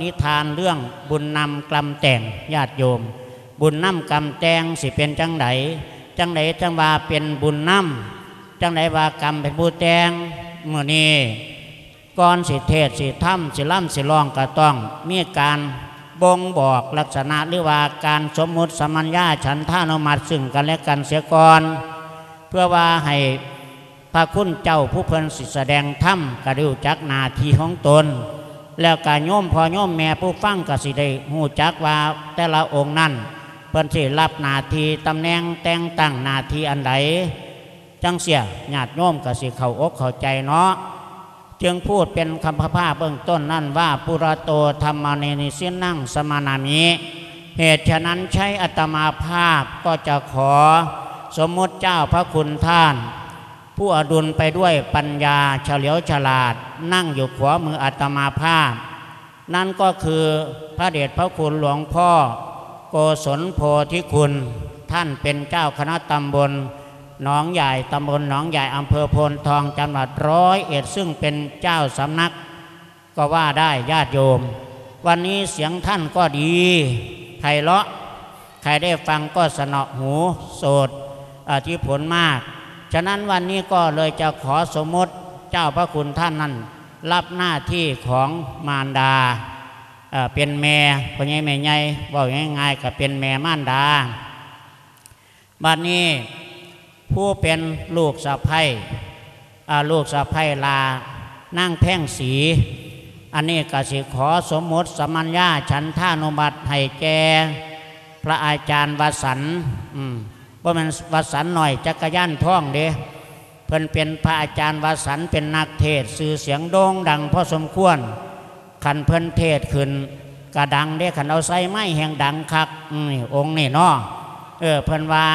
ນິທານເລື່ອງບຸນນຳກຳແຕ່ງ ຍາດໂຍມ, ບຸນນຳກຳແຕ່ງຊິເປັນຈັ່ງໃດ? ຈັ່ງໃດຈັ່ງວ່າເປັນບຸນນຳ? ຈັ່ງໃດວ່າກຳເປັນຜູ້ແຕ່ງ? ມື້ນີ້ ກ່ອນຊິເທດ ຊິທຳ ຊິລຳ ຊິຮ້ອງ ກໍຕ້ອງມີການບົ່ງບອກລັກສະນະ ຫຼືວ່າການສົມມຸດສຳມັນຍາສັນທານຸມັດຊຶ່ງກັນແລະກັນເສຍກ່ອນ ເພື່ອວ່າໃຫ້ພະຄຸນເຈົ້າຜູ້ເພິ່ນຊິສະແດງທຳ ກໍໄດ້ຮູ້ຈັກໜ້າທີ່ຂອງຕົນ ແລ້ວກໍໂຍມພໍ່ໂຍມແມ່ຜູ້ຟັງກໍຊິໄດ້ຮູ້ຈັກວ່າແຕ່ລະອົງນັ້ນ ເພິ່ນຊິໄດ້ຮັບໜ້າທີ່ຕຳແໜ່ງແຕ່ງຕັ້ງໜ້າທີ່ອັນໃດ. ຈັ່ງເຊີ້ຍ ຍາດໂຍມກໍຊິເຂົ້າອົກເຂົ້າໃຈເນາະ. ຈຶ່ງພູດເປັນຄຳພາເບື້ອງຕົ້ນນັ້ນວ່າ ປຸຣະໂຕ ທຳມະເນ ນິຊິນນັງ ສະມະນາມິ. ເຫດສະນັ້ນໃຊ້ອາດຕະມາພາບກໍຈະຂໍສົມມຸດເຈົ້າພະຄຸນທ່ານ ຜູ້ອະດຸນໄປດ້ວຍປັນຍາ ສະຫຼຽວສະຫຼາດ ນັ່ງຢູ່ຂວາມືອາດຕະມາພາບ. ນັ້ນກໍຄືພະເດດພະຄຸນຫຼວງພໍ່ໂກສົນໂພທິຄຸນ, ທ່ານເປັນເຈົ້າຄະນະຕຳບົນໜອງຢາຍ, ຕຳບົນໜອງຢາຍ, ອຳເພີໂພນທອງ, ຈັງຫວັດຮ້ອຍເອັດ, ຊຶ່ງເປັນເຈົ້າສຳນັກກໍວ່າໄດ້, ຍາດໂຍມ. ວັນນີ້ສຽງທ່ານກໍດີ, ໄພເລາະ, ໃຜໄດ້ຟັງກໍສະເນາະຫູໂສດ ອາ ທີ່ຜົນມາກ. ສະນັ້ນວັນນີ້ກໍເລີຍຈະຂໍສົມມຸດເຈົ້າພະຄຸນທ່ານນັ້ນ ຮັບໜ້າທີ່ຂອງມານດາ, ເອີ ເປັນແມ່ພໍ່ໃຫຍ່ແມ່ໃຫຍ່, ເວົ້າງ່າຍໆກໍເປັນແມ່ມານດາ. ບັດນີ້ຜູ້ເປັນລູກສະໃພ້, ອາ, ລູກສະໃພ້ຫຼ້ານາງແພງສີ, ອັນນີ້ກໍຊິຂໍສົມມຸດສຳມັນຍາສັນທານຸບັດໃຫ້ແກ່ພະອາຈານວະສັນ, ອືມ, ບໍ່ແມ່ນວະສັນນ້ອຍຈັກກະຍານທອງເດ້. ເພິ່ນເປັນພະອາຈານວະສັນ ເປັນນັກເທດຊື່ສຽງໂດ່ງດັງພໍສົມຄວນ. ຄັນເພິ່ນເທດຂຶ້ນກະດັງເດ້, ຄັນເອົາໃສ່ໄມແຮ່ງດັງຄັກ. ອືມ ອົງນີ້ເນາະ, ເອີ ເພິ່ນວ່າ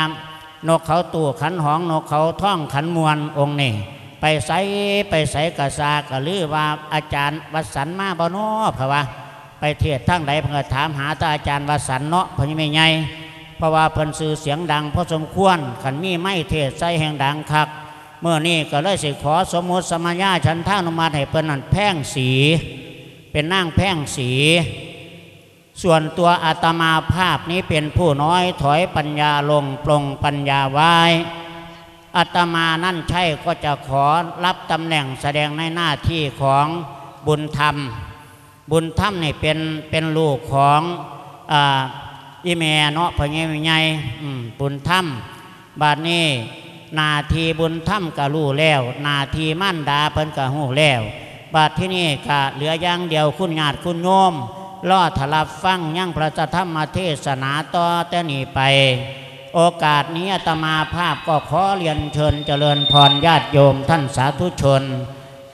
ນົກເຂົາຕູ້ຂັນຫອງ, ນົກເຂົາທອງຂັນມ່ວນ, ອົງນີ້ໄປໃສ ໄປໃສກະຊາກະລືວ່າ ອາຈານວະສັນມາບໍ່ນໍ ເພິ່ນວ່າ. ໄປເທດທາງໃດເພິ່ນກໍຖາມຫາແຕ່ອາຈານວະສັນເນາະ ພໍ່ໃຫຍ່ແມ່ໃຫຍ່, ເພາະວ່າເພິ່ນຊື່ສຽງດັງພໍສົມຄວນ, ຄັນມີໄມເທດໃສ່ແຮ່ງດັງຄັກ. ມື້ນີ້ກໍເລີຍຊິຂໍສົມມຸດສຳມະຍາສັນທານຸມັດໃຫ້ເພິ່ນນັ້ນແພງສີ, ເປັນນາງແພງສີ. ສ່ວນຕົວອາດຕະມາພາບນີ້ເປັນຜູ້ນ້ອຍຖອຍປັນຍາລົງ ປົງປັນຍາໄວ້. ອາດຕະມານັ້ນໃຊ້ກໍຈະຂໍຮັບຕຳແໜ່ງສະແດງໃນໜ້າທີ່ຂອງບຸນທຳ. ບຸນທຳນີ້ເປັນ ເປັນລູກຂອງ ອາ ອີ່ແມ່ເນາະ ພໍ່ໃຫຍ່ແມ່ໃຫຍ່ ອືມ ບຸນທຳ. ບາດນີ້ໜ້າທີ່ບຸນທຳກໍຮູ້ແລ້ວ, ໜ້າທີ່ມານດາເພິ່ນກໍຮູ້ແລ້ວ. ບາດທີນີ້ກໍເຫຼືອຢ່າງດຽວ ຄຸນຍາດຄຸນໂຍມ ລໍຖ້າຮັບຟັງຍັງພະທຳມະເທດສະໜາຕໍ່ແຕ່ນີ້ໄປ. ໂອກາດນີ້ອາດຕະມາພາບກໍຂໍລຽນເຊີນຈະເລີນພອນຍາດໂຍມທ່ານສາທຸຊົນ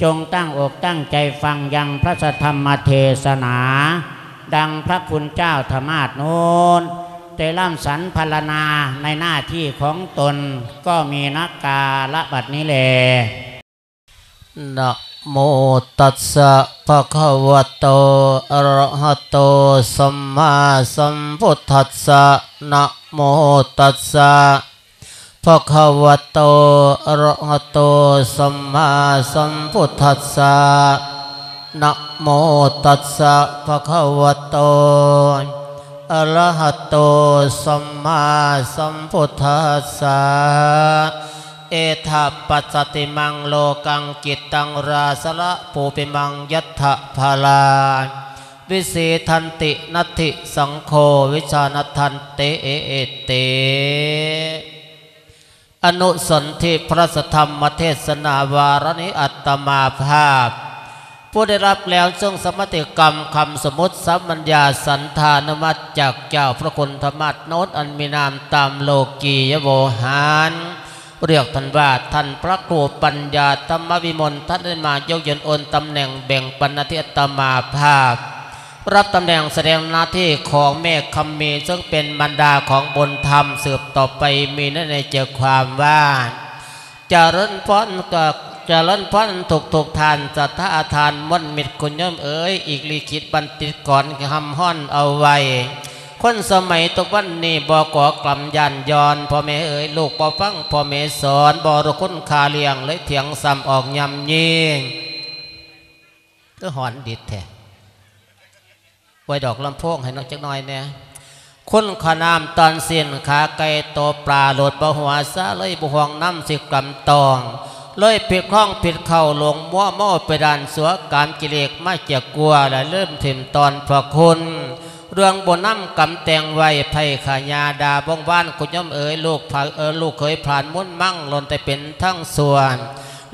ຈົ່ງຕັ້ງອົກຕັ້ງໃຈຟັງຢ່າງພະທຳມະເທດສະໜາ ດັ່ງພະຄຸນເຈົ້າທະມາດໂນ້ນ ໄດ້ລຳສັນພັນລະນາໃນໜ້າທີ່ຂອງຕົນ ກໍມີນະກາລະບັດນີ້ແລ. ນະໂມຕັດສະ ພະຄະວະໂຕ ອະລະຫະໂຕ ສຳມາສຳພຸດທັດສະ. ນະໂມຕັດສະ ພະຄະວະໂຕ ອະລະຫະໂຕ ສຳມາສຳພຸດທັດສະ. ນະໂມຕັດສະ ພະຄະວະໂຕ ອະລະຫະໂຕ ສຳມາສຳພຸດທັດສະ. ເອທະປັດສະຕິມັງ ໂລກັງກິດຕັງ ຣາຊະລະພູປິມັງ ຍັດຖະພາລາ ວິເສທັນຕິ ນັດຖິສັງໂຄ ວິຊານັດທັນເຕ ເອເອເຕ. ອະນຸສົນທິພະທຳມະເທດສະໜາວາລະນີ້ ອາດຕະມາພາບ ຜູ້ໄດ້ຮັບແລ້ວເຊິ່ງສະມາທິກຳຄຳສົມມຸດສຳມັນຍາສັນທານຸມັດຈາກເຈົ້າພະຄຸນທະມາດໂນ້ນ ອັນມີນາມຕາມໂລກີຍະໂວຫານ ຮຽກທ່ານວ່າ ທ່ານພະຄູປັນຍາທຳມະວິມົນ ທ່ານໄດ້ມາຍົກຍົນໂອນຕຳແໜ່ງແບ່ງປັນໜ້າທີ່ອາດຕະມາພາບ ຮັບຕຳແໜ່ງສະແດງໜ້າທີ່ຂອງແມ່ຄຳມີ ເຊິ່ງເປັນມານດາຂອງບຸນທຳ ສືບຕໍ່ໄປມີໃນໃຈຄວາມວ່າ ຈະເລີນພອນ ຈະເລີນພອນທຸກໆທ່ານ ສັດທາທ່ານມົນມິດຄຸນໂຍມເອີຍ ອີກລິຂິດບັນຕິດກອນຮ່ຳຮ້ອນເອົາໄວ້ ຄົນສະໄໝທຸກວັນນີ້ ບໍ່ກໍກຳຢ້ານຍ້ອນ ພໍ່ແມ່ເອີຍ ລູກບໍ່ຟັງພໍ່ແມ່ສອນ ບໍ່ຮູ້ຄຸນຄ່າລ້ຽງ ເລີຍຖຽງຊ້ຳອອກຍ່ຳຍິງ. ຄືຮ້ອນດິດແທ້. ໄວ້ດອກລຳໂພງໃຫ້ນຳຈັກໜ່ອຍແດ່. ຄຸນຂະນ້ຳຕອນສິ້ນ ຂາໄກ່ໂຕປາໂລດບໍ່ຫົວ ສາເລີຍບໍ່ຫ່ວງນ້ຳຊິກຳຕອງ ເລີຍຜິດຄອງຜິດເຂົ້າ ຫຼົງມົວເມົາໄປດ້ານຊົ່ວ ກາມກິເລດມາຈຽກກົວ ແລະລືມຖິ້ມຕອນພະຄຸນ ເລື່ອງບຸນນຳກຳແຕ່ງໄວ້ ໃຜຂະຍາດ່າວົງວານ ຄຸນໂຍມເອີຍ ລູກພະ ເອີຍ ລູກເຂີຍຜ່ານມຸນມັງ ລ້ວນແຕ່ເປັນທາງຊົ່ວ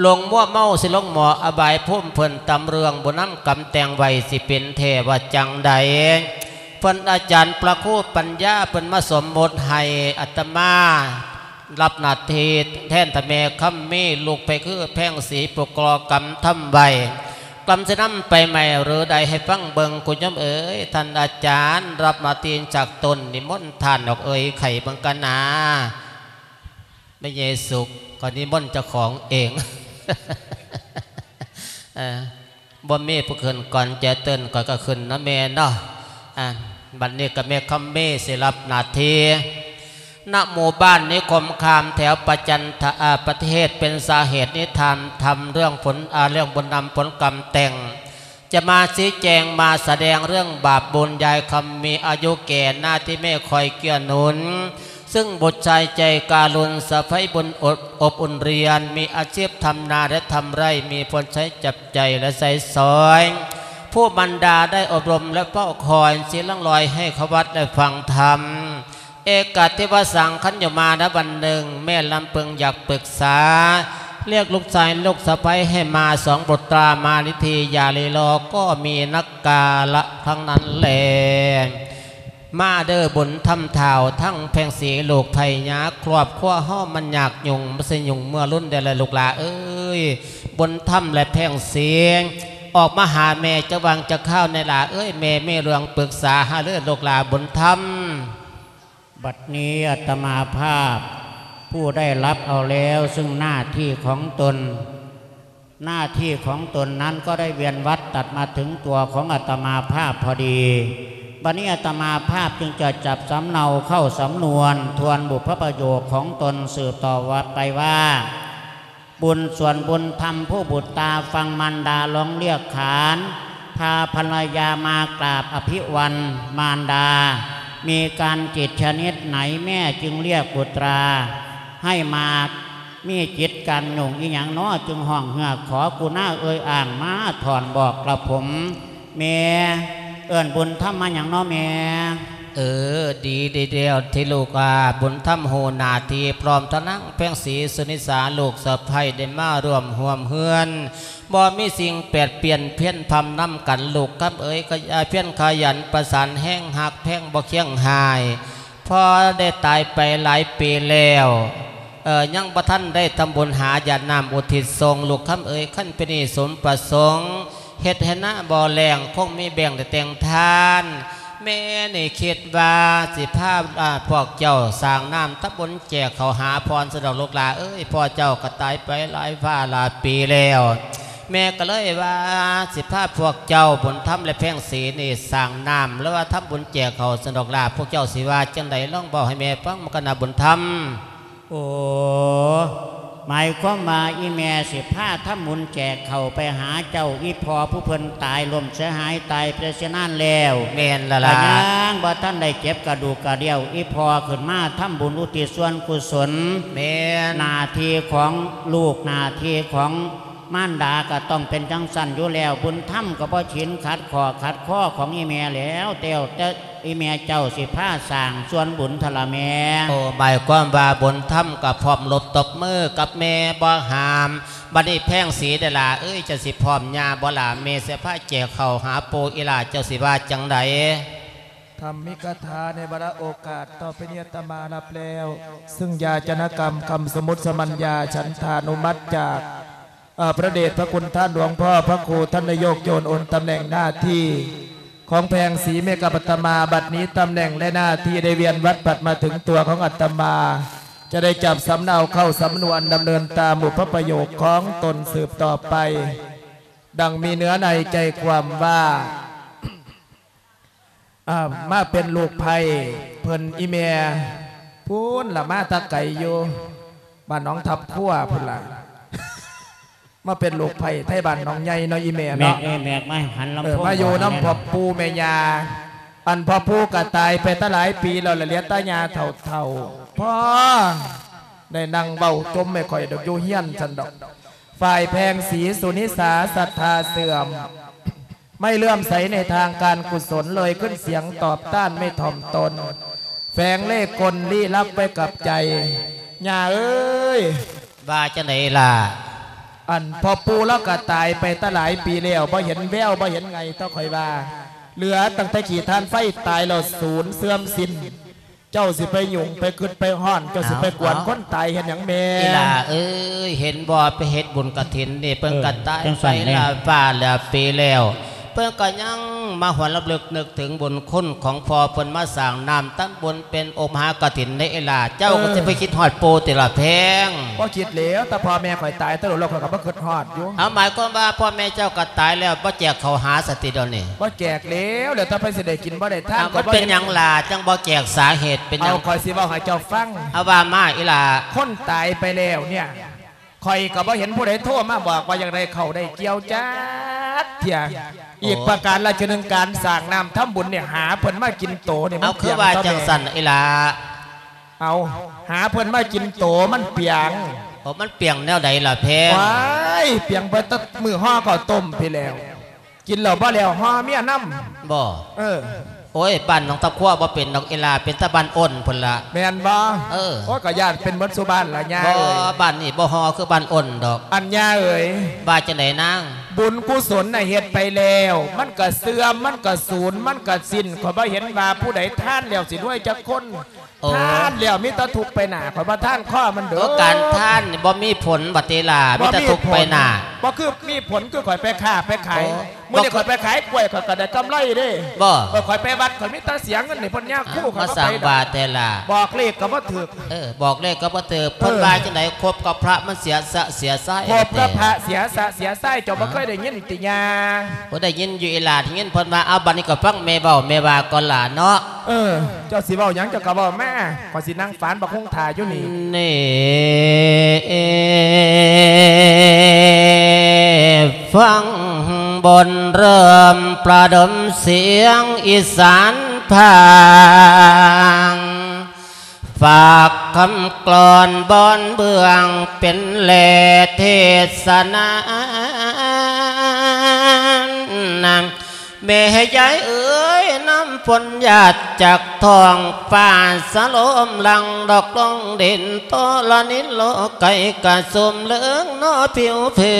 ຫຼົງມົວເມົາຊິລົງໝໍ້ອະບາຍພູມ ເພິ່ນຕຳເລື່ອງບຸນນຳກຳແຕ່ງໄວ້ ຊິເປັນແທ້ວ່າຈັ່ງໃດ ເພິ່ນອາຈານພະຄູປັນຍາ ເພິ່ນມາສົມມຸດໃຫ້ອາດຕະມາ ຮັບໜ້າທີ່ແທນທ່ານແມ່ຄຳມີ ລູກໄປຄືແພງສີ ຜູ້ກໍ່ກຳທຳໄວ້ ກຳຊິນຳໄປໃໝ່ຫຼືໃດ ໃຫ້ຟັງເບິ່ງ ຄຸນໂຍມເອີຍ ທ່ານອາຈານ ຮັບໜ້າທີ່ຈາກຕົນ ນິມົນທ່ານອອກເອີຍ ໄຂເບິ່ງກັນນາ ແມ່ເຢສຸກ ຂ້ອຍນິມົນເຈົ້າຂອງເອງ ເອີ ບໍ່ມີຜູ້ຂຶ້ນກ່ອນຈະເຕີນ ຂ້ອຍກໍຂຶ້ນນຳແມ່ເນາະ ອາ ບັດນີ້ກໍແມ່ຄຳມີຊິຮັບໜ້າທີ່ ນະໝູ່ບ້ານນິຄົມຄາມ ແຖວປະຈັນທະ ອາ ປະເທດ ເປັນສາເຫດນິທານທຳເລື່ອງຜົນ ອາ ເລື່ອງບຸນນຳຜົນກຳແຕ່ງ ຈະມາຊີ້ແຈງມາສະແດງເລື່ອງບາບບຸນ ຍາຍຄຳມີອາຍຸແກ່ໜ້າທີ່ແມ່ຄອຍເກື້ອໜູນ ຊຶ່ງບຸດຊາຍໃຈກະລຸນ ສະໃພ້ບຸນອົບ ອົບອຸ່ນລຽນ ມີອາຊີບທຳນາ ແລະ ທຳໄຮ່ ມີພົນໃຊ້ຈັບໃຈ ແລະ ໃຊ້ສອຍ ຜູ້ມານດາໄດ້ອົບຮົມ ແລະ ເຝົ້າຄອຍ ສີລັງລອຍໃຫ້ເຂົ້າວັດ ແລະ ຟັງທຳ ເອກະທິວະສັງ ຄັນຢູ່ມານະວັນໜຶ່ງ ແມ່ລຳເພິງຢາກປຶກສາ ລຽກລູກຊາຍລູກສະໃພ້ໃຫ້ມາ ສອງບຸດຕາມານິທີ ຢ່າລີລໍ ກໍມີນັກກາລະທັງນັ້ນແລ. ມາເດີບຸນທຳທ້າວ ທັງແພງສີລູກໃຜຍາ ຄອບຄົວເຮົາມັນຍາກຫຍຸ້ງ ມັນຊິຫຍຸ້ງເມື່ອລຸນແດ່ລະລູກຫຼ້າເອີຍ ບຸນທຳ ແລະ ແພງສີ ອອກມາຫາແມ່ຈັກຫວ່າງຈັກຄາວແດ່ຫຼ້າເອີຍ ແມ່ມີເລື່ອງປຶກສາຫາລື ລູກຫຼ້າບຸນທຳ. บัดนี้อาตมาภาพผู้ได้รับเอาแล้วซึ่งหน้าที่ของตน หน้าที่ของตนนั้นก็ได้เวียนวัดตัดมาถึงตัวของอาตมาภาพพอดี บัดนี้อาตมาภาพจึงจะจับสำเนาเข้าสำนวนทวนบุพประโยคของตนสืบต่อไปว่า บุญส่วนบุญธรรมผู้บุตรตาฟังมารดาร้องเรียกขาน พาภรรยามากราบอภิวันมารดา มีการจิตชนิดไหนแม่จึงเรียกบุตราให้มา มีจิตการหยุ่งอีหยังน้อจึงฮ้องเฮือกขอกุณาเอ่ยอ้างมาถ่อนบอกกระผม แม่ เอิ้นบุญธรรมมาหยังน้อแม่ เออ ดีดีแล้วที่ลูกอาบุญธรรมฮู้หน้าที่ พร้อมทั้งนางแพงศรีสุนิสาลูกสะใภ้ได้มาร่วมฮ่วมเฮือน บ่มีสิ่งแปดเปลี่ยนเพี้ยนพำนำกัน ลูกคำเอ๋ย ขยายเพียรขยันประสานแฮง ฮักแพงบ่เคียงหาย พอได้ตายไปหลายปีแล้ว เอ่อ ยังบ่ทันได้ทำบุญหาหยาดน้ำอุทิศส่ง ลูกคำเอ๋ย คันเป็นนี่สมประสงค์ เฮ็ดให้นาบ่แล้ง คงมีแบ่งได้แต่งทาน แม่นี่คิดว่าสิพา อ่า พวกเจ้าสร้างน้ำทำบุญแจกข้าวหาพรสะดอกลูกหลานเอ้ย พ่อเจ้าก็ตายไปหลายฟ้าหลายปีแล้ว แม่ก็เลยว่าสิพาพวกเจ้าบุญธรรมและแพงศรีนี่สร้างน้ำ หรือว่าทำบุญแจกข้าวสะดอกล่ะ พวกเจ้าสิว่าจั่งใด ลองเว้าให้แม่ฟังมากันนะบุญธรรม โอ้ หมายความว่าอีแม่สิพาทำบุญแจกข้าวไปหาเจ้าอีพ่อผู้เพิ่นตายล้มเสียหายตายไปเสียนานแล้ว แม่นละล่ะ ก็ยังบ่ทันได้เก็บกระดูกกระเดี่ยว อีพ่อขึ้นมาทำบุญอุทิศส่วนกุศล แม่น หน้าที่ของลูกหน้าที่ของมารดาก็ต้องเป็นจั่งซั้นอยู่แล้ว บุญธรรมก็บ่ชินขัดข้อขัดคอของอีแม่แล้ว แต่ แต่ อีแม่เจ้าสิพาสร้างส่วนบุญทะละแม่ โอ้ หมายความว่าบุญธรรมก็พร้อมลบตบมือกับแม่บ่ห้าม บัดนี้แพงศรีเด้อล่ะเอ้ย เจ้าสิพร้อมย่าบ่ล่ะ แม่สิพาแจกข้าวหาปู่อีหล่า เจ้าสิว่าจั่งใด ธรรมิกถาในวาระโอกาสต่อไปนี้อาตมารับแล้ว ซึ่งยาจนกรรมคำสมมุติสมัญญาฉันทานุมัติจาก เอ่อ พระเดชพระคุณท่านหลวงพ่อพระครูท่านนายกโยนโอนตำแหน่งหน้าที่ของแพงศรีเมกับอาตมา บัดนี้ตำแหน่งและหน้าที่ได้เวียนวัดผัดมาถึงตัวของอาตมา จะได้จับสำเนาเข้าสำนวนดำเนินตามบุพประโยคของตนสืบต่อไป ดังมีเนื้อในใจความว่า อ่า มาเป็นลูกไผ่เพิ่นอีแม่ พู้นละมาแตะไกลอยู่ บ้านหนองทับขั่วพู้นละ มาเป็นลูกไผ่ไทบ้านหนองใหญ่เนาะอีแม่ แม่ เนาะ เอ้ย แม่ มาหันลำโพง เออ มาอยู่นำพ่อปู่แม่ย่า ອັນພໍ່ປູ່ກໍຕາຍໄປແຕ່ຫຼາຍປີແລ້ວ ລະເຫຼືອແຕ່ຍ່າເຖົ້າໆ ພໍໄດ້ນັ່ງເວົ້າຈົ່ມໃຫ້ຂ້ອຍດອກ ຢູ່ເຮືອນຊັ້ນດອກ. ຝ່າຍແພງສີສຸນິສາສັດທາເສື່ອມ ໄມ່ເຫຼື້ອມໃສໃນທາງການກຸສົນ ເລີຍຂຶ້ນສຽງຕອບຕ້ານໄມ່ຖ່ອມຕົນ ແຝງເລ່ກົນລີ້ລັບໄວ້ກັບໃຈ. ຍ່າເອີຍ ວ່າຈັ່ງໃດລະ? ອັນພໍ່ປູ່ລາວກໍຕາຍໄປແຕ່ຫຼາຍປີແລ້ວ ບໍ່ເຫັນແວວ ບໍ່ເຫັນໄງ ເຈົ້າຂ້ອຍວ່າ ເຫຼືອຕັ້ງແຕ່ຂີ້ຖ່ານໄຟຕາຍແລ້ວ ສູນເສື່ອມສິ້ນ. ເຈົ້າຊິໄປຫຍຸ້ງໄປຄຶດໄປຮ້ອນ ເຈົ້າຊິໄປກວນຄົນຕາຍເຮັດຫຍັງແມ່? ອີ່ຫຼ້າເອີຍ ເຫັນບໍ່ ໄປເຮັດບຸນກະຖິນນີ້ ເພິ່ນກໍຕາຍໄປແລ້ວ ຟ້າແລ້ວປີແລ້ວ ເພິ່ນກໍຍັງມາຫວນລຳລຶກນຶກເຖິງບຸນຄຸນຂອງພໍ່ເພິ່ນມາສ້າງນ້ຳທຳບຸນເປັນອົບມະຫາກະຖິນເດ້ອີ່ຫຼ້າ. ເຈົ້າກໍຊິໄປຄິດຮອດປູ່ຕິລະແພງ? ບໍ່ຄິດແລ້ວ ແຕ່ພໍ່ແມ່ຂ້ອຍຕາຍແຕ່ດົນແລ້ວ ຂ້ອຍກໍບໍ່ຄຶດຮອດຢູ່. ເອົາ ໝາຍຄວາມວ່າພໍ່ແມ່ເຈົ້າກໍຕາຍແລ້ວ ບໍ່ແຈກເຂົ້າຫາສະຕິດຽວນີ້? ບໍ່ແຈກແລ້ວ ແລ້ວແຕ່ໃຜຊິໄດ້ກິນບໍ່ໄດ້ທານ ມັນເປັນຫຍັງລະ ຈັ່ງບໍ່ແຈກ ສາເຫດເປັນຫຍັງ? ເອົາ ຂ້ອຍຊິເວົ້າໃຫ້ເຈົ້າຟັງ. ເອົາ ວ່າມາອີ່ຫຼ້າ. ຄົນຕາຍໄປແລ້ວເນຍ ຂ້ອຍກໍບໍ່ເຫັນຜູ້ໃດໂທມາບອກວ່າຢາກໄດ້ເຂົ້າໄດ້ກ່ຽວຈັກເທື່ອ. ອີກປະການລະເທື່ອໜຶ່ງ ການສ້າງນ້ຳທຳບຸນນີ້ ຫາເພິ່ນມາກິນໂຕນີ້ ມັນ ເອົາ ຄືວ່າຈັ່ງຊັ້ນອີ່ຫຼ້າ? ເອົາ ຫາເພິ່ນມາກິນໂຕມັນປຽງ. ໂອ້ ມັນປຽງແນວໃດລະແພງ? ວ້າຍ ປຽງໄປແຕ່ມື້ຫໍ່ເຂົ້າຕົ້ມພີ້ແລ້ວ ກິນແລ້ວບໍ່ແລ້ວຫໍ່ເມຍນຳ. ບໍ່? ເອີ. ໂອ້ຍ ບ້ານໜອງຕາຄົວບໍ່ເປັນດອກອີ່ຫຼ້າ ເປັນແຕ່ບ້ານໂອນພຸ້ນລະ. ແມ່ນບໍ່? ເອີ. ໂອ້ຍ ກໍຢ້ານເປັນໝົດສູ່ບ້ານລະຍ່າເອີຍ. ບໍ່ ບ້ານນີ້ບໍ່ຫໍ່ຄືບ້ານໂອນດອກ. ອັນຍ່າເອີຍ. ວ່າຈັ່ງໃດນາງ? ບຸນກຸສົນນະເຮັດໄປແລ້ວ ມັນກະເສື່ອມ ມັນກະສູນ ມັນກະສິ້ນ. ຂ້ອຍບໍ່ເຫັນວ່າຜູ້ໃດທານແລ້ວຊິລວຍຈັກຄົນ. ໂອ້ ທານແລ້ວມີແຕ່ທຸກໄປໜ້າ. ຂ້ອຍວ່າທານຄໍມັນເດີ. ໂອ້ ການທານນີ້ບໍ່ມີຜົນບັດເດລາ ມີແຕ່ທຸກໄປໜ້າ. ບໍ່ຄືມີຜົນຄືຂ້ອຍໄປຄ້າໄປຂາຍ. ໂອ້ ມື້ນີ້ຂ້ອຍໄປຂາຍກ້ວຍ ຂ້ອຍກໍໄດ້ກຳໄລເດ້. ບໍ່? ເອີ ຂ້ອຍໄປວັດ ຂ້ອຍມີແຕ່ເສຍເງິນໃຫ້ເພິ່ນຍາຄູ. ຂ້ອຍບໍ່ໄປດອກ. ມາສ້າງວ່າແທ້ລະ. ບອກເລກກໍບໍ່ຖືກ. ເອີ ບອກເລກກໍບໍ່ຖືກ. ເອີ ເພິ່ນວ່າຈັ່ງໃດ? ຄົບກັບພະມັນເສຍສະເສຍຊາຍ. ຄົບກັບພະເສຍສະເສຍຊາຍ. ເຈົ້າບໍ່ເຄີຍໄດ້ຍິນຕິຍ່າ? ບໍ່ໄດ້ຍິນຢູ່ອີ່ຫຼ້າ ໄດ້ຍິນເພິ່ນວ່າ. ເອົາ ບັດນີ້ກໍຟັງແມ່ເວົ້າ ແມ່ວ່າກ່ອນຫຼ້າເນາະ. ເອີ ເຈົ້າຊິເວົ້າຫຍັງ ເຈົ້າກໍເວົ້າມາ. ຂ້ອຍຊິນັ່ງຝານບັກຮຸ່ງຖ້າຢູ່ນີ້. ນີ້ ຟັງບົນເລີ່ມປະດົມສຽງອີສານພາງ ຝາກຄຳກລອນບອນເບື້ອງເປັນແຫຼເທດສະນາ. ແມ່ຍາຍເອີຍ ນ້ຳຝົນຫຍາດຈາກທ້ອງຟ້າ ສະຫຼົມຫຼັ່ງດອກລົງດິນ ທໍລະນິນໂລໄກກະຊຸ່ມເຫຼືອງນໍຜິວເພີ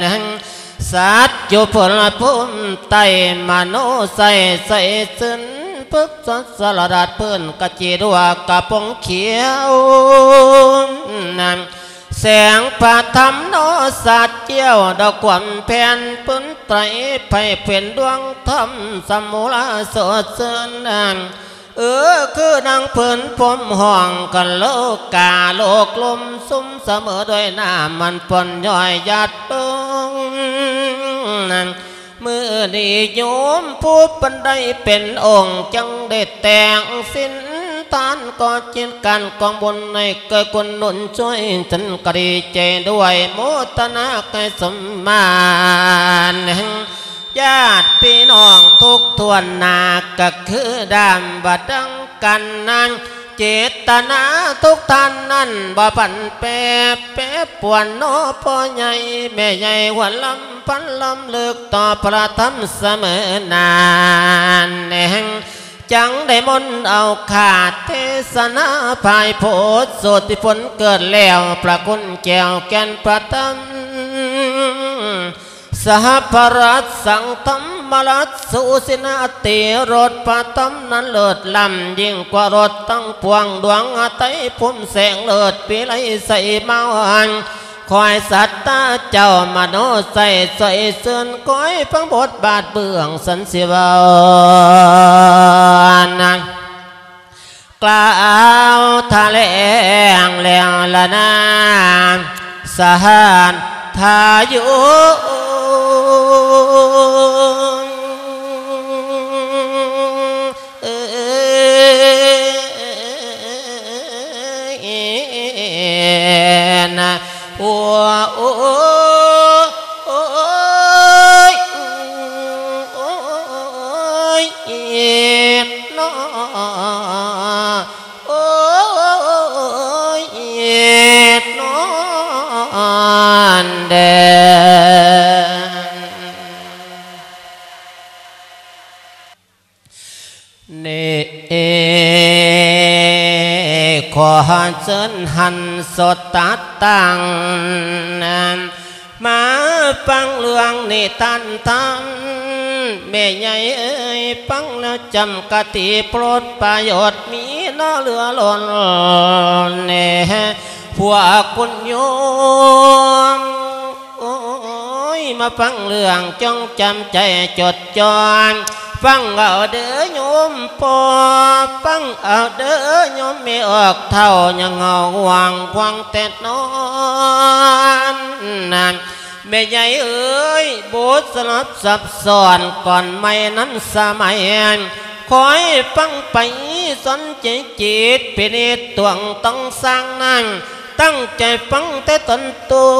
ນ. ສັດຢູ່ພົມພູມໃຕ້ ມະໂນໄຊໃສຊື່ນ ພຶກສະສະລະດັດພື້ນກະຈີດວກກະປົງຂຽວ. ແສງພະທຳໂນສັດຈຽວ ດອກຄວາມແຜ່ນປຸນໄຕ ໃຜເປັນດວງທຳສະໝູລາສົດຊື່ນ. ເອີ ຄືນາງເພິ່ນພົມຫ້ອງກັນໂລກາ ໂລກລົມຊຸ່ມສະເໝີດ້ວຍນ້ຳມັນປ່ອນຍ້ອຍຫຍາດລົງ. ມື້ນີ້ໂຍມຜູ້ເພິ່ນໄດ້ເປັນອົງ ຈຶ່ງໄດ້ແຕ່ງສິນທານ ກໍຈິດການກອງບຸນໃຫ້ເກີດກຸນໜູນຊ່ວຍ ສັນກະດີໃຈດ້ວຍໂມທະນາໃຫ້ສົມມານ ແຫ່ງຍາດພີ່ນ້ອງທຸກຖ້ວນໜ້າ ກໍຄືດາມວ່າດັ່ງກັນນາງ ເຈດຕະນາທຸກທ່ານນັ້ນບໍ່ຜັນແປ ແປປວນເນາະ ພໍ່ໃຫຍ່ແມ່ໃຫຍ່ ຫົວລຳພັນລຳເລິກຕໍ່ພະທຳສະເໝີນານ ແຫ່ງຈັ່ງໄດ້ມົນເອົາຄາເທດສະນາ ພາຍໂພດໂສດທີ່ຜົນເກີດແລ້ວ ພະຄຸນແກ້ວແກ່ນພະທຳ ສະຫະພະລັດສັງທຳມະລັດ ສູສິນາຕິລົດພະທຳນັ້ນເລີດລ້ຳ ຍິ່ງກວ່າລົດທັງປວງ ດວງຫະໄທພຸ້ມແສງເລີດວິໄລໃສມາຫວັງ ຄອຍສັດຕາເຈົ້າມະໂນໃສຊ່ວຍເຊີນ ຄອຍຟັງບົດບາດເບື້ອງສັນຊິເວົ້າ ນາງ ກ່າວຖະແຫຼງແລ້ວລະນາ ສະຫານທາຍຸ ເອີຍ ນະ ໂອ ໂອ ໂອ ໂອ ໂອ ໂອ ເນາະ ໂອ້ຍເນາະເດີ ນີ້ ຂໍເຊີນຫັນສົດຕາຕັ້ງ ມາຟັງເລື່ອງນິທານທຳ ແມ່ໃຫຍ່ເອີຍ ຟັງແລ້ວຈຳຄະຕິໂປດປະໂຫຍດ ມີເນາະເຫຼືອລົ້ນແດ່ ພວກຄຸນໂຍມ ໂອ້ຍ ມາຟັງເລື່ອງ ຈົ່ງຈຳໃຈຈົດຈ່ອງ ຟັງເອົາເດີໂຍມພໍ່ ຟັງເອົາເດີໂຍມແມ່ອອກເຖົ້າ ຍັງເຮົາຫວງຂວາງແຕ່ນອນ ແມ່ໃຫຍ່ເອີຍ ບົດສະຫຼັບຊັບຊ້ອນ ກ່ອນໃໝ່ນຳສະໄໝ ຄອຍຟັງໄປ ສົນໃຈຈິດ ພິນິດຕວງຕ້ອງສ້າງນັ້ນ ຕັ້ງໃຈຟັງແຕ່ຕົ້ນຕົ້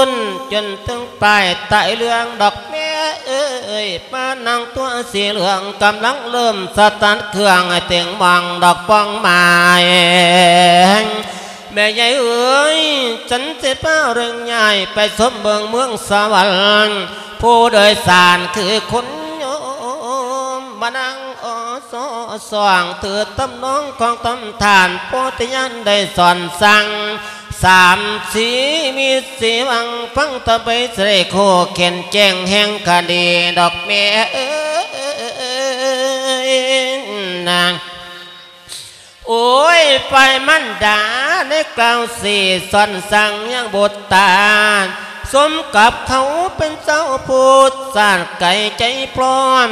ນ ຈົນເຖິງປາຍທ້າຍເລື່ອງດອກແມ່ເອີຍ ມານັ່ງຕົວສີເຫຼືອງ ກຳລັງເລີ່ມສະຕາດເຄື່ອງ ໃຫ້ເຕັງມອງດອກປ້ອງໝາຍ ແມ່ໃຫຍ່ເອີຍ ສັນຊິພາເລື່ອງຍ້າຍ ໄປຊົມເບິ່ງເມືອງສະຫວັນ ຜູ້ໂດຍສານຄືຄຸນໂຍມ ມານັ່ງ ອສສອງ ຖືຕຳນອງຂອງຕຳທ່ານ ໂພທິຍານໄດ້ສອນສັ່ງ ສາມສີມີສີວັງ ຟັງຕະໄບສະເດໂຄ ແກ່ນແຈ້ງແຫ່ງຄະດີດອກແມ່ເອີຍນາງ ໂອ້ຍ ຝ່າຍມານດາໄດ້ກ່າວຊີ້ສອນສັ່ງຍັງບຸດຕາ ສົມກັບເຂົາເປັນເຈົ້າຜູ້ຊາດໄກໃຈພ້ອມ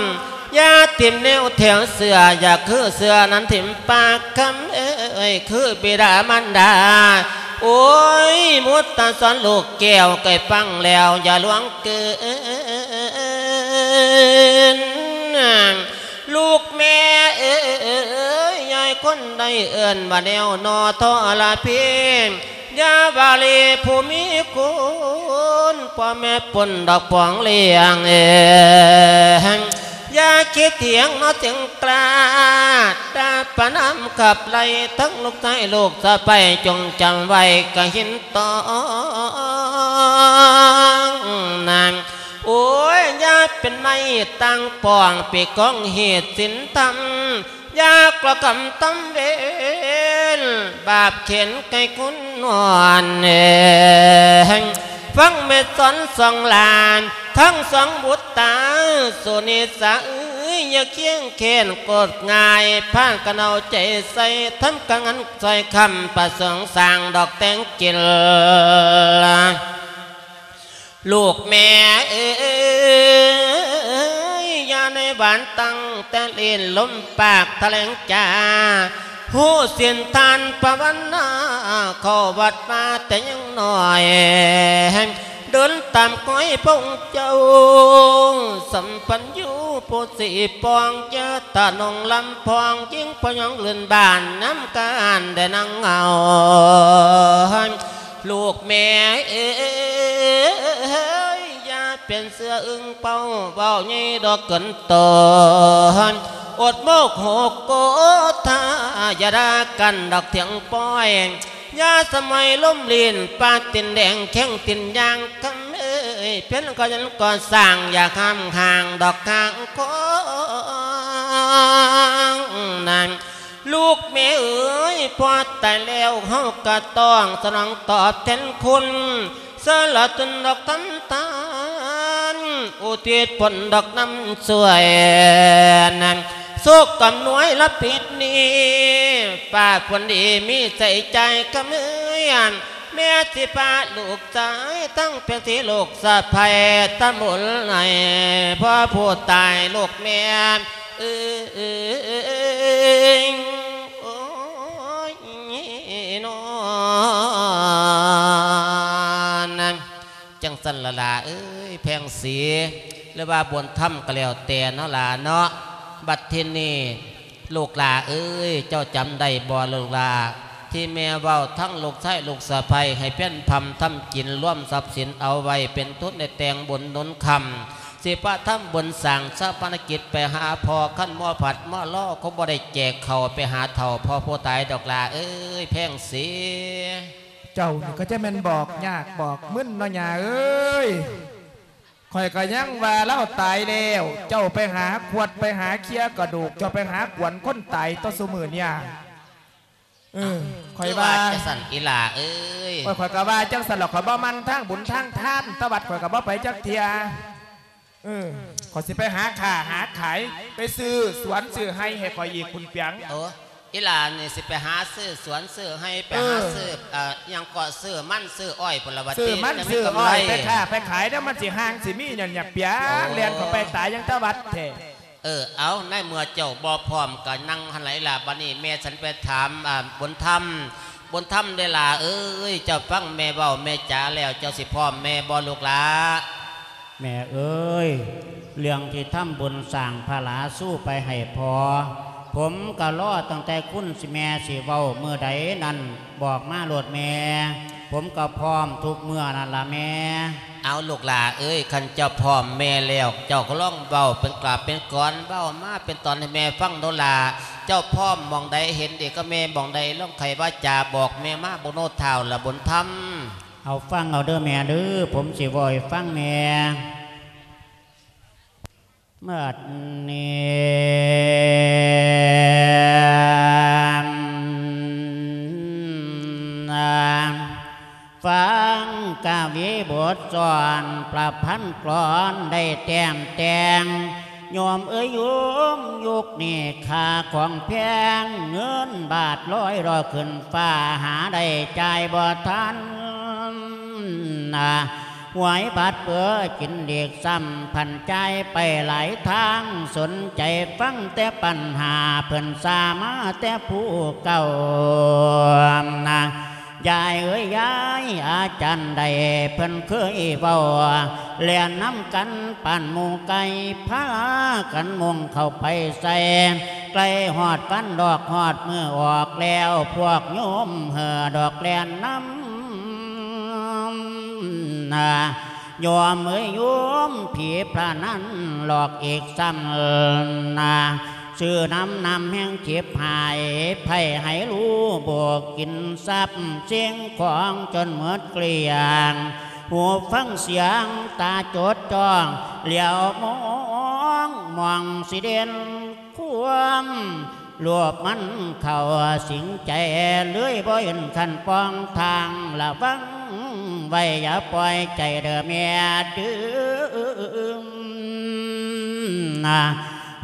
ຢ່າຖິ້ມແນວແຖວເຊື່ອ ຢ່າຄືເຊື່ອນັ້ນຖິ້ມປາກ ຄຳເອີຍ ຄືບິດາມານດາ ໂອ້ຍ ມຸດຕາສອນລູກແກ້ວ ໃກ້ຟັງແລ້ວຢ່າຫຼວງເກີນ ລູກແມ່ເອີຍ ຍາຍຄົນໃດເອີ້ນວ່າແນວໜໍ່ທໍລະເພ ຢ່າວ່າເລຜູ້ມີຄຸນ ພໍ່ແມ່ປົນດອກປອງລ້ຽງເອີຍ ຢ່າຄິດຖຽງເນາະເຖິງກລ້າ ດາປະນາມຂັບໄລ່ ທັງລູກຊາຍລູກສະໃພ້ ຈົ່ງຈຳໄວ້ກະຫີນຕອງນາງ ໂອ້ຍ ຢ່າເປັນໄມ້ຕັ້ງປ້ອງ ປີກອງເຫດສິນທຳ ຢ່າກໍ່ກຳຕຳເວນ ບາບເຂັນໄກ່ຄຸນນອນແຮງ ຟັງແມ່ສອນສອງຫຼານ ທັງສອງບຸດຕາ ສຸນິສາເອີຍ ຢ່າຄຽງແຄ້ນໂກດງ່າຍ ພາກັນເອົາໃຈໃສ່ ທຳການງານຊ່ອຍຄ້ຳ ປະສົງສ້າງດອກແຕ່ງກິນ ລູກແມ່ເອີຍ ຢ່າໃນຫວານຕັ້ງແຕ່ລີ້ນ ລົມປາກຖະແຫຼງຈາ ຮູ້ສິນທານພາວະນາ ເຂົ້າວັດມາແຕ່ຍັງນ້ອຍ ເດີນຕາມຮອຍພະອົງເຈົ້າ ສຳພັນຢູ່ຜູ້ສີປອງ ຢ່າຕະໜົງລຳພອງ ຍິງພະຍອງລື່ນບ້ານ ນຳການໄດ້ນັ່ງເງົາ ລູກແມ່ເອີຍ ຢ່າເປັນເສືອອຶ່ງເປົ້າ ເວົ້າໃຫຍ່ດອກເກີນໂຕ ອົດໂມກຫົກໂກທາ ຢ່າດ່າກັນດອກຖຽງປ້ອຍ ຢ່າສະໝອຍລົມລີ້ນ ປາຕີນແດງແຂ້ງຕີນຍ່າງ ຄຳເອີຍ ເພັນກໍຍັນກໍ່ສ້າງ ຢ່າຫ້າມຫ່າງດອກຂ້າງຄອງນັ້ນ ລູກແມ່ເອີຍ ພໍ່ຕາຍແລ້ວ ເຮົາກະຕ້ອງສະໜອງຕອບແທນຄຸນ ສະຫຼະຕົນດອກທຳທານ ອຸທິດຜົນດອກນຳຊ່ວຍ ໂຊກອຳນວຍລະປິດນີ້ ຟ້າຝົນດີມີໃສ່ຈ່າຍ ຄຳເອີຍ ແມ່ຊິພາລູກຊາຍ ທັງເປັນສີລູກສະໃພ້ ທຳບຸນໃຫ້ພໍ່ຜູ້ຕາຍ ລູກແມ່ ເອີຍ ໂອ້ຍ ນອນ ຈັ່ງຊັ້ນລະຫຼ້າເອີຍ ແພງສີ ຫຼືວ່າບຸນທຳກໍແລ້ວແຕ່ເນາະຫຼ້າເນາະ ບັດທີນີ້ ລູກຫຼ້າເອີຍ ເຈົ້າຈຳໄດ້ບໍ່ລູກຫຼ້າ ທີ່ແມ່ເວົ້າທັງລູກຊາຍລູກສະໃພ້ ໃຫ້ເປັນພຳທຳກິນ ລວມຊັບສິນເອົາໄວ້ເປັນທຶນ ໄດ້ແຕ່ງບຸນໜູນຄຳ ຊິພາທຳບຸນສ້າງຊາປະນະກິດໄປຫາພໍ່ ຄັນມໍພັດມໍລໍ ຄົງບໍ່ໄດ້ແຈກເຂົ້າໄປຫາເຖົ້າພໍ່ຜູ້ຕາຍດອກຫຼ້າເອີຍ ແພງສີ. ເຈົ້ານີ້ກໍຈະແມ່ນບອກຍາກບອກມຶນເນາະ ຍ່າເອີຍ. ຂ້ອຍກໍຍັງວ່າລາວຕາຍແລ້ວ ເຈົ້າໄປຫາຂວດ ໄປຫາເຄຍກະດູກ ເຈົ້າໄປຫາກວນຄົນຕາຍຕໍ່ຊຸມື້ນີ້. ເອີ ຂ້ອຍວ່າ ຄືວ່າຈັ່ງຊັ້ນອີ່ຫຼ້າເອີຍ. ໂອ້ຍ ຂ້ອຍກໍວ່າຈັ່ງຊັ້ນລະ ຂ້ອຍບໍ່ໝັ່ນທາງບຸນທາງທານ ແຕ່ວັດຂ້ອຍກໍບໍ່ໄປຈັກເທື່ອ. ເອີ ຂ້ອຍຊິໄປຫາຄ້າຫາຂາຍ ໄປຊື້ສວນຊື້ໄຮ່ໃຫ້ຂ້ອຍອີກພຸ້ນປຽງ. ໂອ້ ອີ່ຫຼ້ານີ້ຊິໄປຫາຊື້ສວນຊື້ໄຮ່ ໄປຫາ ເອີ ຊື້ ເອີ ຫຍັງເກາະ ຊື້ມັນຊື້ອ້ອຍພຸ້ນລະວ່າ ຊື້ມັນ ຕິ ຈັ່ງມີ ຊື້ ກຳ ອ້ອຍ ໄລ ໄປຄ້າໄປຂາຍ ແລ້ວມັນຊິຫ່າງຊິມີຫຍັງຫຍັງປຽງ. ໂອ້ ແລ່ນເຂົ້າໄປຕາຍຫຍັງແຕ່ວັດແທ້. ເອີ ເອົາ ໃນເມື່ອເຈົ້າບໍ່ພ້ອມກໍນັ່ງຫັ້ນລະອີ່ຫຼ້າ. ບັດນີ້ແມ່ສັນໄປຖາມ ອາ ບຸນທຳ. ບຸນທຳເດ້ຫຼ້າເອີຍ ເຈົ້າຟັງແມ່ເວົ້າແມ່ຈາແລ້ວ ເຈົ້າຊິພ້ອມແມ່ບໍ່ລູກຫຼ້າ? ແມ່ເອີຍ ເລື່ອງທີ່ທຳບຸນສ້າງພະລາຊູໄປໃຫ້ພໍ່ ຜົມກໍລໍຕັ້ງແຕ່ຄຸນແມ່ຊິເວົ້າມື້ໃດນັ້ນ ບອກມາໂລດແມ່ ຜົມກໍພ້ອມທຸກເມື່ອນັ້ນລະແມ່. ເອົາ ລູກຫຼ້າເອີຍ ຄັນເຈົ້າພ້ອມແມ່ແລ້ວ ເຈົ້າກໍລອງເວົ້າເປັນກາບເປັນກອນ ເວົ້າມາເປັນຕອນໃຫ້ແມ່ຟັງໂລດຫຼ້າ. ເຈົ້າພ້ອມໝ່ອງໃດ ເຫັນດີກັບແມ່ໝ່ອງໃດ ລອງໄຂວາຈາບອກແມ່ມາເບິ່ງໂລດ ທ້າວຫຼ້າບຸນທຳ. ເອົາ ຟັງເອົາເດີແມ່ເດີ ຜົມຊິເວົ້າໃຫ້ຟັງແມ່. ບັດນີ້ ຟັງກະວີບົດສອນ ປະພັນກລອນໄດ້ແຕ້ມແຕ່ງ ໂຍມເອີຍໂຍມ ຍຸກນີ້ຄ່າຂອງແພງ ເງິນບາດລອຍລໍຂຶ້ນຟ້າ ຫາໄດ້ຈ່າຍບໍ່ທັນ ຫວຍບາດເປີກິນຫຼີກຊ້ຳ ພັນຈ່າຍໄປຫຼາຍທາງ ສົນໃຈຟັງແຕ່ປັນຫາ ເພິ່ນສາມາແຕ່ຜູ້ເກົ່າ ນະ ຍາຍເອີຍຍາຍ ອາຈານໃດເພິ່ນເຄີຍເວົ້າ ແລ່ນນຳກັນປານໝູ່ໄກ່ ພາກັນມຸ່ງເຂົ້າໄປໃສ່ ໃກ້ຮອດວັນດອກຮອດມື້ອອກແລ້ວ ພວກໂຍມເຫີດອກແລ່ນນຳ ນະ ໂຍມເອີຍໂຍມ ຜີພະນັນຫຼອກອີກຊ້ຳນະ ຊື້ນ້ຳ ນ້ຳແຮງຈິບຫາຍ ໃຜໃຫ້ຮູ້ບໍ່ກິນຊັບ ສິ່ງຂອງຈົນໝົດເກລ້ຽງ ຫູຟັງສຽງ ຕາຈົດຈ້ອງ ຫຼຽວມອງ ມອງຊິເດັ່ນ ຄວາມໂລບມັນເຂົ້າສິງໃຈ ເລີຍບໍ່ເຫັນຄັນປ່ອງທາງ ລະວັງໄວ້ຢ່າປ່ອຍໃຈເດີແມ່ເດີ ນະ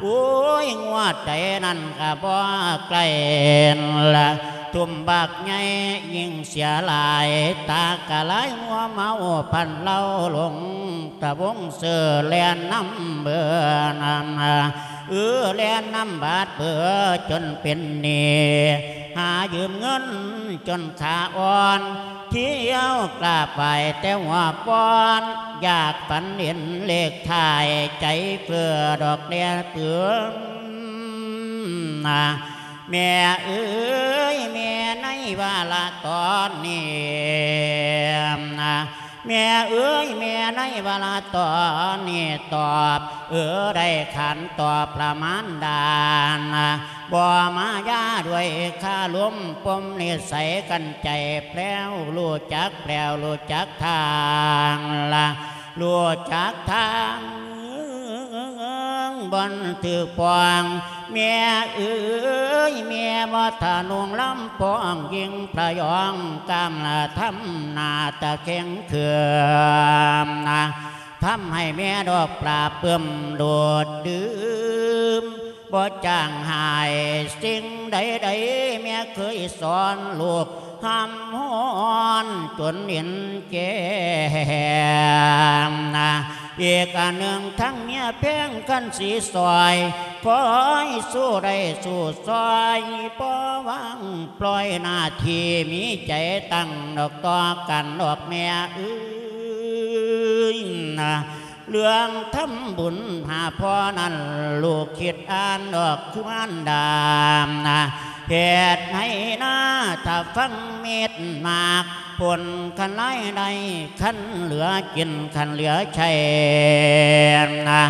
ໂອ້ຍ ງວດໃດນັ້ນກະບໍ່ໃກ້ລະ ທຸ່ມບັກໃຫຍ່ຍິ່ງເສຍຫຼາຍ ຕາກະລາຍມົວເມົາພັນເລົາຫຼົງ ຕະວົງເຊີແລ່ນນຳເບີນຳ ເອີ ແລ່ນນຳບາດເບີຈົນເປັນໜີ້ ຫາຢືມເງິນຈົນຂາອ່ອນ ທ່ຽວກາບໄຫວ້ແຕ່ຫົວປ່ອນ ຢາກຝັນເຫັນເລກທ້າຍ ໃຈເຟີ້ດອກແດ່ເປືອນ ນະ ແມ່ເອີຍ ແມ່ໃນວາລະຕອນນີ້ ນະ ແມ່ເອີຍ ແມ່ໃນວາລະຕອນນີ້ຕອບ ເອີ ໄດ້ຂັນຕອບລະມານດານະ ບໍ່ມາຢາດ້ວຍຄາລົມປົມນິໄສກັນໃຈແພລວ ຮູ້ຈັກແພລວ ຮູ້ຈັກທາງລະ ຮູ້ຈັກທາງ ບ່ອນຖືກປ້ອງ ແມ່ເອີຍ ແມ່ບໍ່ທະນຸງລຳປ້ອງ ຍິ່ງພະຍອງກາມລະທຳໜ້າຕາເຄັ່ງເຂືອມນະ ທຳໃຫ້ແມ່ດອກປາບປຶ້ມໂດດດື່ມ ບໍ່ຈາງຫາຍສິ່ງໃດໆ ແມ່ເຄີຍສອນລູກ ຮ່ຳຮ້ອນຈົນເຫັນແຈ້ງນະ ອີກອັນໜຶ່ງທັງເມຍແພງຄັນສີຊອຍ ຄອຍສູ້ໄດ້ສູ້ຊອຍ ບໍ່ວາງປ່ອຍໜ້າທີ່ ມີໃຈຕັ້ງດອກຕໍ່ກັນດອກແມ່ເອີຍນະ ເລື່ອງທຳບຸນຫາພໍ່ນັ້ນ ລູກຄິດອ່ານດອກຄືມານດາ ເຮັດໃຫ້ນາ ຖ້າຟັງມິດມາກ ຜົນຄັນລາຍໄດ້ ຄັນເຫຼືອກິນ ຄັນເຫຼືອໃຊ້ນະ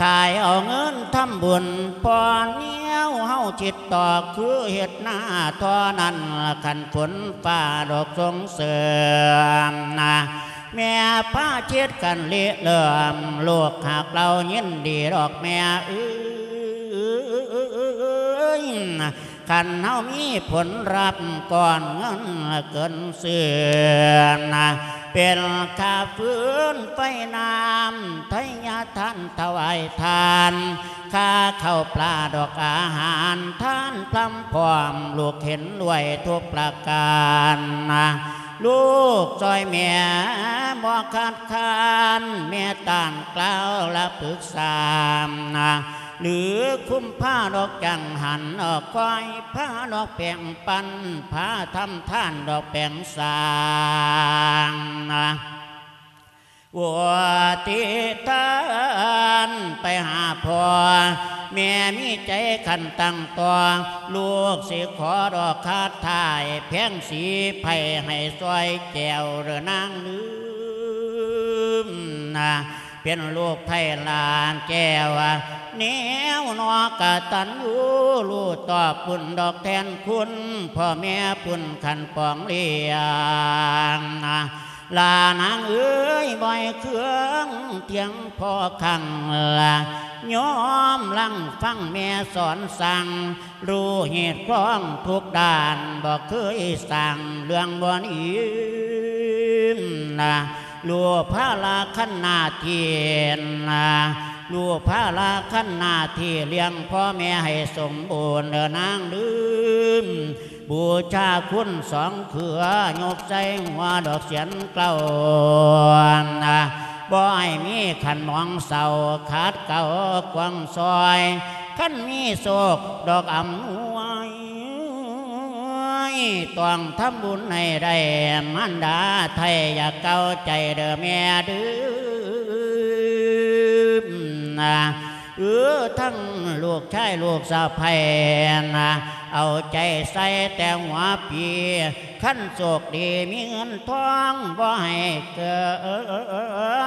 ຂາຍເອົາເງິນທຳບຸນ ພໍແນວເຮົາຄິດຕໍ່ ຄືເຮັດນາທໍ່ນັ້ນ ຄັນຝົນຟ້າດອກສົ່ງເສີມນະ ແມ່ພາເຮັດກັນລິເລີ່ມ ລູກຮັກເຮົາຍິນດີດອກແມ່ເອີຍ. ຄັນເຮົາມີຜົນລັບ ກ້ອນເງິນເກີນເຊື່ອນະ ເປັນຄ່າຟືນໄຟນ້ຳ ໄທຍະທານຖວາຍທານ ຄ່າເຂົ້າປາດອກອາຫານ ທານພຣຳພ້ອມ ລູກເຫັນດ້ວຍທຸກປະການນະ ລູກຊ່ອຍແມ່ບໍ່ຂາດຄານ ແມ່ຕ້ານກ່າວລະປຶກສານະ ຫຼືຄຸມພາດອກຈັງຫັນ ອອກຄອຍພາດອກແບ່ງປັນ ພາທຳທານດອກແບ່ງສາງນະ ໂອ ທິທານໄປຫາພໍ່ ແມ່ມີໃຈຄັນຕັ້ງຕໍ່ ລູກຊິຂໍດອກຄາຖາ ແພງສີໄພ້ໃຫ້ຊ່ອຍແກ້ວເດີນາງລືມນະ ເປັນລູກໃຜຫຼານແກ້ວ ແນວນອກກະຕັນຍູ ຮູ້ຕອບບຸນດອກແທນຄຸນ ພໍ່ແມ່ປຸນຄັນປອງລ້ຽງ ຫຼ້ານາງເອີຍ ບໍ່ໃຫ້ເຄືອງທຽງພໍ່ຄັງ ລະຍອມລັງຟັງແມ່ສອນສັ່ງ ຮູ້ເຫດຄວາມທຸກດ້ານ ບໍ່ເຄີຍສ້າງເລື່ອງບໍ່ດີນະ ຮູ້ພາລະຄັນໜ້າທີ່ນະ ຮູ້ພາລະຄັນໜ້າທີ່ລ້ຽງພໍ່ແມ່ໃຫ້ສົມບູນເດີນາງລືມ ບູຊາຄຸນສອງເຄືອ ຍົກໃສ່ຫົວດອກສຽນເກົ້ານະ ບໍ່ໃຫ້ມີຄັນໝອງເສົ້າ ຂາດເກົ້າກວາງຊອຍ ຄັນມີໂຊກດອກອຳນວຍ ຕ້ອງທຳບຸນໃຫ້ໄດ້ ມານດາໄທຢ່າເກົ້າໃຈເດີແມ່ດືມນະ ເອີ ທັງລູກຊາຍລູກສະໃພ້ນະ ເອົາໃຈໃສ່ແຕ່ຫົວປີ ຄັນໂຊກດີມີເງິນທອງ ບໍ່ໃຫ້ເກີ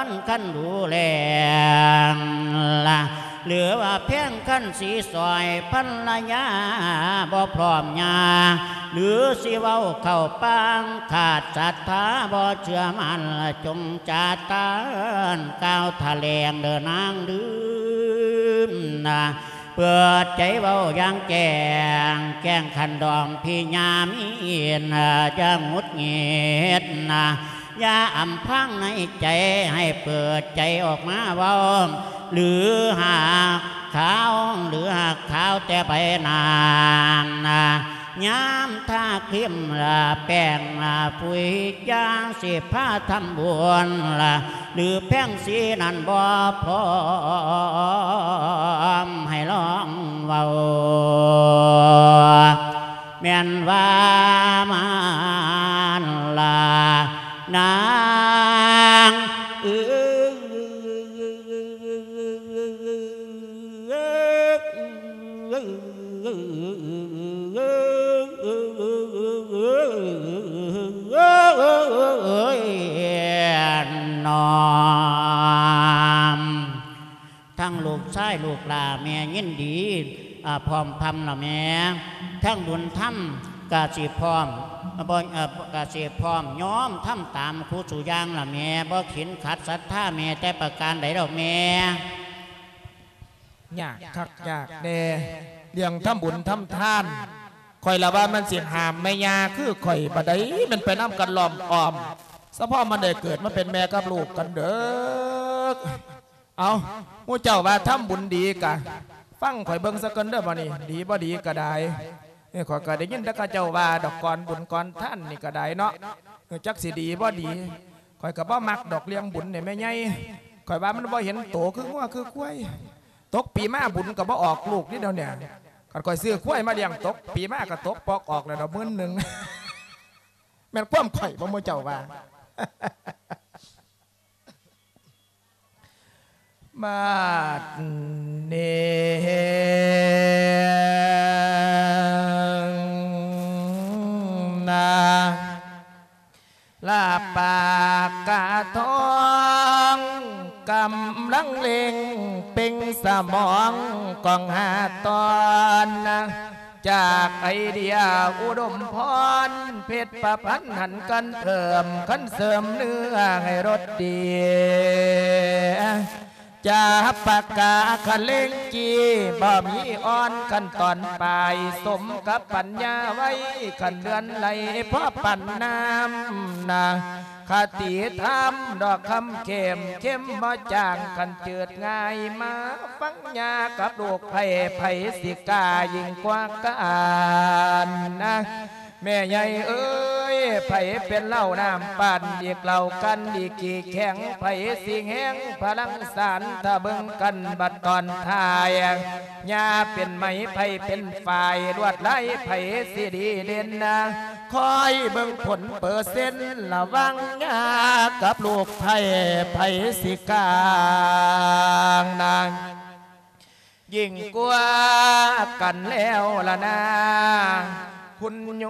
ນຄັນດູແລລະ ຫຼືວ່າແພງຄັນສີສອຍພັນລະຍາ ບໍ່ພ້ອມຍາ ຫຼືຊິເວົ້າເຂົ້າປາງ ຂາດສັດທາບໍ່ເຊື່ອໝັ້ນ ຈົ່ງຈາຕານກ່າວຖະແຫຼງເດີນາງລືມນະ ເປີດໃຈເວົ້າຢ່າງແຈ້ງ ແກ້ງຂັນດອງພິຍາມີນ ຢ່າຫງຸດຫງິດນະ ຢ່າອຳພາງໃນໃຈ ໃຫ້ເປີດໃຈອອກມາເວົ້າ ຫຼືຫາກຂາວ ຫຼືຫາກຂາວແຕ່ໃບໜ້ານະ ຍາມທາຄຣີມລະແປ້ງລະປຸຍ ຢ່າງຊິພາທຳບຸນລະ ຫຼືແພງສີນັ້ນບໍ່ພ້ອມໃຫ້ລອງເວົ້າ ແມ່ນວ່າມານລະນາງເອີຍ. ນ້ອມ ທັງລູກຊາຍລູກຫຼ້າແມ່ຍິນດີ ອາ ພ້ອມພຳລະແມ່ ທັງບຸນທຳກະຊິພ້ອມ ອາ ບໍ່ ເອີ ກະຊິພ້ອມຍອມທຳຕາມຄູ່ສູ່ຢ່າງລະແມ່ ບໍ່ຂິນຂັດສັດທາແມ່ແຕ່ປະການໃດດອກແມ່. ຍາກຄັກຍາກແນ່ ເລື່ອງທຳບຸນທຳທານ ຂ້ອຍລະວ່າມັນຊິຫ້າມແມ່ຍ່າຄືຂ້ອຍ ບາດໃດແມ່ນໄປນຳກັນລ້ອມອ້ອມ ສະເພາະມັນໄດ້ເກີດມາເປັນແມ່ກັບລູກກັນເດີ. ເອົ້າ ໝູ່ເຈົ້າວ່າທຳບຸນດີກະ ຟັງຂ້ອຍເບິ່ງຊະກ່ອນເດີ ບາດນີ້ ດີບໍ່ດີກະໄດ້. ເອີ ຂ້ອຍກະໄດ້ຍິນແຕ່ເຂົາເຈົ້າວ່າດອກ ກ່ອນບຸນກ່ອນທານນີ້ກະໄດ້ເນາະ ເອີ ຈັກຊິດີບໍ່ດີ. ຂ້ອຍກະບໍ່ມັກດອກເລື່ອງບຸນນີ້ແມ່ໃຫຍ່ ຂ້ອຍວ່າມັນບໍ່ເຫັນໂຕຄືງົວຄືຄວາຍ. ຕົກປີມາບຸນກະບໍ່ອອກລູກເດດຽວນີ້ ຄັນຂ້ອຍຊື້ຄວາຍມາລ້ຽງ ຕົກປີມາກະຕົກປອກອອກແລ້ວດອກ ໝື່ນໜຶ່ງ. ແມ່ນຄວາມຂ້ອຍບໍ່ ໝູ່ເຈົ້າວ່າ. ບາດນີ້ນະ ມອງກອງຫ້າຕອນ ຈາກໄອເດຍອຸດົມພອນ ເພັດປະພັນຫັນກັນເພີ່ມ ຄັນເສີມເນື້ອໃຫ້ລົດດີ ຈາປາກາຄະເລັງກີ ບໍ່ມີອ່ອນຂັ້ນຕອນປາຍ ສົມກັບປັນຍາໄວ ຄັນເດືອນໄຫຼພໍປານນ້ຳນາ ຄະຕິທຳດອກຄຳເຂັ້ມ ເຂັ້ມບໍ່ຈາງ ຄັນຈືດງ່າຍ ມາຟັງຍາກັບລູກໃຜ ໃຜຊິກ້າຍິ່ງກວ່າກັນນາ ແມ່ໃຫຍ່ເອີຍ ໃຜເປັນເຫຼົ້ານ້ຳປັ່ນ ອີກເຫຼົ້າກັນ ອີກຂີ້ແຂງ ໃຜຊິແຮງພະລັງສານ ຖ້າເບິ່ງກັນບັດຕອນທ້າຍ ຍາເປັນໄໝ ໃຜເປັນຝ້າຍ ລວດລາຍ ໃຜຊິດີເດັ່ນນາ ຄອຍເບິ່ງຜົນເປີເຊັນ ລະຫວ່າງຍາກັບລູກໃຜ ໃຜຊິກາງນາ ຍິ່ງກວ່າກັນແລ້ວລະນາ ຄຸນໂຍ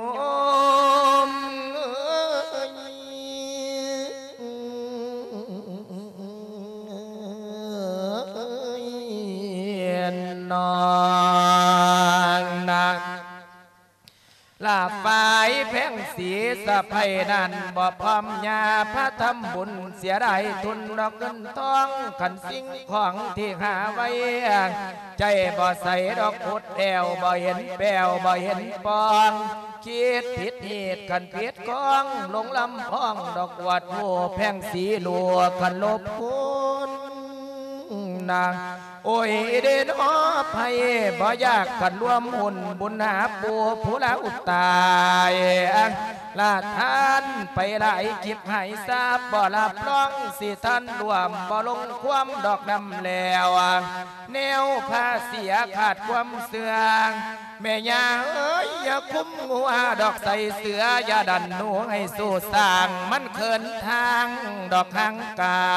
ມເອີຍ ນ້ອງນາງ ລາຝ້າຍແພງສີສະໃພນັ້ນ ບໍ່ພ້ອມຍາພາທຳບຸນ ເສຍດາຍທຶນດອກເງິນທອງ ຄັນສິ່ງຂອງທີ່ຫາໄວ້ ໃຈບໍ່ໃສດອກພຸດແອວ ບໍ່ເຫັນແປວ ບໍ່ເຫັນປອງ ຄິດຜິດຮີດ ຄັນຜິດຂອງ ຫຼົງລຳພອງ ດອກອວດຮູ້ແພງສີຫຼວງ ຄັນລົບຄຸນນາ ໂອ້ຍເດນໍ ໃຜບໍ່ຢາກກັນລວມຮຸ່ນ ບຸນຫາປູ່ຜູ້ລາວຕາຍ ລະທ່ານໄປຫຼາຍກິບຫາຍຊາບ ບໍ່ຮັບຮອງຊິທ່ານລວມ ບໍ່ລົງຄວາມດອກນຳແລ້ວ ແນວພາເສຍຂາດຄວາມເຊື່ອ ແມ່ຍ່າເອີຍ ຢ່າຄຸມງົວດອກໃສ່ເສືອ ຢ່າດັນໜູໃຫ້ສູ້ສ້າງ ມັນເຂີນທາງດອກຫ່າງກາ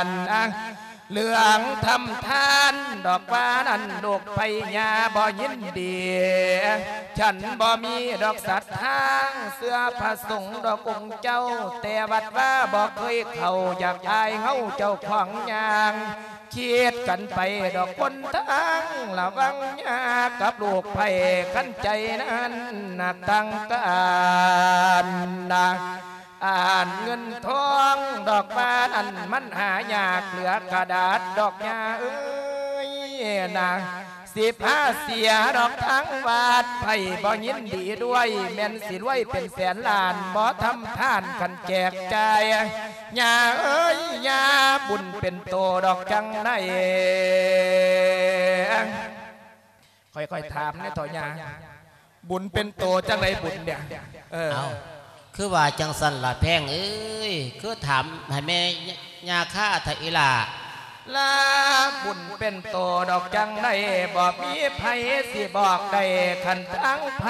ນ ເລື່ອງທຳທານດອກວ່ານັ້ນ ລູກໃຜຍ່າບໍ່ຍິນດີ ສັນບໍ່ມີດອກສັດທາງ ເຊື່ອພະສົງດອກອົງເຈົ້າ ແຕ່ວັດວາບໍ່ເຄີຍເຂົ້າ ຢາກອາຍເຮົາເຈົ້າຂອງຍ່າງ ຄິດກັນໄປດອກຄົນທາງ ລະວັງຍາກັບລູກໃຜ ຄັນໃຈນັ້ນໜັກທາງການນາ ອ່ານເງິນທອງດອກວ່ານັ້ນ ມັນຫາຍາກເຫຼືອກະດາດດອກຍ່າເອີຍນາ ຊິພາເສຍດອກທາງວັດ ໃຜບໍ່ຍິນດີດ້ວຍ ແມ່ນຊິລວຍເປັນແສນລ້ານ ບໍ່ທຳທານຄັນແຈກຈ່າຍ ຍ່າເອີຍ ຍ່າບຸນເປັນໂຕດອກຈັ່ງໃດ ຄ່ອຍໆຖາມແດ່ເຖົ້າຍ່າ ບຸນເປັນໂຕຈັ່ງໃດບຸນເນຍ ເອີ ເອົ້າ ຄືວ່າຈັ່ງຊັ້ນລະແພງເອີຍ ຄືຖາມໃຫ້ແມ່ຍ່າຄາເຖາະອີ່ຫຼ້າ ລະບຸນເປັນໂຕດອກຈັ່ງໃດ ບໍ່ມີໃຜຊິບອກໄດ້ ຄັນທາງໃຜ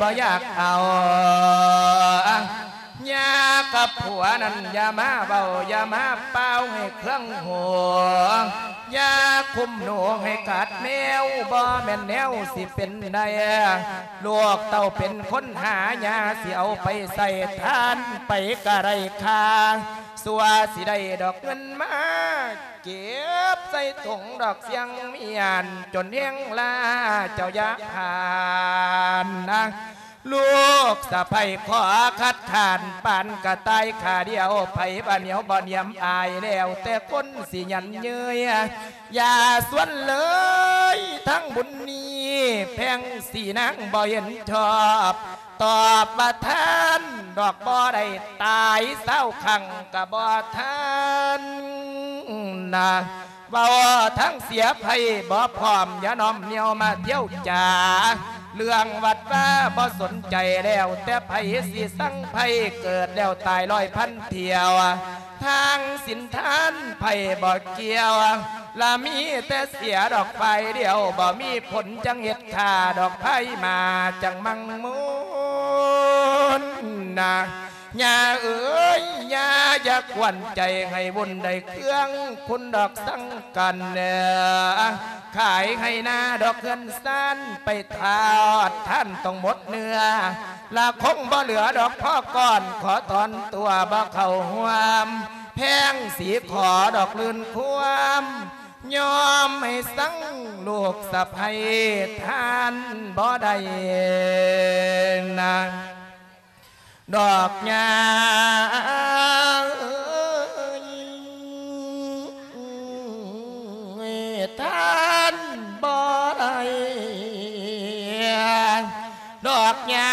ບໍ່ຢາກເອົາ ຍ່າກັບຜົວນັ້ນຢ່າມາເວົ້າ ຢ່າມາປ່າວໃຫ້ເຄືອງຫູ ຢ່າຄຸມໜູໃຫ້ກັດແມວ ບໍ່ແມ່ນແນວຊິເປັນໄດ້ ລູກເຕົ້າເປັນຄົນຫາ ຍ່າຊິເອົາໄປໃຊ້ ທ່ານໄປກະໄດ້ຄ່າ ຊົ່ວຊິໄດ້ດອກເງິນມາ ເກັບໃສ່ຖົງດອກສຽງມຽນ ຈົນແຮງລາເຈົ້າຢ່າຜ່ານນາ ລູກສະໃພ້ຂໍຄັດຄ້ານ ປານກະຕ່າຍຂາດຽວ ໃຜວ່າໜຽວບໍ່ໜຽມອາຍ ແລ້ວແຕ່ຄົນຊິຫຍັນເຍີ້ຍ ຢ່າຊວນເລີຍທາງບຸນນີ້ ແພງສີນາງບໍ່ເຫັນຊອບ ຕອບວ່າທ່ານດອກບໍ່ໄດ້ຕາຍ ຊາວຄັ້ງກະບໍ່ທັນນາ ເວົ້າທາງເສຍໃຜບໍ່ພ້ອມ ຢ່ານ້ອມນຽວມາທ່ຽວຈາ ເລື່ອງວັດວາບໍ່ສົນໃຈ ແລ້ວແຕ່ໃຜຊິສັງໃຜ ເກີດແລ້ວຕາຍຮ້ອຍພັນທ່ຽວ ທາງສິນທານໃຜບໍ່ກ່ຽວ ລະມີແຕ່ເສຍດອກຝ່າຍດຽວ ບໍ່ມີຜົນຈັ່ງເຮັດຂ້າ ດອກພາຍມາຈັ່ງມັງມຸນນາ ຍ່າເອີຍ ຍ່າຢ່າກວນໃຈໃຫ້ວຸ່ນໄດ້ເຄືອງ ຄຸນດອກສັງກັນ ຂາຍໄຮ່ນາດອກເຮືອນຊານ ໄປທອດທານຕ້ອງໝົດເນື້ອ ລະຄົງບໍ່ເຫຼືອດອກພໍກ່ອນ ຂໍຖອນຕົວບໍ່ເຂົ້າຮ່ວມ ແພງສີຂໍດອກລື່ນຄວາມ ຍອມໃຫ້ສັງລູກສະໃພ້ທ່ານບໍ່ໄດ້ນະ ດອກຍາເອີຍ ທ່ານບໍ່ໄດ້ດອກຍາ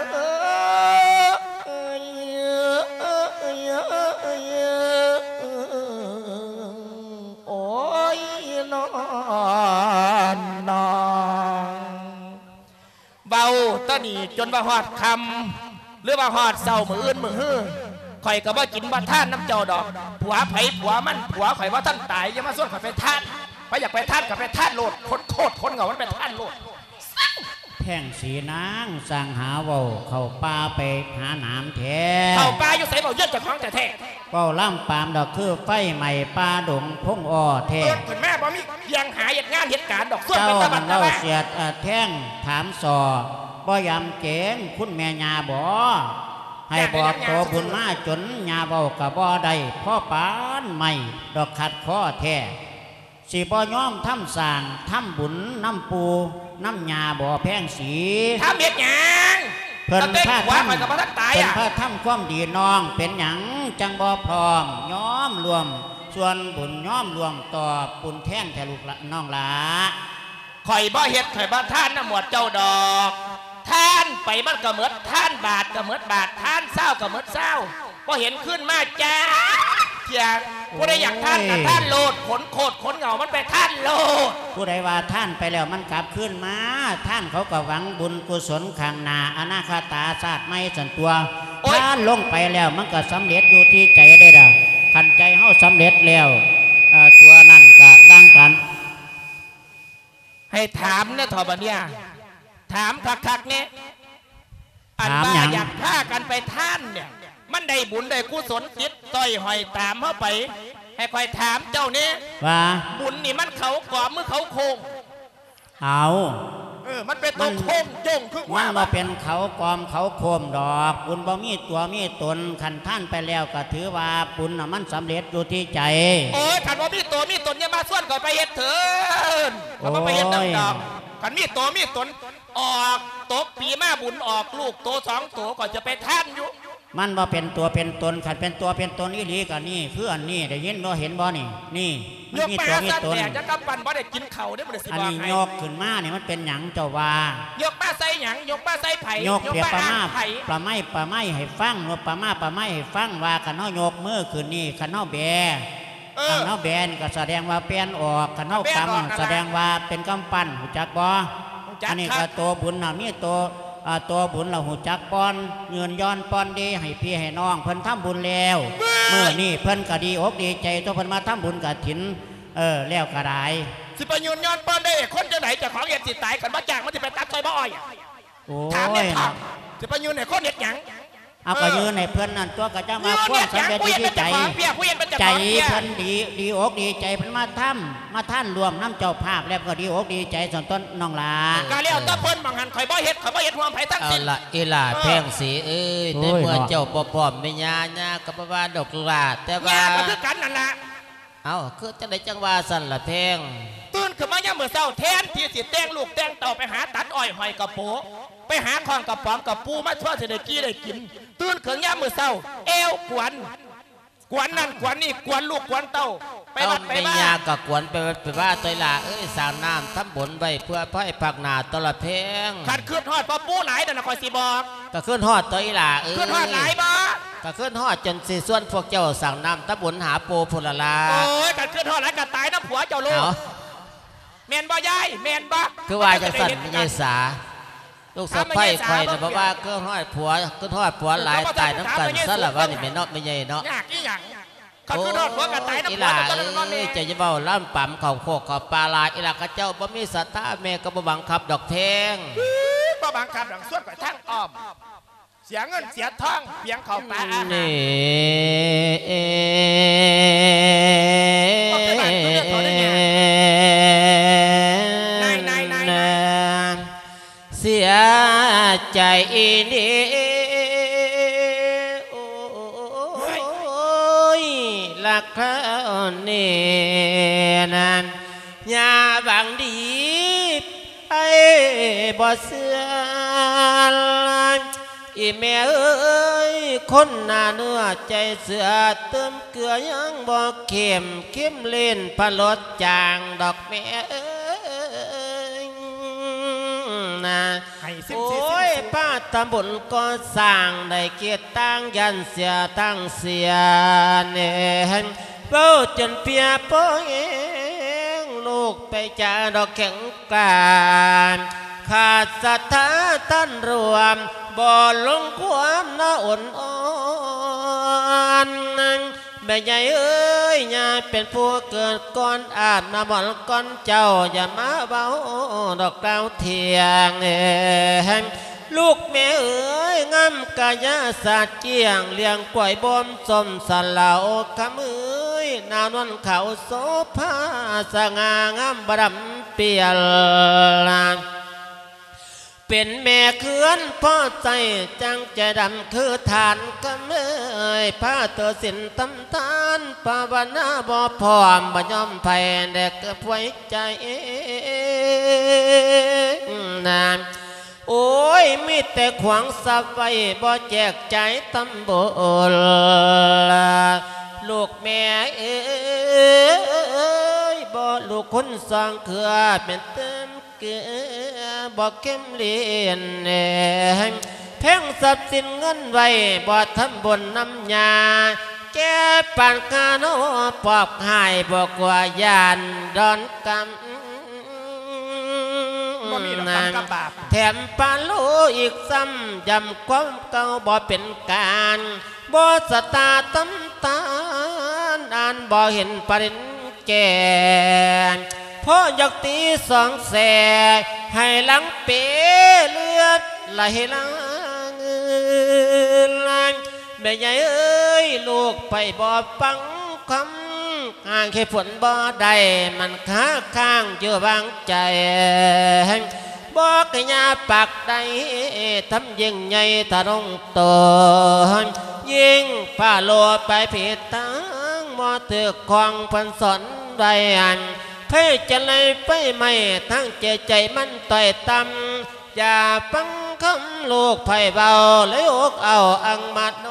ເອີຍ ໂອ້ຍ ນອນ ນ້ອງ ເວົ້າຕານີ້ຈົນວ່າຮອດຄ່ຳ ຫຼືວ່າຮອດເຊົ້າມື້ອື່ນມື້ຮື ຂ້ອຍກໍບໍ່ກິນບໍ່ທານນຳເຈົ້າດອກ. ຜົວໃຜຜົວມັນ ຜົວຂ້ອຍບໍ່ທັນຕາຍ ຢ່າມາຊວນຂ້ອຍໄປທານ. ໃຜຢາກໄປທານກໍໄປທານໂລດ ຂົນໂຄດຂົນເຫງົາມັນໄປທານໂລດ. ແພງສີນາງ ຊ່າງຫາເວົ້າ ເຂົ້າປ່າໄປຫາໜາມແທ້. ເຂົ້າປ່າຢູ່ໃສ ເວົ້າເລື່ອງເຈົ້າຂອງແທ້ໆ. ເວົ້າລຳປາມດອກ ຄືໄຟໄໝ້ປ່າດົງພົງອໍ້ແທ້. ເອີ້ນຂຶ້ນມາບໍ່ມີວຽງຫາເຮັດງານເຮັດການດອກ ຊວນໄປຕະບັດຕະບາ. ເຈົ້ານັ້ນເວົ້າສຽດ ເອີ ແທງຖາມສໍ້ ບໍ່ຢາມເກງຄຸນແມ່ຍ່າບໍ? ໃຫ້ບອກໂຕບຸນມາຈົນຍ່າເວົ້າກໍບໍ່ໄດ້ ພໍປານໄມ້ດອກ ຂັດຄໍແທ້. ຊິບໍ່ຍອມທຳສ້າງທຳບຸນນຳປູ່ນຳຍ່າບໍແພງສີ? ທຳເຮັດຫຍັງ? ເພິ່ນພາທຳ ເພິ່ນພາທຳຄວາມດີນ້ອງ ເປັນຫຍັງຈັ່ງບໍ່ພ້ອມຍອມຮ່ວມສ່ວນບຸນ ຍອມຮ່ວມຕອບບຸນແທນແທ້ລູກຫຼາ ນ້ອງຫຼ້າ? ຂ້ອຍບໍ່ເຮັດ ຂ້ອຍບໍ່ທານນຳໝວດເຈົ້າດອກ. ທານໄປມັນກໍໝົດ ທານບາດກໍໝົດບາດ ທານຊາວກໍໝົດຊາວ ບໍ່ເຫັນຄືນມາຈັກເທື່ອ. ຜູ້ໃດຢາກທານກໍທານໂລດ ຂົນໂຄດຂົນເຫງົາມັນໄປທານໂລດ. ຜູ້ໃດວ່າທານໄປແລ້ວມັນກັບຄືນມາ? ທານເຂົາກໍຫວັງບຸນກຸສົນຂ້າງໜ້າ ອະນາຄະຕາຊາດໃໝ່ຊັ້ນຕົວະ. ໂອ້ຍ ທານລົງໄປແລ້ວມັນກໍສຳເລັດຢູ່ທີ່ໃຈເດ້ດາ. ຄັນໃຈເຮົາສຳເລັດແລ້ວ ເອີ ຕົວນັ້ນກໍຕ່າງກັນ. ໃຫ້ຖາມແດ່ເຖາະບັດເນີ້ຍ ຖາມຄັກໆແດ່. ອັນວ່າຢາກພາກັນໄປທານເນຍ ມັນໄດ້ບຸນໄດ້ກຸສົນຕິດຕ້ອຍຫ້ອຍຕາມເຮົາໄປ. ໃຫ້ຂ້ອຍຖາມເຈົ້າແດ່ ວ່າ ບຸນນີ້ມັນເຂົາກອມ ຫຼື ເຂົາໂຄ້ງ? ເອົາ ເອີ ມັນເປັນໂຕໂຄ້ງໂຢງຄື ມັນບໍ່ເປັນເຂົາກອມເຂົາໂຄ້ງດອກ. ບຸນບໍ່ມີຕົວມີຕົນ ຄັນທານໄປແລ້ວກໍຖືວ່າບຸນນະມັນສຳເລັດຢູ່ທີ່ໃຈ. ໂອ້ຍ ຄັນບໍ່ມີຕົວມີຕົນ ຢ່າມາຊວນຂ້ອຍໄປເຮັດເທີນ ຂ້ອຍບໍ່ໄປເຮັດນຳດອກ. ໂອ້ຍ ຄັນມີຕົວມີຕົນ ອອກຕົກປີມາບຸນອອກລູກໂຕສອງໂຕ ຂ້ອຍຈະໄປທານຢູ່. ມັນບໍ່ເປັນຕົວເປັນຕົນ ຄັນເປັນຕົວເປັນຕົນອີ່ຫຼີກໍນີ້ ຄືອັນນີ້ ໄດ້ຍິນບໍ່ ເຫັນບໍ່ນີ້ ນີ້ ມັນມີຕົວມີຕົນ. ຍົກມາຊັ້ນແຫຼະ ຈັກກຳປັ່ນບໍ່ໄດ້ກິນເຂົ້າເດ້ ບໍ່ໄດ້ຊິບອກໃຫ້. ອັນນີ້ຍົກຂຶ້ນມານີ້ ມັນເປັນຫຍັງເຈົ້າວ່າ? ຍົກມາໃສ່ຫຍັງ? ຍົກມາໃສ່ໃຜ? ຍົກປະມາ ປະໄມ້ ປະໄມ້ໃຫ້ຟັງ ຍົກປະມາ ປະໄມ້ໃຫ້ຟັງ ວ່າຄັນເຮົາຍົກມືຂຶ້ນນີ້ ຄັນເຮົາແບ ເອີ ຄັນເຮົາແບນີ້ກໍສະແດງວ່າແປ່ນອອກ ຄັນເຮົາກຳສະແດງວ່າເປັນກຳປັ້ນ ຮູ້ຈັກບໍ່? ຮູ້ຈັກ. ອັນນີ້ກໍໂຕບຸນນະ ມີໂຕ ເອີ ໂຕບຸນລະຮູ້ຈັກປ່ອນ ຍືນຢ່ອນປ່ອນດີໃຫ້ພີ່ໃຫ້ນ້ອງເພິ່ນທຳບຸນແລ້ວ. ເວີ້ຍ ມື້ນີ້ເພິ່ນກໍດີອົກດີໃຈຕົວະ ເພິ່ນມາທຳບຸນກະຖິນ ເອີ ແລ້ວກໍໄດ້. ຊິໄປຍືນຍ້ອນປ່ອນໄດ້ຄົນຈັ່ງໃດ? ເຈົ້າຂອງເຮັດຊິຕາຍ ຄັນບໍ່ຈ້າງມັນຊິໄປຕັດຊ່ອຍບໍ່ອ້ອຍ. ໂອ້ຍ ຖາມແດ່ເຖາະ ເນາະ ຊິໄປຍືນໃຫ້ຄົນເຮັດຫຍັງ? ເອົາ ເອີ ກໍຍືນໃຫ້ເພິ່ນນັ້ນຕົວະ ກໍຈັ່ງວ່າຄວາມສຳເລັດຢູ່ທີ່ໃຈ ໃຈເພິ່ນດີ ດີອົກດີໃຈ ເພິ່ນມາທຳ ມາທານຮ່ວມນຳເຈົ້າພາບ ແລ້ວກໍດີອົກດີໃຈຊັ້ນຕົວະ ນ້ອງຫຼ້າ. ກໍແລ້ວແຕ່ເພິ່ນ ໝ່ອງຫັ້ນຂ້ອຍບໍ່ເຮັດ ຂ້ອຍບໍ່ເຮັດຮ່ວມໃຜທັງສິ້ນ. ເອົາລະ ອີຫຼ້າແພງສີເອີຍ ເອີ ໂອ້ຍ ໃນເມື່ອເຈົ້າບໍ່ພ້ອມ ແມ່ຍ່າ ຍ່າກໍບໍ່ວ່າດອກຫຼ້າ ແຕ່ວ່າ ຍ່າກໍຄືກັນນັ້ນລະ. ເອົ້າ ຄືຈັ່ງໃດຈັ່ງວ່າຊັ້ນລະແພງ? ຕື່ນຂຶ້ນມາຍາມມື້ເຊົ້າ ແທນທີ່ຊິແຕ່ງລູກແຕ່ງເຕົ້າ ໄປຫາຕັດອ້ອຍຫ້ອຍກະໂປ ໄປຫາຄ້ອນກະປອມກະປູ ມາຊວນຊິໄດ້ກີ່ໄດ້ກິນ. ຕື່ນຂຶ້ນຍາມມື້ເຊົ້າ ແອວກວນ ກວນນັ້ນກວນນີ້ ກວນລູກກວນເຕົ້າ ໄປວັດໄປວາ. ເອົ້າ ແມ່ຍ່າກໍກວນໄປວັດໄປວາຕົວະອີຫຼ້າເອີຍ ສ້າງນ້ຳທຳບຸນໄວ້ເພື່ອພາຍພາກໜ້າຕົວະລະແພງ. ຄັນຄຶດຮອດພໍ່ປູຫຼາຍນັ້ນນະ ຂ້ອຍຊິບອກ. ກໍຄຶດຮອດຕົວະອີຫຼ້າເອີຍ. ຄຶດຮອດຫຼາຍບໍ່? ກໍຄຶດຮອດຈົນຊິຊວນພວກເຈົ້າສ້າງນ້ຳທຳບຸນຫາປູພຸ້ນລະລະ. ໂອ້ຍ ຄັນຄຶດຮອດຫຼາຍກໍຕາຍນຳຜົວເຈົ້າໂລດ. ເອົ້າ ແມ່ນບໍ່ຍາຍ? ແມ່ນບໍ່? ຄືວ່າຈັ່ງຊັ້ນ ແມ່ຍາຍສາ ລູກສະໃພ້ຂ້ອຍນະ ເພາະວ່າຄຶດຮອດຜົວ ຄຶດຮອດຜົວຫຼາຍ ຕາຍນຳກັນຊັ້ນລະວ່ານີ້ແມ່ເນາະ ແມ່ໃຫຍ່ເນາະ. ຍາກອີ່ຫຍັງ? ຄັນຄຶດຮອດຜົວກໍຕາຍນຳຜົວ. ອີຫຼ້າເອີຍ ເຈົ້າຢ່າເວົ້າລຳປຳເຂົ້າໂຄກເຂົ້າປ່າຫຼາຍ ອີຫຼ້າ ຂະເຈົ້າບໍ່ມີສັດທາ ແມ່ກໍບໍ່ບັງຄັບດອກແພງ. ບໍ່ບັງຄັບດອກ ຊວນຂ້ອຍທາງອ້ອມ ເສຍເງິນເສຍທອງ ປຽງເຂົ້າປາອາຫານ. ນາຍ ນາຍ ນາຍ ນາຍ ເສຍໃຈອີ່ຫຼີ ໂອ້ຍ ລະ ກຄາວນີ້ນັ້ນ ຍ່າຫວັງດີໄປບໍ່ເຊື່ອ ອີແມ່ເອີຍ ຄົນໜ້າເນື້ອໃຈເສືອ ຕື່ມເກືອຍັງບໍ່ເຂັ້ມ ເຄັມຫຼິ້ນພະລົດຈາງດອກແມ່ເອີຍນະ. ໃຫ້ສິບສີ່ ໂອ້ຍ ສິບສີ່ ພາທຳບຸນກໍ່ສ້າງ ໄດ້ເກດຕ່າງ ຢ້ານເສຍທັງເສຍແນງ ເວົ້າຈົນເພຍພໍແຮງ ລູກໄປຈາດອກແຂງການ ຂາດສັດທາທ່ານຮ່ວມ ບໍ່ລົງຄວາມນະອົນອ່ອນ. ແມ່ໃຫຍ່ເອີຍ ຍ່າເປັນຜູ້ເກີດກ່ອນ ອາບນ້ຳມອນກ່ອນເຈົ້າ ຢ່າມາເວົ້າດອກກ່າວທ່ຽງແຮງ ລູກແມ່ເອີຍ ງາມກາຍະສາດກ້ຽງ ລ້ຽງກວາຍບົ່ມສົ້ມສະເຫຼົາ ຄຳເອີຍ ໜາວນວນຂາວໂສພາ ສະຫງ່າງາມບະດຳປ່ຽນ ເປັນແມ່ເຮືອນພໍໃຊ້ ຈັ່ງໃຈດຳຄືທານ ຄຳເອີຍ ພາຖືສິນທຳທານ ພາວະນາບໍ່ພ້ອມ ບໍ່ຍອມໃຜ ແດ່ເກີບໄວ້ໃຈນາ. ໂອ້ຍ ມີແຕ່ຂວາງຊັບໄວ້ ບໍ່ແຈກຈ່າຍທຳບຸນ ລູກແມ່ເອີຍ ບໍ່ລູກຄົນສອງເຄືອ ແມ່ນຕື່ມ ເກືອບໍ່ເຄັມຫຼິ້ນແຮງ ແພງຊັບສິນເງິນໄວ້ ບໍ່ທຳບຸນນຳຍາ ແກ່ປານກາໂນປອບຫາຍ ບໍ່ກົວຢ້ານດອນກຳ ບໍ່ມີດອກກຳກັບບາບ ແຖມປາໂລອີກຊ້ຳ ຢ້ຳຄວາມເກົ່າບໍ່ເປັນການ ບໍ່ສະຕາຕຳຕານ ອ່ານບໍ່ເຫັນປະເດັນ ແກ່ ພໍ່ຢາກຕີສອງແສ ໃຫ້ຫຼັງເປເລືອດໄຫຼຫຼັງ ແມ່ໃຫຍ່ເອີຍ ລູກໄປບໍ່ຟັງຄຳ ຫາເຫດຜົນບໍ່ໄດ້ ມັນຄາຄ້າງຢູ່ຫວ່າງໃຈ ບໍ່ກະຍາປາກໃດ ທຳຍິ່ງໃຫຍ່ທະລົງໂຕ ຍິ່ງພາໂລໄປຜິດທາງ ບໍ່ຖືກຂອງເພິ່ນສອນໄວ້ ໃຜຈະໄລ່ໄຟໄໝ້ ທັງຈິດໃຈມັນຕ້ອຍຕ່ຳ ຢ່າຟັງຄຳລູກໃຜເວົ້າ ເລີຍອົກເອົາອັງມາໂນ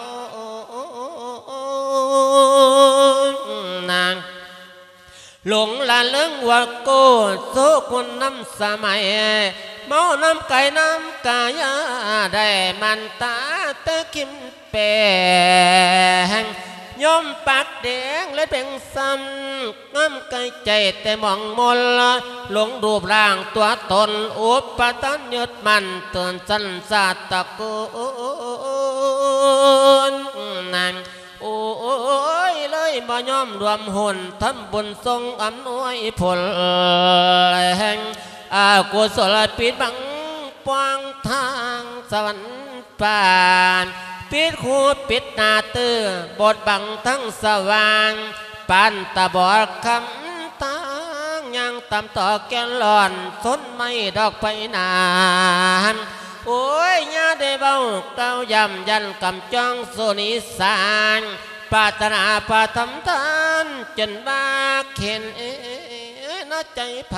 ນາງ ຫຼົງລະເລີງວ່າໂກ ໂຊຄຸນນຳສະໄໝ ເມົານຳກາຍນຳກາຍາ ໄດ້ມັນຕາແຕ່ຄິມແປງ ຍອມປາກແດງ ແລະເປັນຊ້ຳ ງາມກາຍໃຈແຕ່ໝອງມົນ ຫຼົງຮູບຮ່າງຕົວຕົນ ອຸປະທານຍຶດໝັ້ນ ເຕີນສັນຊາດຕະໂກນ ໂອ້ຍ ເລີຍບໍ່ຍອມລວມຮຸ້ນ ທຳບຸນສົ່ງອຳນວຍຜົນແຮງ ອາກຸສົລປິດບັງ ປວາງທາງສະຫວັນປານ ປິດຫູປິດໜ້າຕື້ ບົດບັງທັງສະຫວ່າງ ປານຕາບອດຄຳທາງ ຍ່າງຕາມຕໍ່ແກ່ນລອນ ຊົນໄມ້ດອກໄຟນານ ໂອ້ຍ ຢ່າໄດ້ເວົ້າກ່າວຢ້ຳ ຢ້ານກຳຈ້ອງສຸນິສານ ປາດຖະໜາພະທຳທານ ຈົນວ່າເຫັນເອນະໃຈໃຜ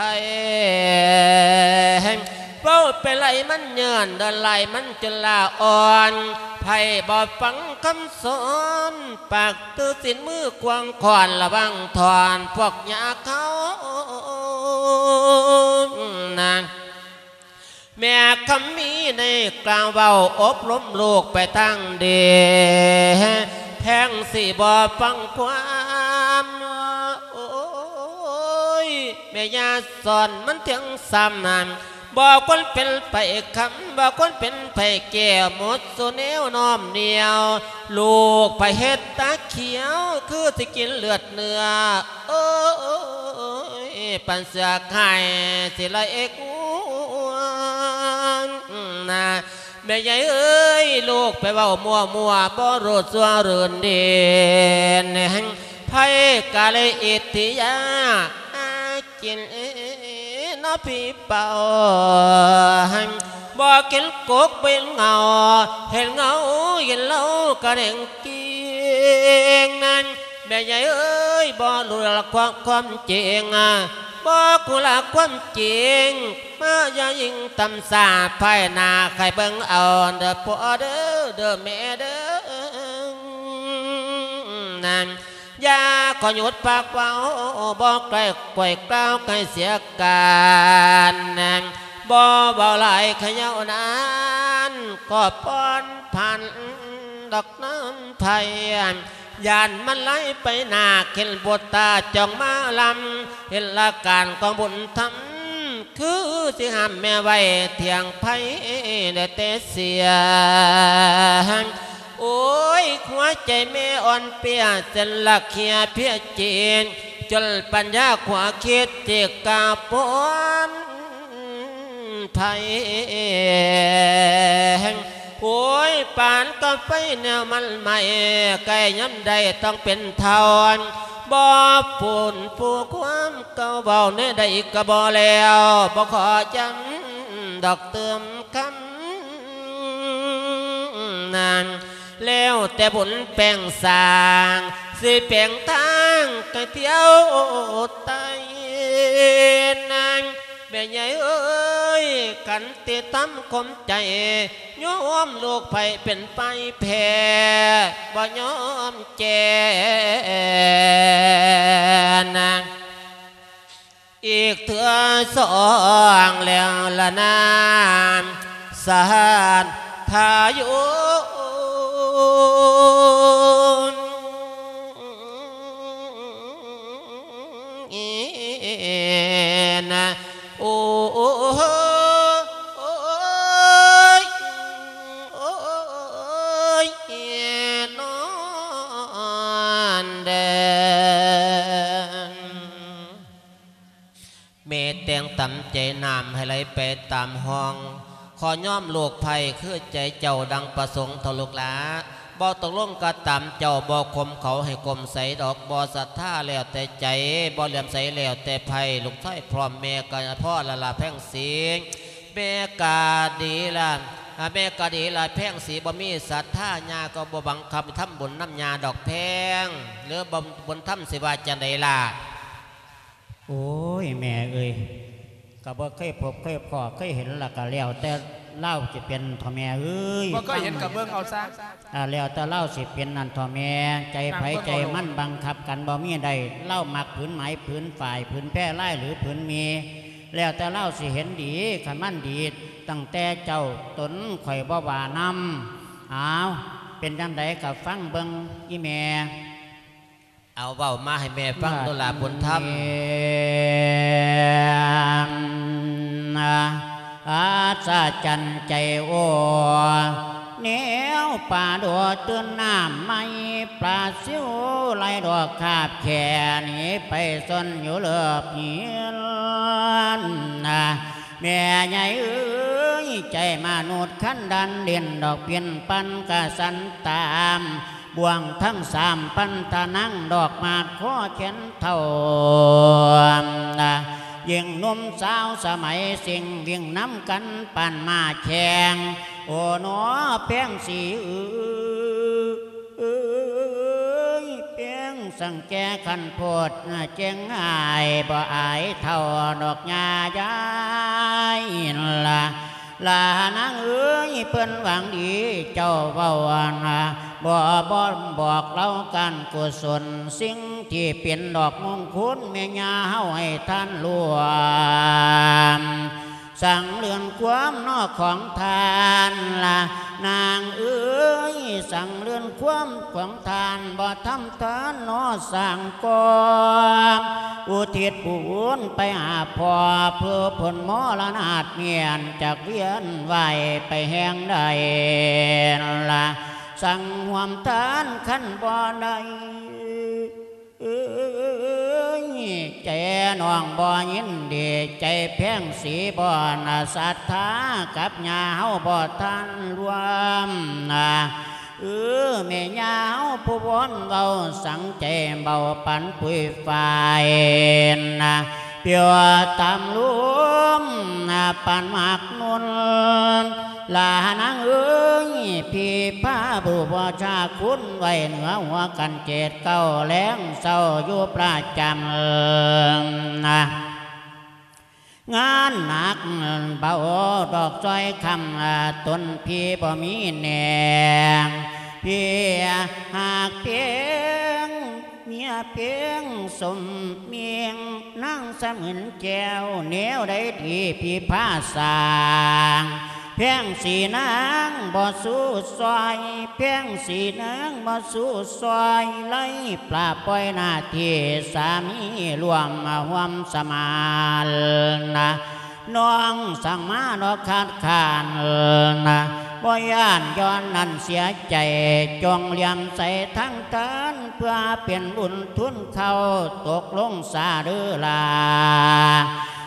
ເວົ້າໄປໄຫຼມັນເຍີ້ນ ເດີນໄຫຼມັນຈົນລາອ່ອນ ໃຜບໍ່ຟັງຄຳສອນ ປາກຖືສິນມືຂວາງຄ້ອນ ລະວັງຖອນພວກຍາເຂົານາງ ແມ່ຄຳມີໄດ້ກ່າວເວົ້າອົບຮົມລູກໄປທາງດີ ແພງຊິບໍ່ຟັງຄວາມ ໂອ້ຍ ແມ່ຢ່າສອນມັນທຽງຊ້ຳນັ້ນ ບໍ່ຄວນເປັນໄປຄຳ ບໍ່ຄວນເປັນໄປແກ້ວ ໝົດສູ່ແນວນ້ອມນຽວ ລູກໃຜເຮັດຕາຂຽວ ຄືຊິກິນເລືອດເນື້ອ ໂອ້ຍ ປັນເສືອໄຂ່ຊິໄລ່ເອກງວນນາ ແມ່ໃຫຍ່ເອີຍ ລູກໄປເວົ້າມົວໆ ບໍ່ຮູ້ຊົ່ວລື່ນດີນ ໃຜກະເລີຍອິດທິຍາ ຫາກິນເນາະພີ່ເປົ່າ ບໍ່ກິນກົກເປັນເຫງົາ ເຫັນເຫງົາເຫັນເຫຼົ້າກະແດງເກງນັ້ນ ແມ່ໃຫຍ່ເອີຍ ບໍ່ຮູ້ລະຄວາມ ຄວາມຈິງ ບໍ່ຮູ້ລະຄວາມຈິງ ມາຢ່າຍິ່ງຕຳສາ ພາຍໜ້າໃຫ້ເບິ່ງເອົາເດີພໍ່ເດີ ເດີແມ່ເດີ. ນາງ ຢ່າຂໍຢຸດປາກເວົ້າ ບໍ່ໃກ້ຂ້ອຍກ່າວໃຫ້ເສຍການ ນາງ ບໍ່ເວົ້າຫຼາຍໃຫ້ຍາວນານ ຂໍຜ່ອນຜັນດອກນ້ຳໄພ ຢ້ານມັນໄຫຼໄປໜ້າ ເຫັນບຸດຕາຈ້ອງມາລຳ ເຫັນລະການຂອງບຸນທຳ ຄືຊິຫ້າມແມ່ໄວ້ ທ່ຽງໄພໄດ້ແຕ່ເສຍງ. ໂອ້ຍ ຫົວໃຈແມ່ອ່ອນເປຍ ເສັ້ນລະເຄຍເພຍເຈນ ຈົນປັນຍາຂົວຄິດ ທີ່ກາປອນໄພ. ໂອ້ຍ ປານກາໄຟແນວມັນໄໝ້ ໃກ້ຍາມໃດຕ້ອງເປັນເທົ້າ ບໍ່ປູນຟູຄວາມເກົ່າ ເວົ້າແນວໃດກໍບໍ່ແລ້ວ ບໍ່ຂໍຢ້ຳດອກເຕີມຄຳ ນາງ ແລ້ວແຕ່ບຸນແປງສ້າງ ຊິແປງທາງໃຫ້ທ່ຽວໄຕ່ ນາງ ແມ່ໃຫຍ່ເອີຍ ຂັນຕິທຳຄົມໃຈ ຍອມລູກໃຜເປັນໄພແພ້ ບໍ່ຍອມແກ່ ນາງ ອີກເທື່ອສອງແລ້ວລະນາ ສະຫານທາຍຸນ ໂອ້ຍ ໂອ້ຍ ໂອ້ຍ ນອນເດີ. ແມ່ແຕ່ງຕາມໃຈ ນ້ຳໃຫ້ໄຫຼໄປຕາມຮ່ອງ ຂໍຍອມລູກໃພ້ຄືໃຈເຈົ້າ ດັ່ງປະສົງເຖົ້າລູກຫຼ້າ ບໍ່ຕົກລົງກໍຕາມເຈົ້າ ບໍ່ຂົ່ມເຂົາໃຫ້ກົມໃສດອກ ບໍ່ສັດທາແລ້ວແຕ່ໃຈ ບໍ່ເຫຼື້ອມໃສແລ້ວແຕ່ໃພ້ ລູກຊາຍພ້ອມແມ່ກໍພໍລະລະແພງສີ ແມ່ກໍດີລະ ແມ່ກໍດີລະແພງສີ ບໍ່ມີສັດທາ ຍ່າກໍບໍ່ບັງຄັບທຳບຸນນຳຍ່າດອກແພງ ຫຼືບຸນທຳຊິວ່າຈັ່ງໃດລະ? ໂອ້ຍ ແມ່ເອີຍ ກໍບໍ່ເຄີຍພົບເຄີຍພໍ້ ເຄີຍເຫັນ ລະກະແລ້ວແຕ່ລາວຊິເປັນເຖາະແມ່ເອີຍ ບໍ່ເຄີຍເຫັນກໍເບິ່ງເອົາຊະ ອ່າ ແລ້ວແຕ່ລາວຊິເປັນນັ້ນເຖາະແມ່ ໃຈໃຜໃຈມັນບັງຄັບກັນບໍ່ມີໄດ້ ລາວມັກຜືນໄໝຜືນຝ້າຍ ຜືນແພລາຍ ຫຼືຜືນໝີ່ ແລ້ວແຕ່ລາວຊິເຫັນດີ ຄັນມັນດີ ຕັ້ງແຕ່ເຈົ້າຕົນຂ້ອຍບໍ່ວ່ານຳ ອ້າວ ເປັນຈັ່ງໃດກໍຟັງເບິ່ງອີ່ແມ່. ເອົາ ເວົ້າມາໃຫ້ແມ່ຟັງໂດລາບຸນທຳ. ອັດສະຈັນໃຈໂອ້ ແນວປາໂດດຕື່ນນ້ຳໃໝ່ ປາຊິວໄລ່ດອກຄາບແຂ້ ໜີໄປຊົນຢູ່ເລີບຫີນ ແມ່ໃຫຍ່ເອີຍ ໃຈມະນຸດຄັນດັນ ຫຼິ້ນດອກປິ່ນປັ່ນກະສັນຕາມ ບ່ວງທັງສາມພັນທະນັງ ດອກໝາກຄໍແຂນເຖົ້າ ຍິງໜຸ່ມສາວສະໄໝ ສິ່ງວິ່ງນຳກັນປານມ້າແຂ່ງ ໂອໜໍແພງສີເອີຍ ແພງສັງແຈຄັນໂພດ ເຈັງອາຍບໍ່ອາຍເຖົ້າດອກຍ່າຍາຍລະ ຫຼ້ານາງເອີຍ ເພິ່ນຫວັງດີເຈົ້າເວົ້ານະ ບໍ່ ບໍ່ບອກເລົ່າການກຸສົນ ສິ່ງທີ່ເປັນດອກມຸງຄຸນ ແມ່ຍ່າເຮົາໃຫ້ທ່ານລວມ ສັງເລື່ອນຄວາມນອກຂອງທ່ານລະ ນາງເອີຍ ສັງເລື່ອນຄວາມຂອງທ່ານ ບໍ່ທຳທານນອສ້າງກອງ ອຸທິດບຸນໄປຫາພໍ່ ເພື່ອພົ້ນມໍລະນາດ ມ້ຽນຈາກວຽນວ່າຍໄປແຫ່ງໃດລະ ສັງຮ່ວມທານຄັນບໍ່ໄດ້ ເອີຍ ໃຈນ້ອງບໍ່ຍິນດີ ໃຈແພງສີບໍ່ນະສັດທາ ກັບຍ່າເຮົາບໍ່ທັນລວມນະ ເອີ ແມ່ຍ່າເຮົາຜູ້ວອນເວົ້າ ສັງໃຈເບົາປານປຸຍຝ້າຍນະ ປິວຕາມລົມນະ ປານໝາກນຸ່ນ ລານາງເອີຍ ພິພາບູຊາຄຸນໄວ້ເໜືອຫົວກັນເຈັດເກົ້າ ແລງເຊົ້າຢູ່ປະຈຳນະ ງານໜັກເບົາດອກຊອຍຄຳ ຕົນພີ່ບໍ່ມີແນງ ເພຍຫາກເພງ ເມຍເພງສົມເມງ ນາງສະໝືນແກ້ວ ແນວໃດທີ່ພິພາສ້າງ ແພງສີນາງບໍ່ສູ້ຊ່ອຍ ແພງສີນາງບໍ່ສູ້ຊ່ອຍ ໄລ່ປະປ່ອຍໜ້າທີ່ສາມີ ຮ່ວມຮ່ວມສະມານນະ ນ້ອງສັ່ງມາເນາະ ຄາດຄ້ານນະ ບໍ່ຢ້ານຍ້ອນນັ້ນເສຍໃຈ ຈົ່ງຫຼຽມໃສ່ທາງທ່ານ ເພື່ອເປັນບຸນທຶນເຂົ້າ ຕົກລົງສາເດີລາ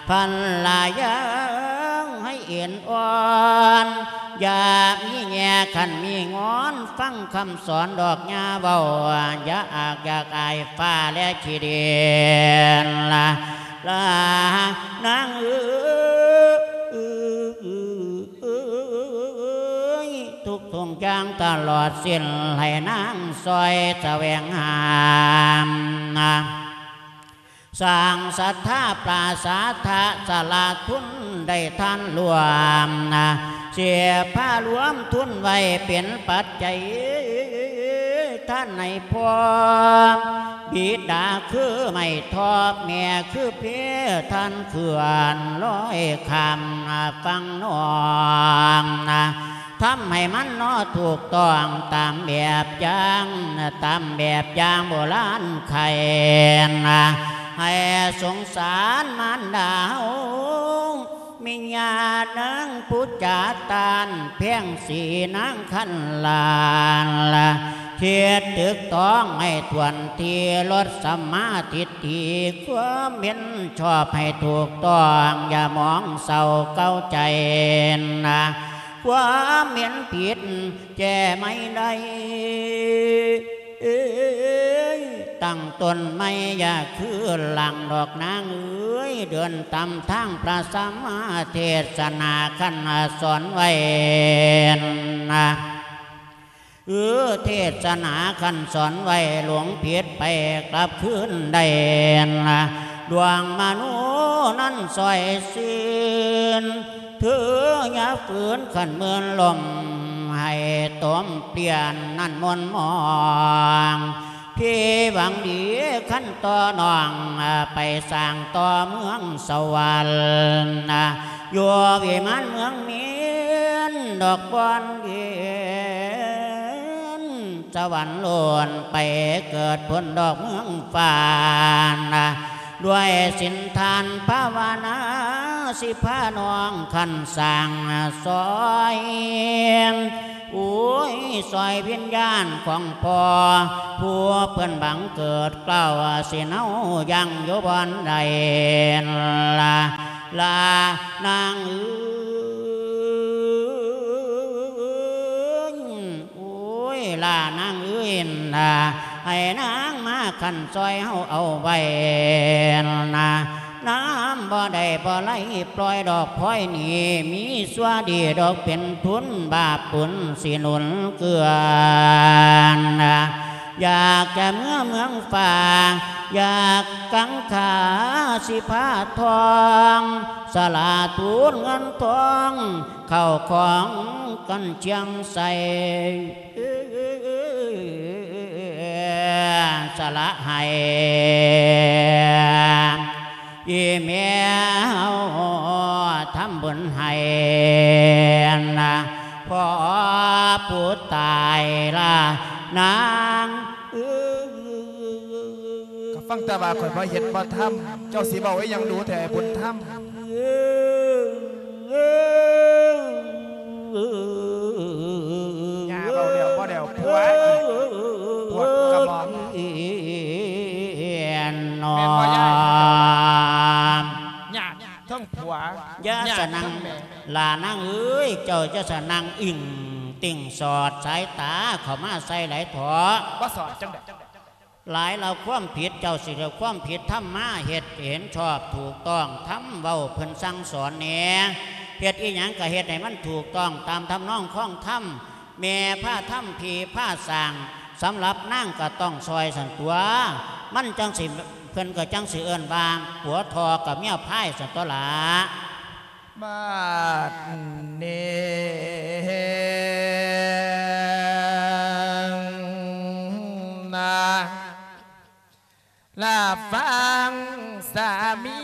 ພັນລະຍາໃຫ້ເອັນອ່ອນ ຢ່າມີແງ່ຄັນມີງອນ ຟັງຄຳສອນດອກຢ່າເວົ້າ ຢ່າອາກຢາກອາຍຟ້າແລະຂີ້ດິນລະ ລານາງເອີຍ ທຸກທຸກຢ່າງຕະຫຼອດສິ້ນ ໃຫ້ນາງຊ່ອຍສະແຫວງຫາ ສ້າງສັດທາປາສາທະ ສະຫຼະທຶນໄດ້ທານລວມນະ ເສຍພາລວມທຶນໄວ້ເປັນປັດໄຈ ທ່ານໃຫ້ພໍ່ ບິດາຄືໄມ້ທອບ ແມ່ຄືເພ ທ່ານເຂື່ອນລອຍຂ້າມຝັ່ງນ້ອງນະ ທຳໃຫ້ມັນເນາະຖືກຕ້ອງຕາມແບບຢ່າງ ຕາມແບບຢ່າງໂບລານໄຄນະ ໃຫ້ສົງສານມານດາເຮົາ ແມ່ຍ່ານາງຜູ້ຈາຕ້ານ ແພງສີນາງຄັນລານ ເຮັດຖືກຕ້ອງໃຫ້ຖ້ວນທີ່ ລົດສຳມາທິດຖີ ຄວາມເຫັນຊອບໃຫ້ຖືກຕ້ອງ ຢ່າມອງເສົ້າເກົາໃຈນະ ຄວາມເຫັນຜິດແກ້ໄໝໄດ້ ຕັ້ງຕົ້ນໃໝ່ຢ່າຄືຫຼັງດອກນາງເອີຍ ເດີນຕາມທາງພະສຳມາເທດສະໜາຄັນສອນໄວ້ນະ ເອີ ເທດສະໜາຄັນສອນໄວ້ ຫຼົງຜິດໄປກັບຄືນໄດ້ນະ ດວງມະໂນນັ້ນຊ່ອຍຊື່ນ ເທີຢ່າຝືນຂັນເມີນລົມ ໃຫ້ຕົມປ່ຽນນັ້ນມົນມອງ ທີ່ຫວັງດີຄັນຕໍ່ນ້ອງ ໄປສ້າງຕໍ່ເມືອງສະຫວັນ ຢູ່ວິມານເມືອງມິນ ດອກບ່ອນເຫັນສະຫວັນໂລນ ໄປເກີດພົ້ນດອກເມືອງຟ້ານະ ດ້ວຍສິນທານພາວະນາ ຊິພານ້ອງຄັນສ້າງຊ່ອຍ ໂອ້ຍ ຊ່ອຍວິນຍານຂອງພໍ່ ຜູ້ເພິ່ນບັງເກີດເກົ້າ ຊິເນົາຍັງຢູ່ບ່ອນໃດລະ ລານາງເອີຍ ໂອ້ຍ ລານາງເອີຍນະ ໃຫ້ນາງມາຄັນຊ່ອຍເຮົາເອົາໄວ້ນະ ນ້ຳບໍ່ໄດ້ບໍ່ໄຫຼປ່ອຍດອກພອຍນີ້ ມີຊົ່ວດີດອກເປັນທຶນ ບາບບຸນຊິໜູນເກືອນະ ຢາກຈະເມືອເມືອງຟ້າ ຢາກກັງຂາຊິພາທ່ອງ ສະຫຼາທູນເງິນທອງ ເຂົ້າຂອງກັນຈຽງໃສ່ ສະຫຼະໃຫ້ ອີແມ່ເຮົາທຳບຸນໃຫ້ນະ ພໍ່ຜູ້ຕາຍລະນາງເອີຍ ກໍຟັງແຕ່ວ່າຂ້ອຍບໍ່ເຮັດບໍ່ທຳ ເຈົ້າຊິເວົ້າອີ່ຫຍັງດູແທ້ບຸນທຳ? ຍ່າເວົ້າແລ້ວບໍ່ແລ້ວ ຜົວອີກ ປວດກະໝ່ອມ ແມ່ນບໍ່ຍາຍ? ຍາດທັງຜົວ ຢ່າສະນັ່ງ ຍາດທັງແມ່ ຫຼ້ານາງເອີຍ ເຈົ້າຢ່າສະນັ່ງອິ້ງຕິ່ງສອດສາຍຕາເຂົ້າມາໃສ່ຫຼາຍເຖາະ ບໍ່ສອດຈັ່ງໃດ? ຫຼາຍລະຄວາມຜິດ ເຈົ້າຊິເອົາຄວາມຜິດທຳມາເຮັດໃຫ້ເຫັນຊອບຖືກຕ້ອງ ທຳເວົ້າເພິ່ນສັ່ງສອນແດ່ ເຮັດອີ່ຫຍັງກໍເຮັດໃຫ້ມັນຖືກຕ້ອງຕາມທຳນອງຄອງທຳ, ແມ່ພາທຳ ພີ່ພາສ້າງ, ສຳລັບນາງກໍຕ້ອງຊ່ອຍຊັ້ນຕົວະ, ມັນຈັ່ງຊິ ເພິ່ນກໍຈັ່ງຊິເອີ້ນວ່າ ຜົວທໍ່ກັບເມຍພາຍຊັ້ນຕົວະລະ. ບາດນີ້ນະ ລະຟັງສາມີ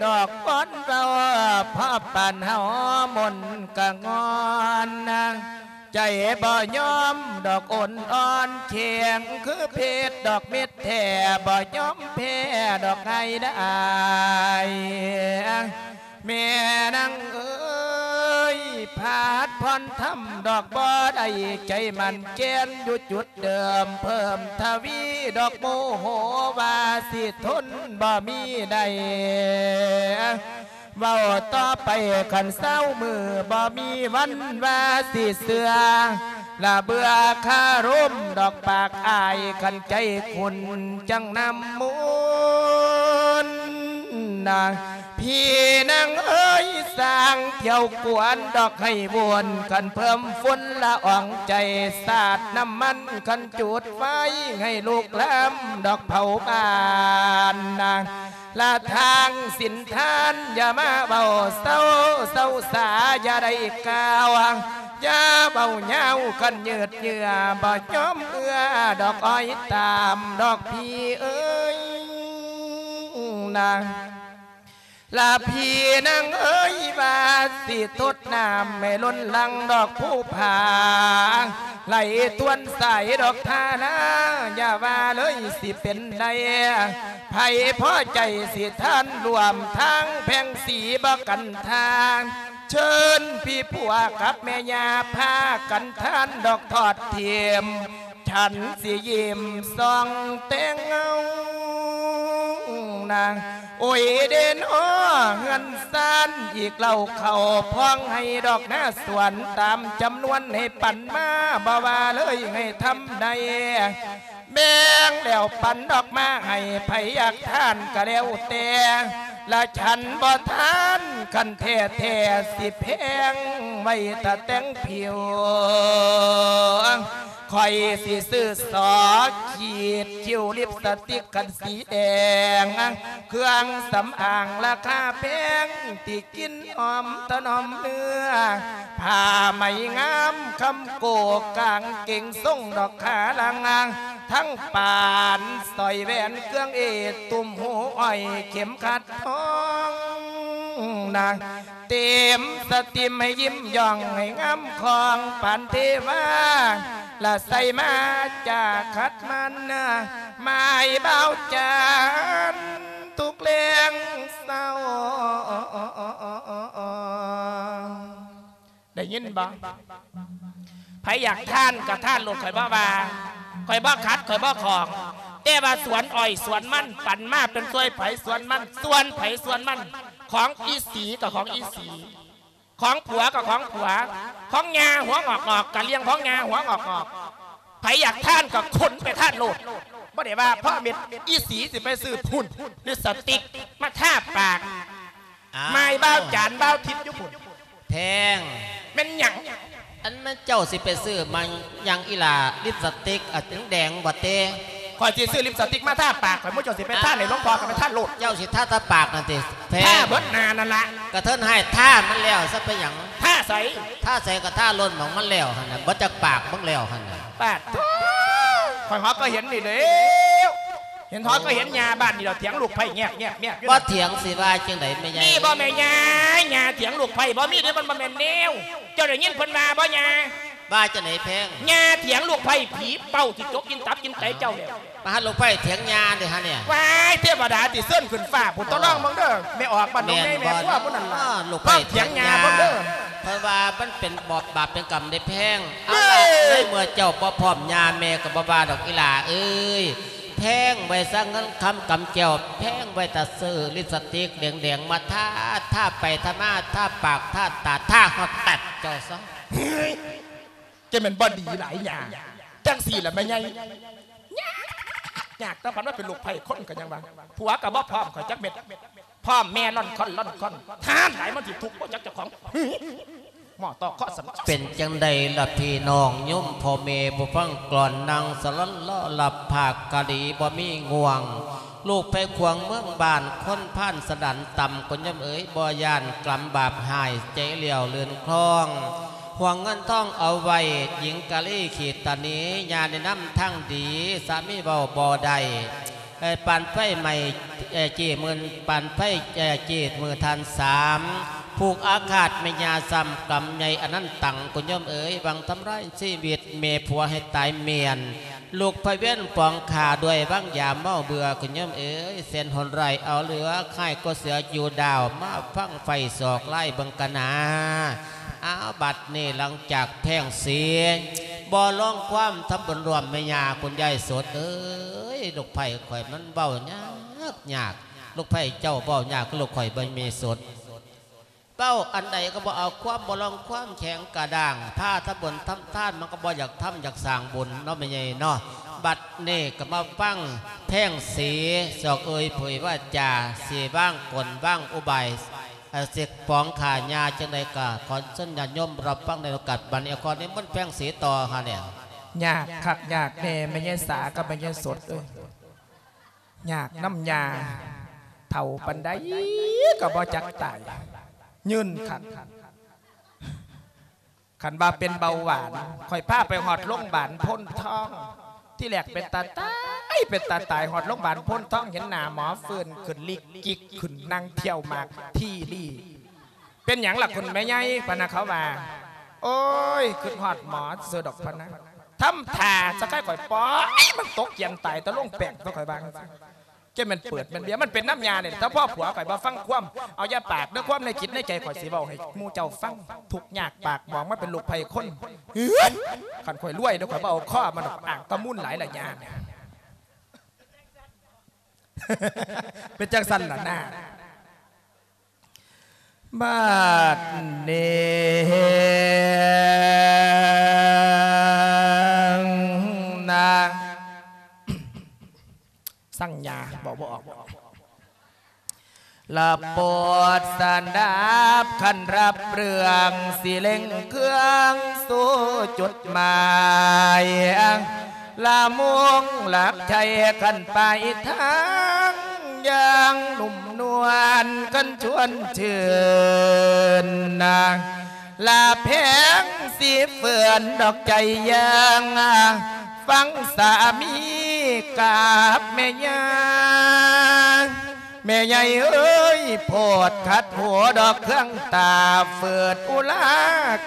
ດອກບອນເວົ້າ ພໍປານເຮົາມົນກະງອນນະ ໃຈບໍ່ຍອມດອກໂອນອ່ອນແຂງ ຄືເພັດດອກເມັດແທ້ ບໍ່ຍອມແພ້ດອກງ່າຍດາຍ. ແມ່ນາງເອີຍ ພາດຜ່ອນທຳດອກບໍ່ໄດ້ ໃຈໝັ້ນແກ່ນຢູ່ຈຸດເດີມ ເພີ່ມທະວີດອກໂມໂຫ ວ່າຊິທົນບໍ່ມີໄດ້ ເວົ້າຕໍ່ໄປຄັນຊາວມື້ ບໍ່ມີວັນວ່າຊິເຊື່ອ ລະເບື່ອຄາລົມດອກປາກອ້າຍ ຄັນໃຈຂຸ້ນຈັ່ງນ້ຳມູນນະ. ພີ່ນາງເອີຍ ສ້າງທ່ຽວກວນດອກໃຫ້ວົນ ຄັນເພີ່ມຝຸ່ນລະອອງໃຈ ສາດນ້ຳມັນ ຄັນຈູດໄຟໃຫ້ລຸກລາມດອກເຜົາບ້ານນະ. ລະທາງສິນທານ ຢ່າມາເວົ້າເຊົາ ເຊົາສາຢ່າໄດ້ກ່າວ ຢ່າເວົ້າຍາວ ຄັນຍືດເຍື້ອ ບໍ່ຍອມເອື້ອດອກອ້ອຍຕາມດອກພີ່ເອີຍນະ. ລະພີ່ນາງເອີຍ ວ່າຊິທົດນ້ຳໃຫ້ລົ້ນຫຼັງດອກພູຜາ ໄຫຼທວນສາຍດອກທ່ານາ ຢ່າວ່າເລີຍຊິເປັນໄດ້ ໃຜພໍໃຈຊິທ່ານຮ່ວມທາງ ແພງສີບໍ່ກັນທາງ ເຊີນພີ່ຜົວກັບແມ່ຍ່າ ພາກັນທ່ານດອກທອດຖິ້ມ ສັນຊິຍິ້ມສ່ອງແຕ່ງເງົານາງ ໂອຍເດນອ ເຮືອນຊານອີກເລົ່າ ເຂົ້າພອງໃຫ້ດອກນາສວນ ຕາມຈຳນວນໃຫ້ປັນມາ ບໍ່ວ່າເລີຍໃຫ້ທຳໃດ ແບ່ງແລ້ວປັນດອກມາໃຫ້ ໃຜຢາກທານກໍແລ້ວແຕ່ ລະສັນບໍ່ທານ ຄັນແທ້ໆ ຊິແພງໄວ້ຖ້າແຕ່ງຜິວ ຂ້ອຍຊິຊື້ສໍ ຂີດຄິ້ວ ລິບສະຕິກກັນສີແດງ ເຄື່ອງສຳອາງລາຄາແພງ ທີ່ກິ່ນຫອມຖະໜອມເນື້ອ ຜ້າໄໝງາມຄຳໂກ ກາງເກງຊົງດອກຂາລາງ ທັງປານ ສ້ອຍແຫວນເຄື່ອງເອດ ຕຸ້ມຫູອ້ອຍ ເຂັມຂັດທອງນາງ ເຕັມສະຕິມໃຫ້ຍິ້ມຢ່ອງໃຫ້ງາມຄອງປານເທວາ ລະໃສ່ມາຈາຂັດມັນ ໝາຍບ່າວຈານທຸກແລງເຊົ້າ. ໄດ້ຍິນບໍ່? ໃຜຢາກທ່ານກໍທ່ານໂລດ ຂ້ອຍບໍ່ວ່າ ຂ້ອຍບໍ່ຂັດ ຂ້ອຍບໍ່ຂອງ ແຕ່ວ່າສວນອ້ອຍສວນມັນ ປັນມາເປັນສ່ວນໃຜສ່ວນມັນ ສ່ວນໃຜສ່ວນມັນ ຂອງອີ່ສີກໍຂອງອີ່ສີ ຂອງຜົວກໍຂອງຜົວ ຂອງຍ່າຫົວງອກໆ ກະລ້ຽງຂອງຍ່າຫົວງອກໆ ໃຜຢາກທ່ານກໍຂົນໄປທ່ານໂລດ ບໍ່ໄດ້ວ່າເພາະເມັດ ອີ່ສີຊິໄປຊື້ພຸ້ນ ລິບສະຕິກມາທາປາກ ອ້າວ ໝາຍບ່າວຈານບ່າວທິບຢູ່ພຸ້ນ ແພງ ແມ່ນຫຍັງ? ອັນແມ່ນເຈົ້າຊິໄປຊື້ມາຫຍັງອີ່ຫຼ້າ ລິບສະຕິກ ອາ ແດງໆ ບໍ່ເຕ? ຂ້ອຍຊິຊື້ລິບສະຕິກມາທາປາກ ຂ້ອຍ ໝູ່ເຈົ້າຊິໄປທາໃຫ້ຫຼວງພໍ່ກໍໄປທາໂລດ ເຈົ້າຊິທາແຕ່ປາກນັ້ນຕິ? ແພງ ທາເບິດໜ້ານັ້ນລະ ກະເທີນໃຫ້ທາມັນແລ້ວຊະ ເປັນຫຍັງ? ທາໃສ? ທາໃສກໍທາໂລດ ໝ່ອງມັນແລ້ວຫັ້ນນະ ເບິດຈັກປາກມຶງແລ້ວຫັ້ນນະ. ປາດໂທ້ ຂ້ອຍຮອດກໍເຫັນນີ້ແລ້ວ ເຫັນຮອດກໍເຫັນຍ່າບ້ານນີ້ດອກ ຖຽງລູກໃພ້ແງບໆໆຢູ່ ບໍ່ຖຽງຊິວ່າຈັ່ງໃດແມ່ໃຫຍ່? ມີບໍ່ແມ່ຍ່າ? ຍ່າຖຽງລູກໃພ້ ບໍ່ມີເດ້ ມັນບໍ່ແມ່ນແນວ. ເຈົ້າໄດ້ຍິນເພິ່ນວ່າບໍ່ຍ່າ? ວ່າຈັ່ງໃດແພງ? ຍ່າຖຽງລູກໃພ້ ຜີເປົ້າຊິຈົກກິນຕັບກິນໄຕເຈົ້າແລ້ວ. ປາດ ລູກໃພ້ຖຽງຍ່າເດ້ຫະນີ້. ວ້າຍ ເທວະດາຕິ ເຊີນຂຶ້ນຟ້າພຸ້ນ ຕ້ອງລອງເບິ່ງເດີ ແມ່ອອກບ້ານໜອງໃຫຍ່ ແມ່ຄົວຜູ້ນັ້ນລະ ລອງຖຽງຍ່າເບິ່ງເດີ. ເພິ່ນວ່າມັນເປັນບອບ ບາບເປັນກຳເດ້ແພງ. ເອົາລະ ໃນເມື່ອເຈົ້າບໍ່ພ້ອມ ຍ່າແມ່ກໍບໍ່ວ່າດອກອີ່ຫຼ້າເອີຍ. ແພງໄວ້ຊະເງິນຄຳກຳແກ້ວ ແພງໄວ້ຖ້າຊື້ລິບສະຕິກແດງໆມາທາ ທາໄປທາມາ ທາປາກ ທາຕາ ທາຮອດແຕັດເຈົ້າຊະ. ເຮີ້ຍ ຈະແມ່ນບໍ່ດີຫຼາຍຫຍັງ ຈັ່ງຊີ້ລະແມ່ໃຫຍ່. ຍາກ ຍາກ ແຕ່ພັນວ່າເປັນລູກໃພ້ຄົນກໍຍັງວ່າ ຜົວກໍບໍ່ພ້ອມຂ້ອຍຈັກເມັດ. ພໍ່ແມ່ລ່ອນຄ່ອນລ່ອນຄ່ອນ ທະຫານຫຼາຍມັນຊິທຸກບໍ່ຈັກເຈົ້າຂອງ ໝໍ່ຕໍ່ເຄາະສຳ ເປັນຈັ່ງໃດລະພີ່ນ້ອງໂຍມພໍ່ແມ່ຜູ້ຟັງກລອນ ນັ່ງສະຫຼອນລໍຫຼັບພາກກະດີບໍ່ມີງ່ວງ ລູກໄພຂວາງເມືອງບ້ານ ຄົນພານສະດັນຕ່ຳ ຄຸນໂຍມເອີຍ ບໍ່ຢ້ານກຳບາບຮ້າຍ ໃຈຫຼຽວເລື່ອນຄລອງ ຫ່ວງເງິນທອງເອົາໄວ້ ຍິງກະລີຂີດຕະໜີ ຢ່າແນະນຳທາງດີ ສາມີເວົ້າບໍ່ໄດ້ ເອີ ປານໄຟໄໝ້ ເອີ ເຈ້ໝື່ນ ປານໄຟ ເອີ ເຈ້ໝື່ນທານສາມ ຜູກອາຄາດແມ່ຍ່າຊ້ຳກຳໃຫຍ່ອະນັນຕັງ ຄຸນໂຍມເອີຍ ຫວັງທຳລາຍຊີວິດແມ່ຜົວໃຫ້ຕາຍມ້ຽນ ລູກພະວຽນປອງຂ້າດ້ວຍວາງຢາເມົາເບື່ອ ຄຸນໂຍມເອີຍ ແສນໂຫດຮ້າຍເອົາເຫຼືອ ຄ້າຍກວ່າເສືອຢູ່ດາວ ມາຟັງໄຟສອກລາຍເບິ່ງກະນາ. ອ້າວ ບັດນີ້ຫຼັງຈາກແພງສີ ບໍ່ລອງຄວາມທຳບຸນຮ່ວມແມ່ຍ່າ ຄຸນຍາຍສົດເອີຍ ລູກໃພ້ຂ້ອຍມັນເວົ້າຍາກຍາກ ລູກໃພ້ເຈົ້າເວົ້າຍາກຄືລູກຂ້ອຍບໍ່ແມ່ສົດ ເວົ້າອັນໃດກໍບໍ່ເອົາຄວາມ ບໍ່ລອງຄວາມແຂງກະດ້າງ ພາທຳບຸນທຳທານມັນກໍບໍ່ຢາກທຳ ຢາກສ້າງບຸນເນາະແມ່ໃຫຍ່ເນາະ ບັດນີ້ກໍມາຟັງແພງສີ ສອກເອີຍເຜີຍວາຈາ ຊິວາງກົນວາງອຸບາຍ ເອີ ຊິປອງຂ້າຍ່າຈັ່ງໃດກໍຂໍເຊີນຍາດໂຍມຮັບຟັງໃນໂອກາດບັດນີ້ ຂໍນິມົນແພງສີຕໍ່ຫາແດ່. ຍາກຄັກຍາກແນ່ ແມ່ຍາຍສາກັບແມ່ຍາຍສົດເອີຍ ຍາກນຳຍ່າ ເຖົ້າປານໃດກໍບໍ່ຈັກຕາຍ ຍືນຄັກ ຄັນວ່າເປັນເບົາຫວານ ຂ້ອຍພາໄປຮອດໂລງບານໂພນທອງ ທີແລກເປັນຕາຕາຍ ເປັນຕາຕາຍ ຮອດໂລງບານໂພນທອງ ເຫັນໜ້າໝໍຟື້ນຂຶ້ນລິກກິກຂຶ້ນ ນັ່ງທ່ຽວໝາກທີລີ ເປັນຫຍັງລະຄຸນແມ່ໃຫຍ່ ພະນະ ເຂົາວ່າ ໂອ້ຍ ຄິດຮອດໝໍຊື່ດອກ ພະນະ ທຳທ່າສະໄຄຂ້ອຍ ປອຍມັນຕົກກຽນຕາຍຕະລົງແປ້ງ ຂ້ອຍວ່າ ຈັ່ງແມ່ນເປີດແມ່ນເບຍ ມັນເປັນນຳຍ່ານີ້ ຖ້າພໍ່ຜົວຂ້ອຍບໍ່ຟັງຄວາມ ເອົາຢ່າປາກເດີ ຄວາມໃນຈິດໃນໃຈຂ້ອຍຊິເວົ້າໃຫ້ໝູ່ເຈົ້າຟັງ ທຸກຍາກປາກໝອງ ມາເປັນລູກໃຜຄົນ ເຮີ້ຍ ຄັນຂ້ອຍລວຍເດີ ຂ້ອຍບໍ່ເອົາຄໍມັນດອກ ອ້າງຕະມູນຫຼາຍລະຍ່າ ເປັນຈັ່ງຊັ້ນລະນາ ບາດນີ້ນາ ສັງຍາ ເວົ້າບໍ່ອອກ ລະໂປດສະດັບ ຄັນຮັບເລື່ອງ ຊິເລັ່ງເຄື່ອງສູ່ຈຸດໝາຍ ລະມຸງຫຼັກໄທ ຄັນປາຍທາງ ຢ່າງນຸ້ມນວນ ຄັນຊວນຊື່ນນາ ລະແພງສີເຟືອນດອກໃຈຢ່າງ ຟັງສາມີກັບແມ່ຍ່າ ແມ່ໃຫຍ່ເອີຍ ໂພດຂັດຫູດອກເຄື່ອງຕາ ຝືດອຸລາ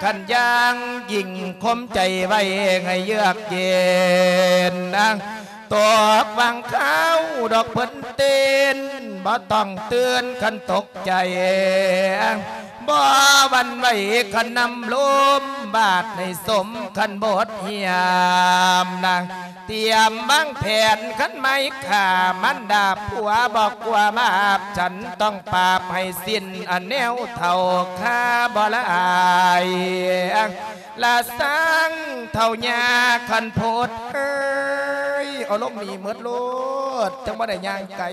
ຄັນຢ່າງ ຍິ່ງຂົ່ມໃຈໄວ້ໃຫ້ເຍືອກເຢັນ ຕົກຫວ່າງຄາວດອກເພິ່ນເຕັ້ນ ບໍ່ຕ້ອງຕື່ນຄັນຕົກໃຈ ບໍ່ຫວັ່ນໄຫວຄັນນ້ຳລົມ ບາດໃຫ້ສົມຄັນບົດຮຽມນາ ຕຽມວາງແຜນຄັນໄມ້ຂ້າ ມັນດາຜົວບໍ່ກົວບາບ ສັນຕ້ອງປາບໃຫ້ສິ້ນ ອັນແນວເຖົ້າຂ້າບໍ່ລະອາຍ ລະສັງເຖົ້າຍ່າຄັນໂພດເອີຍ ເອົາລົງໜີໝົດໂລດ ຈັ່ງບໍ່ໄດ້ຍ່າງໄກ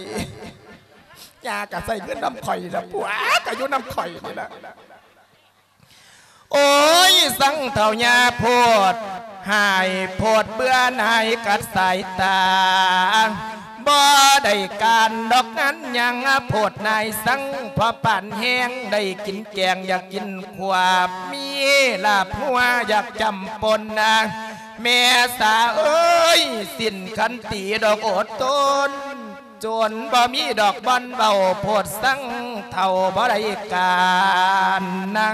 ຍ່າກະໃຊ້ເງິນນຳຂ້ອຍລະ ຜົວກະຢູ່ນຳຂ້ອຍນີ້ລະ ໂອ້ຍ ສັງເຖົ້າຍ່າໂພດ ຫາຍໂພດເບື່ອໜ່າຍກັດສາຍຕາ ບໍ່ໄດ້ການດອກງານຫຍັງ ໂພດນາຍສັງພໍປານແຮງ ໄດ້ກິນແກງຢາກກິນຂວາບ ມີລາບຫົວຢາກຈ້ຳປົນນາ ແມ່ສາເອີຍ ສິ້ນຄັນຕີດອກອົດທົນ ຈົນບໍ່ມີດອກບ່ອນເວົ້າ ໂພດສັງເຖົ້າບໍ່ໄດ້ການນາ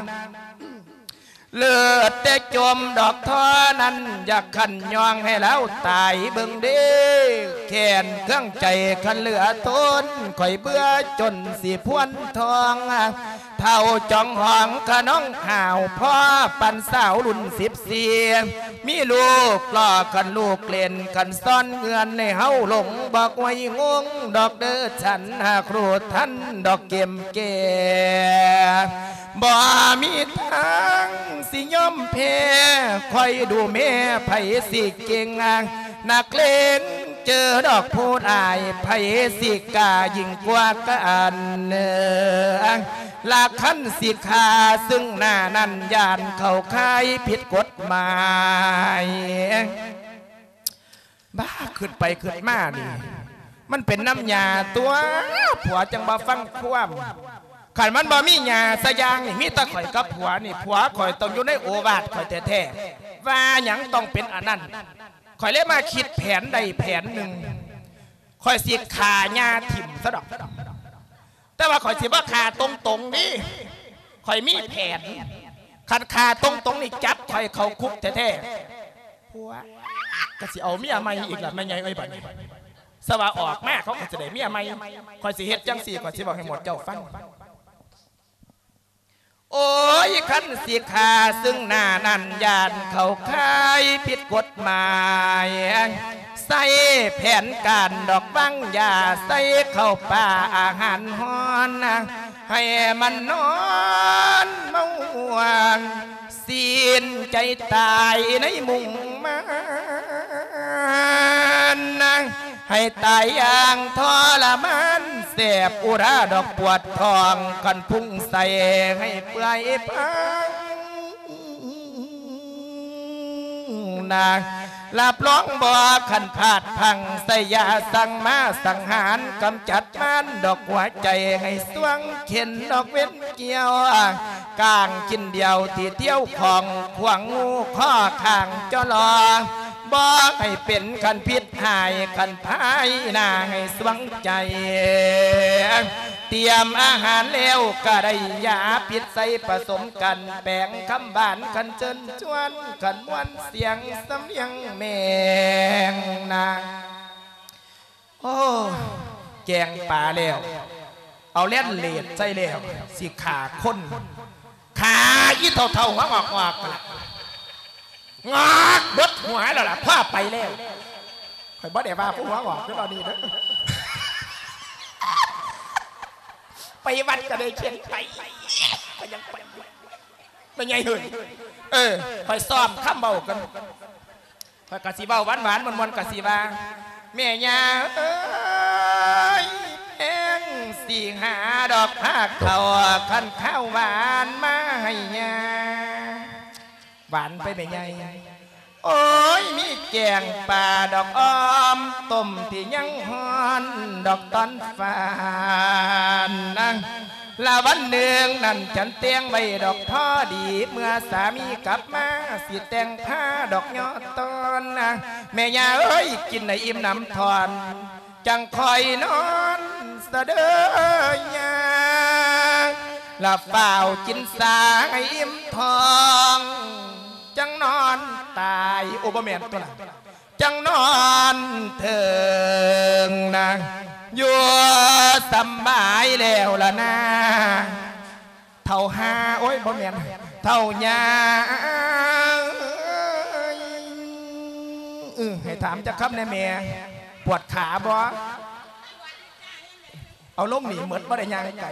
ເລີດແຕ່ຈົມດອກທໍ່ນັ້ນ ຢາກຂັນຍ່ອງໃຫ້ລາວຕາຍເບິ່ງເດ້ ແຄ້ນເຄືອງໃຈຄັນເຫຼືອທົນ ຂ້ອຍເບື່ອຈົນຊິພວນທອງ ເຖົ້າຈອງຫອງຂະນ້ອງຫາວ ພໍປານສາວລຸ້ນສິບສີ່ ມີລູກຫຼໍ່ຄັນລູກເຫຼັ້ນ ຄັນຊ້ອນເງື່ອນໃຫ້ເຮົາຫຼົງ ບໍ່ໄຫວງົງດອກເດີ ສັນຫາກຮູ້ທັນດອກເກມແກ່ ບໍ່ມີທາງຊິຍອມແພ້ ຄອຍດູແມ່ໃຜຊິເກັ່ງ ນັກເລງ ເຈີດອກຜູ້ຫຼາຍ ໃຜຊິກ້າຍິ່ງກວ່າກັນ ລະຄັນຊິຂ້າຊຶ່ງໜ້ານັ້ນ ຢ້ານເຂົ້າຂ່າຍຜິດກົດໝາຍ. ບ້າ ຄິດໄປຄິດມານີ້ ມັນເປັນນຳຍ່າຕົວະ ຜົວຈັ່ງບໍ່ຟັງຄວາມ. ຄັນມັນບໍ່ມີຍ່າສະຢ່າງນີ້ ມີແຕ່ຂ້ອຍກັບຜົວນີ້ ຜົວຂ້ອຍຕ້ອງຢູ່ໃນໂອວາດຂ້ອຍແທ້ໆ ວ່າຫຍັງຕ້ອງເປັນອັນນັ້ນ. ຂ້ອຍເລີຍມາຄິດແຜນໄດ້ແຜນໜຶ່ງ ຂ້ອຍຊິຂ້າຍ່າຖິ້ມຊະດອກ. ແຕ່ວ່າຂ້ອຍຊິບໍ່ຂ້າຕົງໆນີ້ ຂ້ອຍມີແຜນ. ຄັນຂ້າຕົງໆນີ້ ຈັບຂ້ອຍເຂົ້າຄຸກແທ້ໆ. ຜົວກະຊິເອົາເມຍໃໝ່ອີກລະ ແມ່ໃຫຍ່ເອີຍ ບັດນີ້. ສະວ່າອອກມາ ເຂົາກະຊິໄດ້ເມຍໃໝ່. ຂ້ອຍຊິເຮັດຈັ່ງຊີ້ ຂ້ອຍຊິເວົ້າໃຫ້ໝົດເຈົ້າຟັງ. ໂອ້ຍ ຄັນຊິຂ້າຊຶ່ງໜ້ານັ້ນ ຢ້ານເຂົ້າຂ່າຍຜິດກົດໝາຍ. ໃສ່ແຜນການດອກວາງຢາ ໃສ່ເຂົ້າປາອາຫານຮ້ອນ ໃຫ້ມັນນອນເມົາມ່ວນ ສິ້ນໃຈຕາຍໃນມຸງມານ ໃຫ້ຕາຍຢ່າງທໍລະມານ ແສບອຸຣາດອກປວດທ້ອງ ຄັນພຸງໃສ່ໃຫ້ເປື່ອຍພັງນາ. ຮັບຮອງບໍ່ຄັນພາດພັງ ໃສ່ຢາສັງມາສັງຫານ ກຳຈັດມານດອກຫົວໃຈ ໃຫ້ສວງເຂັນດອກເວັນ ກ່ຽວກາງກິນດຽວ ທີ່ທ່ຽວຂອງຂວາງງູຂໍ້ຂ້າງຈໍລໍ ບໍ່ໃຫ້ເປັນຄັນພິດຫາຍ ຄັນພາຍໜ້າໃຫ້ສວງໃຈ. ຕຽມອາຫານແລ້ວກະໄດ້ຢາພິດໃສ່ປະສົມກັນ ແປງຄຳຫວານຄັນເຊີນຊວນ ຄັນມ່ວນສຽງສຳນຽງແມງນາ. ໂອ້ ແກງປາແລ້ວ ເອົາແລ່ນເລດໃສ່ແລ້ວ ຊິຂ້າຄົນ ຂ້າອີ່ເຖົ້າໆ ຫົວງອກໆ ລະ ງອກເບິດຫົວແລ້ວລະ ພາໄປແລ້ວ. ຂ້ອຍບໍ່ໄດ້ວ່າຜູ້ຫົວງອກເດີ ເອົານີ້ເດີ ໄປວັດກະໄດ້ເຂັນໄປ ກະຍັງໄປ ແມ່ໃຫຍ່ເອີຍ. ເອີ ຂ້ອຍຊ້ອມຄຳເວົ້າກັນ ຂ້ອຍກະຊິເວົ້າຫວານໆ ມ່ວນໆ ກະຊິວ່າ ແມ່ຍ່າເອີຍ ແພງຊິຫາດອກພາເຂົ້າ ຄັນຄາວຫວານມາໃຫ້ຍ່າ. ຫວານໄປແມ່ໃຫຍ່. ໂອ້ຍ ມີແກງປາດອກ ອ້ອມຕົ້ມທີ່ຍັງຮ້ອນດອກຕອນຝານນະ. ລະວັນໜຶ່ງນັ້ນ ຈັນແຕ່ງໄວ້ດອກພໍດີ ເມື່ອສາມີກັບມາ ຊິແຕ່ງພາດອກຍໍຕອນນະ. ແມ່ຍ່າເອີຍ ກິນໃຫ້ອີ່ມໜຳຖອນ ຈັ່ງຄ່ອຍນອນສະເດີຍາ ລະຟ້າວກິນສາໃຫ້ອີ່ມທ້ອງ ຈັ່ງນອນຕາຍ. ໂອ ບໍ່ແມ່ນຕົວະລະ ຈັ່ງນອນເຖິງນະ ຢູ່ສຳບາຍແລ້ວລະນາ ເຖົ້າຫ່າ ໂອ້ຍ ບໍ່ແມ່ນ ເຖົ້າຍ່າເອີຍ. ເອີ ໃຫ້ຖາມຈັກຄຳແດ່ແມ່ ປວດຂາບໍ່? ເອົາລົງນີ້ໝົດ ບໍ່ໄດ້ຍ່າງໄກ.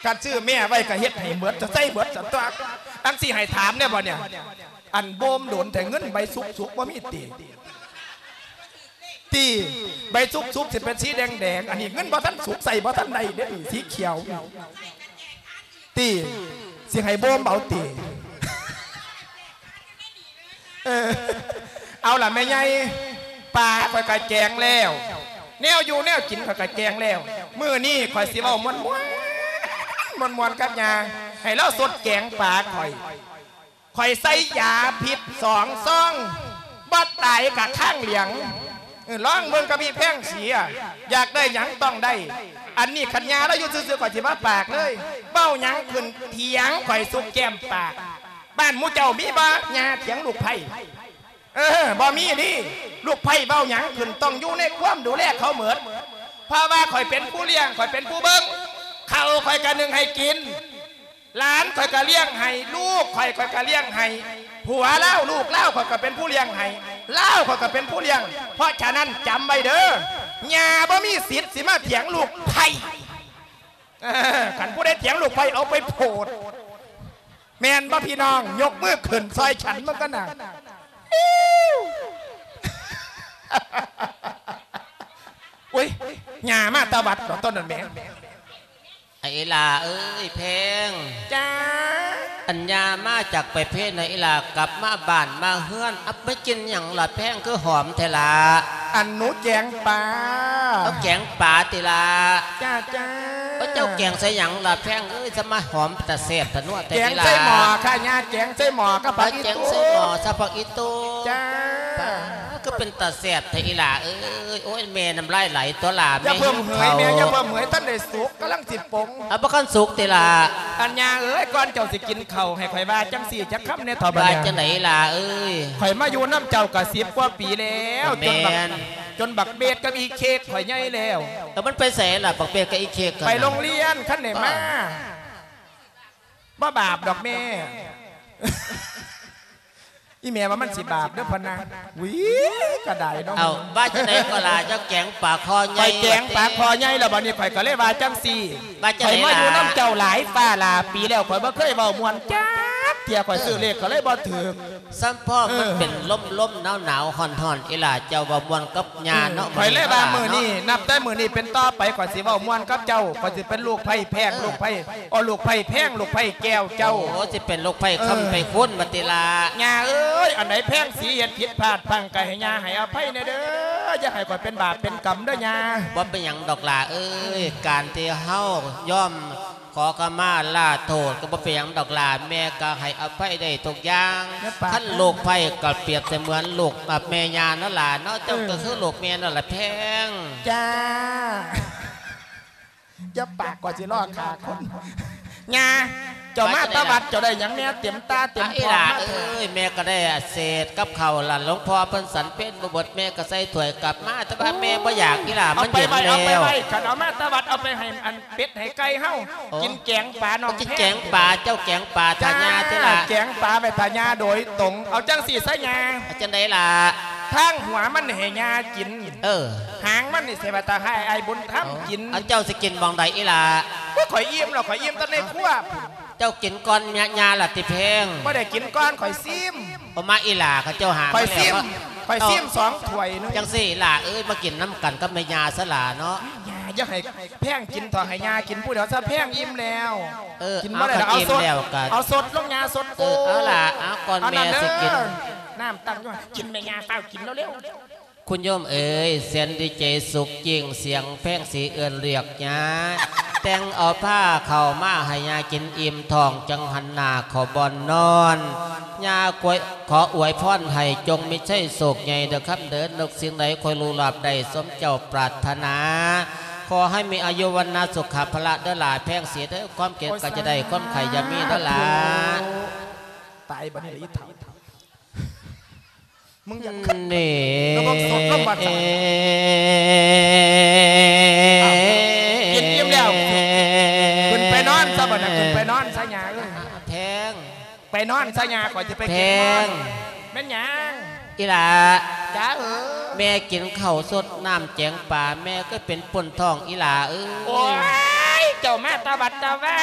ຄັນຊື້ແມ່ໄວ້ກະເຮັດໃຫ້ໝົດ ຈະໃຊ້ໝົດຊັ້ນຕົວະ. ອັນຊິໃຫ້ຖາມແດ່ບໍ່ນີ້ ອັນໂບມໂດນແທ້ ເງິນໃບສຸກໆ ບໍ່ມີຕິ? ຕິ ໃບສຸກໆ ຊິເປັນສີແດງໆ ອັນນີ້ເງິນບໍ່ທັນສຸກ ໃຊ້ບໍ່ທັນໄດ້ເດ້ ສີຂຽວ ຕິ ຊິໃຫ້ໂບມເອົາຕິ? ເອີ ເອົາລະແມ່ໃຫຍ່ ປາຂ້ອຍກະແກງແລ້ວ ແນວຢູ່ແນວກິນຂ້ອຍກະແກງແລ້ວ. ມື້ນີ້ຂ້ອຍຊິເວົ້າມ່ວນໆ ມ່ວນໆ ກັບຍ່າ ໃຫ້ລາວຊົດແກງປາຂ້ອຍ. ຂ້ອຍໃສ່ຢາພິດສອງຊອງ ບໍ່ຕາຍກະຄ້າງຫຼຽງ. ເອີ ລອງເບິ່ງກັບອີ່ແພງສີ ຢາກໄດ້ຫຍັງຕ້ອງໄດ້. ອັນນີ້ຄັນຍ່າລາວຢູ່ຊື່ໆ ຂ້ອຍຊິບໍ່ປາກເລີຍ ເວົ້າຫຍັງຂຶ້ນຖຽງຂ້ອຍສຸກແກ້ມປາກ. ບ້ານໝູ່ເຈົ້າມີບໍ່ ຍ່າຖຽງລູກໃພ້? ເອີ ບໍ່ມີນີ້ ລູກໃພ້ເວົ້າຫຍັງຂຶ້ນ ຕ້ອງຢູ່ໃນຄວາມດູແລເຂົາໝົດ ເພາະວ່າຂ້ອຍເປັນຜູ້ລ້ຽງ ຂ້ອຍເປັນຜູ້ເບິ່ງ. ເຂົ້າຂ້ອຍກະໜຶ້ງໃຫ້ກິນ ຫຼານຂ້ອຍກະລ້ຽງໃຫ້ ລູກຂ້ອຍ ຂ້ອຍກະລ້ຽງໃຫ້. ຜົວລາວ ລູກລາວ ຂ້ອຍກະເປັນຜູ້ລ້ຽງໃຫ້ ລາວ ຂ້ອຍກະເປັນຜູ້ລ້ຽງ. ເພາະສະນັ້ນ ຈຳໄວ້ເດີ ຍ່າບໍ່ມີສິດຊິມາຖຽງລູກໃພ້. ເອີ ຄັນຜູ້ໃດຖຽງລູກໃພ້ ເອົາໄປໂພດ. ແມ່ນບໍ່ພີ່ນ້ອງ? ຍົກມືຂຶ້ນຊ່ອຍກັນເບິ່ງກັນນະ. ອຸ້ຍ ຍ່າມາແຕ່ວັດເນາະ ຕອນນັ້ນແໝ. ອີ່ຫຼ້າເອີຍແພງ. ຈ້າ. ອັນຍ່າມາຈາກໄປເພນນະ ອີ່ຫຼ້າກັບມາບ້ານມາເຮືອນ ອັບ ໄປກິນຫຍັງລະແພງ ຄືຫອມແທ້ລະ? ອັນໜູແກງປາ. ເອົາແກງປາຕິລະ? ຈ້າ ຈ້າ. ເອົາເຈົ້າແກງໃສ່ຫຍັງລະແພງເອີຍ ສະມາຫອມຕາແຊບຕານົວແທ້ອີ່ຫຼ້າ? ແກງໃສ່ໝໍ້ຄ່ະຍ່າ ແກງໃສ່ໝໍ້ກັບຜັກອີ່ຕູ. ເອົາແກງໃສ່ໝໍ້ຊະ ຜັກອີ່ຕູ. ຈ້າ. ປາ ຄືເປັນຕາແຊບແທ້ອີ່ຫຼ້າເອີຍ. ໂອ້ຍ ແມ່ນ້ຳລາຍໄຫຼຕົວຫຼ້າ. ຢ່າເພີ່ມເຫີຍແມ່ ຢ່າເພີ່ມເຫີຍ ທັນໄດ້ສຸກ ກຳລັງຊິປົງ. ເອົາ ບໍ່ທັນສຸກຕິລະ? ອັນຍ່າເອີຍ ກ່ອນເຈົ້າຊິກິນເຂົ້າ ໃຫ້ຂ້ອຍວ່າຈັ່ງຊີ້ຈັກຄຳແດ່ເຖາະບັດນີ້. ວ່າຈັ່ງໃດອີ່ຫຼ້າເອີຍ? ຂ້ອຍມາຢູ່ນຳເຈົ້າກໍສິບກວ່າປີແລ້ວ. ແມ່ນ. ຈົນບັກ ຈົນບັກເບດກັບອີເຄກຂ້ອຍໃຫຍ່ແລ້ວ. ແລ້ວມັນໄປໃສລະ ບັກເບດກັບອີເຄກ? ໄປໂຮງຮຽນ ຄັນໄດ້ມາ. ອໍ ບໍ່ບາບດອກແມ່. ອີ່ແມ່ວ່າມັນຊິບາບເດີ້ພະນະ. ຫວີ ກະໄດ້ເນາະ. ເອົາ ວ່າຈັ່ງໃດກໍລະ ເຈົ້າແກງປາຄໍໃຫຍ່. ຂ້ອຍແກງປາຄໍໃຫຍ່ແລ້ວ ບັດນີ້ຂ້ອຍກໍເລີຍວ່າຈັ່ງຊີ້. ວ່າຈັ່ງໃດລະ? ຂ້ອຍມາຢູ່ນຳເຈົ້າຫຼາຍຟ້າຫຼາຍປີແລ້ວ ຂ້ອຍບໍ່ເຄີຍເວົ້າມ່ວນຈັກເທື່ອ ຂ້ອຍຊື້ເລກກໍເລີຍບໍ່ຖືກ. ສ່ຳພໍ້ມັນ ເອີ ເປັນລົມໆ ໜາວໆ ຮ້ອນໆ ອີ່ຫຼ້າ ເຈົ້າເວົ້າມ່ວນກັບຍ່າເນາະ. ອືມ ຂ້ອຍເລີຍວ່າມື້ນີ້ ນັບແຕ່ມື້ນີ້ເປັນຕໍ່ໄປ ຂ້ອຍຊິເວົ້າມ່ວນກັບເຈົ້າ ຂ້ອຍຊິເປັນລູກໃພ້ແພງ ເອີ ລູກໃພ້ ອໍ ລູກໃພ້ແພງ ລູກໃພ້ແກ້ວເຈົ້າ. ໂອ້ ຊິເປັນລູກໃພ້ ເອີ ຄຳໄພ້ຄູນບັດຕິລະ? ຍ່າເອີຍ ອັນໃດແພງສີເຮັດຜິດພາດພັ້ງ ກໍໃຫ້ຍ່າໃຫ້ອະໄພແດ່ເດີ້ ຢ່າໃຫ້ຂ້ອຍເປັນບາບເປັນກຳເດີ້ຍ່າ. ບໍ່ເປັນຫຍັງດອກຫຼ້າເອີຍ ການທີ່ເຮົາຍອມ ຂໍຂະມາລາໂທດກໍບໍ່ເປັນຫຍັງດອກຫຼ້າ ແມ່ກໍໃຫ້ອະໄພໄດ້ທຸກຢ່າງ. ຢ່າປາກ ຄັນລູກໃພ້ກໍປຽບສະເໝືອນລູກກັບແມ່ຍ່ານັ້ນຫຼ້າເນາະ. ເຈົ້າ ເອີ ກໍຄືລູກແມ່ນັ້ນລະແພງ. ຈ້າ. ຢ່າປາກ ກວ່າຊິລໍຂ້າຄົນ. ຍ່າ ເຈົ້າມາແຕ່ວັດ ເຈົ້າໄດ້ຫຍັງແດ່ ເຕັມຕາເຕັມທ້ອງມາແທ້? ອີ່ຫຼ້າເອີຍ ແມ່ກໍໄດ້ເສດກັບເຂົ້າລະ ຫຼວງພໍ່ເພິ່ນສັນເປັນບໍ່ເບິດ ແມ່ກໍໃສ່ຖ້ວຍກັບມາ ແຕ່ວ່າແມ່ບໍ່ຢາກ ອີ່ຫຼ້າ ມັນເຢັນແລ້ວ. ເອົາໄປໄວ້ ເອົາໄປໄວ້ ຄັນເອົາມາແຕ່ວັດ ເອົາໄປໃຫ້ອັນ ເປັດໃຫ້ໄກ່ເຮົາ ໂອ້ ກິນແກງປານ້ອງແພງ. ກິນແກງປາ ເຈົ້າແກງປາຖ້າຍ່າຕິລະ? ແກງປາໄວ້ຖ້າຍ່າໂດຍຕົງ. ເອົາຈັ່ງຊີ້ຊະຍ່າ. ເອົາຈັ່ງໃດລະ? ທາງຫົວມັນໃຫ້ຍ່າກິນ. ເອີ ຫາງມັນນີ້ຊິໄວ້ຖ້າໃຫ້ອ້າຍບຸນທຳກິນ. ເອົາ ເຈົ້າຊິກິນໝ່ອງໃດອີ່ຫຼ້າ? ໂອ້ຍ ຂ້ອຍອີ່ມແລ້ວ ຂ້ອຍອີ່ມແຕ່ໃນຄົວ. ເຈົ້າກິນກ່ອນຍ່າ ຍ່າລະຕິແພງ? ບໍ່ໄດ້ກິນກ່ອນ ຂ້ອຍຊີມ. ເອົາມາອີ່ຫຼ້າ ເຂົາເຈົ້າຫາມາແລ້ວ. ຂ້ອຍຊີມ ຂ້ອຍຊີມສອງຖ້ວຍໜຶ່ງ. ຈັ່ງຊີ້ຫຼ້າເອີຍ ມາກິນນຳກັນກັບແມ່ຍ່າຊະຫຼ້າເນາະ. ຢ່າ ຢ່າໃຫ້ແພງກິນເຖາະ ໃຫ້ຍ່າກິນຜູ້ດຽວຊະ ແພງອີ່ມແລ້ວ. ເອີ ກິນບໍ່ໄດ້ດອກ ເອົາ ເອົາສົດ ເອົາສົດລົງຍ່າ ສົດໂກ. ເອີ ເອົາຫຼ້າ ເອົາກ່ອນແມ່ຊິກິນ. ນ້ຳຕັ້ງຢູ່ ກິນແມ່ຍ່າ ຟ້າວກິນເລັວໆ. ຄຸນໂຍມເອີຍ ແສນດີໃຈສຸກຍິ່ງ ສຽງແພງສີເອີ້ນລຽກຍ່າ ແຕ່ງເອົາພາເຂົ້າມາໃຫ້ຍ່າກິນອີ່ມທ້ອງ ຈັ່ງຫັນໜ້າເຂົ້າບ່ອນນອນ. ຍ່າ ຂໍອວຍພອນໃຫ້ຈົ່ງມີໄຊໂຊກໃຫຍ່ເດີຄຳເດີ ນຶກສິ່ງໃດຂໍໃຫ້ລຸລາບໄດ້ສົມເຈົ້າປາດຖະໜາ. ຂໍໃຫ້ມີອາຍຸວັນນະສຸຂະພະລະເດີຫຼ້າແພງສີເດີ ຄວາມເຈັບກໍຈະໄດ້ ຄວາມໄຂ້ຢ່າມີເດີຫຼ້າ. ໂອ້ ສາທຸ. ຕາຍບັດນີ້ລະອີ່ເຖົ້າ. ມຶງຢ່າຄັດ ນີ້ ລະບົບສົດລົງບາດສານ. ອ້າວ ກິນອີ່ມແລ້ວ ຂຶ້ນໄປນອນຊະບັດນະ ຂຶ້ນໄປນອນຊະຍ່າເອີຍ. ແພງ ໄປນອນຊະຍ່າ ຂ້ອຍຊິໄປເກັບເງິນ. ແພງ ແມ່ນຫຍັງ? ອີ່ຫຼ້າ ຈ້າເອີຍ. ແມ່ກິນເຂົ້າສົດນ້ຳແຈງປາ ແມ່ກໍເປັນປົນທ້ອງ ອີ່ຫຼ້າເອີຍ. ໂອ້ຍ ເຈົ້າມາແຕ່ວັດແຕ່ວາ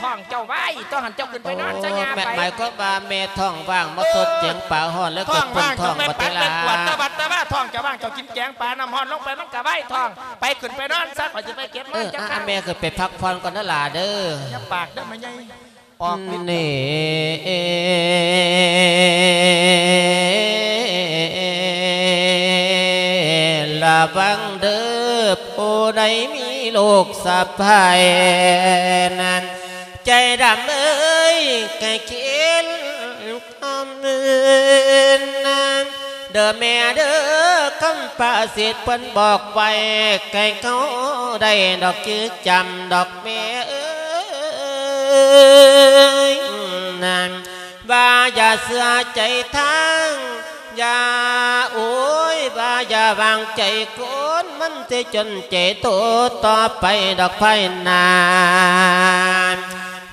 ທ້ອງເຈົ້າວາຍ ຕ້ອງຫັ້ນເຈົ້າຂຶ້ນໄປນອນຊະຍ່າໄປ. ໂອ້ ໝາຍຄວາມວ່າແມ່ທ້ອງວ່າງ ມາສົດແຈງປາຮ້ອນ ແລ້ວກໍປົນທ້ອງບັດນີ້ລະ. ທ້ອງວ່າງເຈົ້າໄປປັກໄປກວດ ແຕ່ວັດແຕ່ວາ ທ້ອງເຈົ້າວ່າງ ເຈົ້າກິນແຈງປານ້ຳຮ້ອນລົງໄປ ມັນກໍວາຍທ້ອງ. ໄປຂຶ້ນໄປນອນຊະ ຂ້ອຍຊິໄປເກັບມາ. ເອີ ແມ່ຂຶ້ນໄປພັກຜ່ອນກ່ອນເດີຫຼ້າເດີ. ຢ່າປາກເດີແມ່ໃຫຍ່. ອອກລິດ ນີ້ ລະວັງເດີ ຜູ້ໃດມີລູກສະໃພ້ນັ້ນ ໃຈດຳເອີຍ ໃຫ້ຄິດຄຳອື່ນນຳ ເດີແມ່ເດີ ຄຳພາສິດເພິ່ນບອກໄວ້ ໃຫ້ເຮົາໄດ້ດອກຈື່ຈຳດອກແມ່ເອີຍ ນັ້ນ ວ່າຢ່າເຊື່ອໃຈທາງ ຢ່າ ໂອ້ຍ ວ່າຢ່າວາງໃຈຄົນ ມັນຊິຈົນໃຈໂຕຕໍ່ໄປດອກພາຍໜ້າ.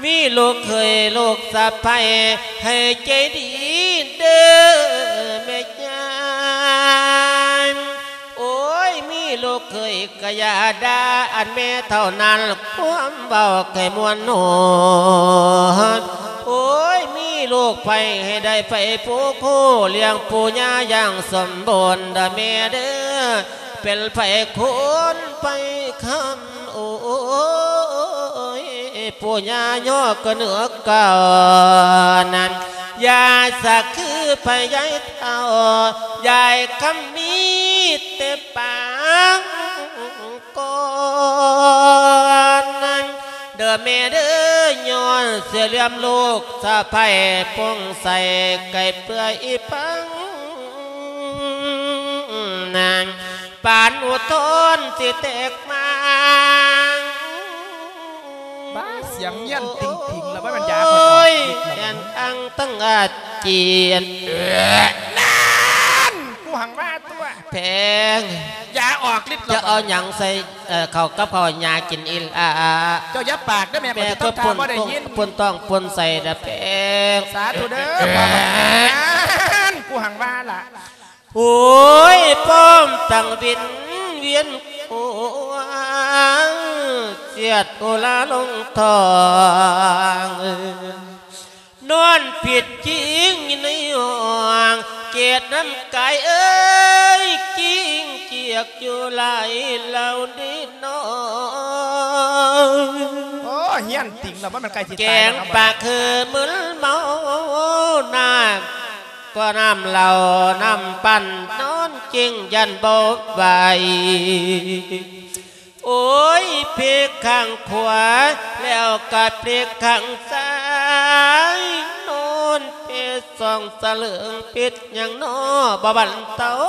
ມີລູກເຂີຍລູກສະໃພ້ໃຫ້ໃຈດີເດີແມ່ຍາຍ. ໂອ້ຍ ມີລູກເຂີຍກະຢ່າດ່າອັນແມ່ເທົ່ານັ້ນ ຄວາມເວົ້າໃຫ້ມ່ວນຫົວ. ໂອ້ຍ ລູກໃຜໃຫ້ໄດ້ໃຜຜູ້ຄູ່ ລ້ຽງປູ່ຍ່າຢ່າງສົມບູນເດີແມ່ເດີ ເປັນໃຜຄົນໃຜຄຳ ໂອ້ຍ ປູ່ຍ່າຍໍກະເໜືອເກົ່ານັ້ນ ຍາສາຄືໃຜຍາຍເຖົ້າ ຍາຍຄຳມີແຕ່ປາງ ກ່ອນນັ້ນເດີແມ່ເດີ ຍ້ອນເສຍເຫຼືອມລູກສະໃພ້ປົງໃສ ໄກ່ເປືອຍອີ່ປັງນາງ ປານອຸທອນຊິແຕກມາງ ບ້າ ສຽງຍຽນຕິງໆ ແລ້ວບໍ່ແມ່ນຢາ ໂອ້ຍ ຂ້ອຍອອກ ແອນອັງຕັ້ງອາຈຽນ ເອີ ນັ້ນ ກູຫັງວ່າຕົວະ ແພງ ຢາອອກລິດແລ້ວ ຈະເອົາຫຍັງໃສ່ ເອີ ເຂົ້າກັບເຂົ້າຍາກິນອີ່ຫຼ້າ ເຈົ້າຢ່າປາກເດີແມ່ ແມ່ ຂ້ອຍຊິທຳທ່າບໍ່ໄດ້ຍິນ ປົນທ້ອງປົນໄສ້ນະແພງ ສາທຸເດີ ພໍ່ ນັ້ນ ກູຫັງວ່າລະ ໂອ້ຍ ປ້ອມຕັ້ງວິນວຽນຫົວ ສຽດໂອລາລົງທ້ອງ ນອນຜິດຈິງຢູ່ໃນຫ້ອງ ເກດນ້ຳກາຍເອີຍ ກິ້ງກຽກຢູ່ຫຼາຍເຫຼົ່າເດເນາະ ໂອ້ ຮຽນຕິງແລ້ວ ບໍ່ແມ່ນໃກ້ຊິຕາຍແລ້ວ ແກງປາກຄືມຶນເມົາ ນ້ຳ ກໍນ້ຳເຫຼົ້ານ້ຳປັ່ນ ນອນຈິງຢ້ານບໍ່ໄຫວ ໂອ້ຍ ເພກຂ້າງຂວາ ແລ້ວກະເພກຂ້າງຊ້າຍ ນອນເພສອງສະເຫຼີງ ເປັນຫຍັງນໍ ບໍ່ບັນເທົາ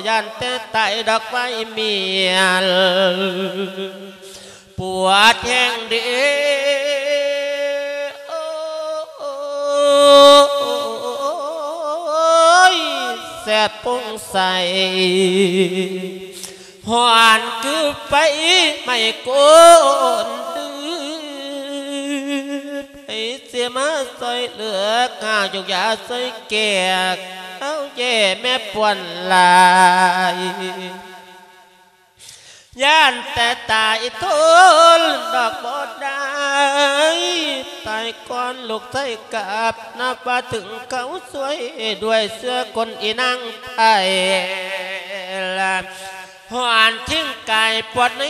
ຢ້ານແຕ່ຕາຍດອກໄມ້ເມຍນ ປວດແຮງເດ ໂອ້ຍ ແສບປົງໃສ ຮ້ອນຄືໄຟໄໝ້ກົ້ນເດືອດ ໃຜຊິມາຊ່ອຍເຫຼືອ ຂ້າຢູກຢາຊ່ອຍແກ້ ເອົາແຍ່ແມ່ປ່ວນຫຼາຍ ຢ້ານແຕ່ຕາຍທົນດອກບໍ່ໄດ້ ຕາຍກ່ອນລູກໄສ້ກັບ ນັບວ່າເຖິງຄາວຊ່ວຍ ດ້ວຍເຊື້ອຄົນອີນາງໄພ ຮ້ອນຖິ້ມກາຍປວດໃນ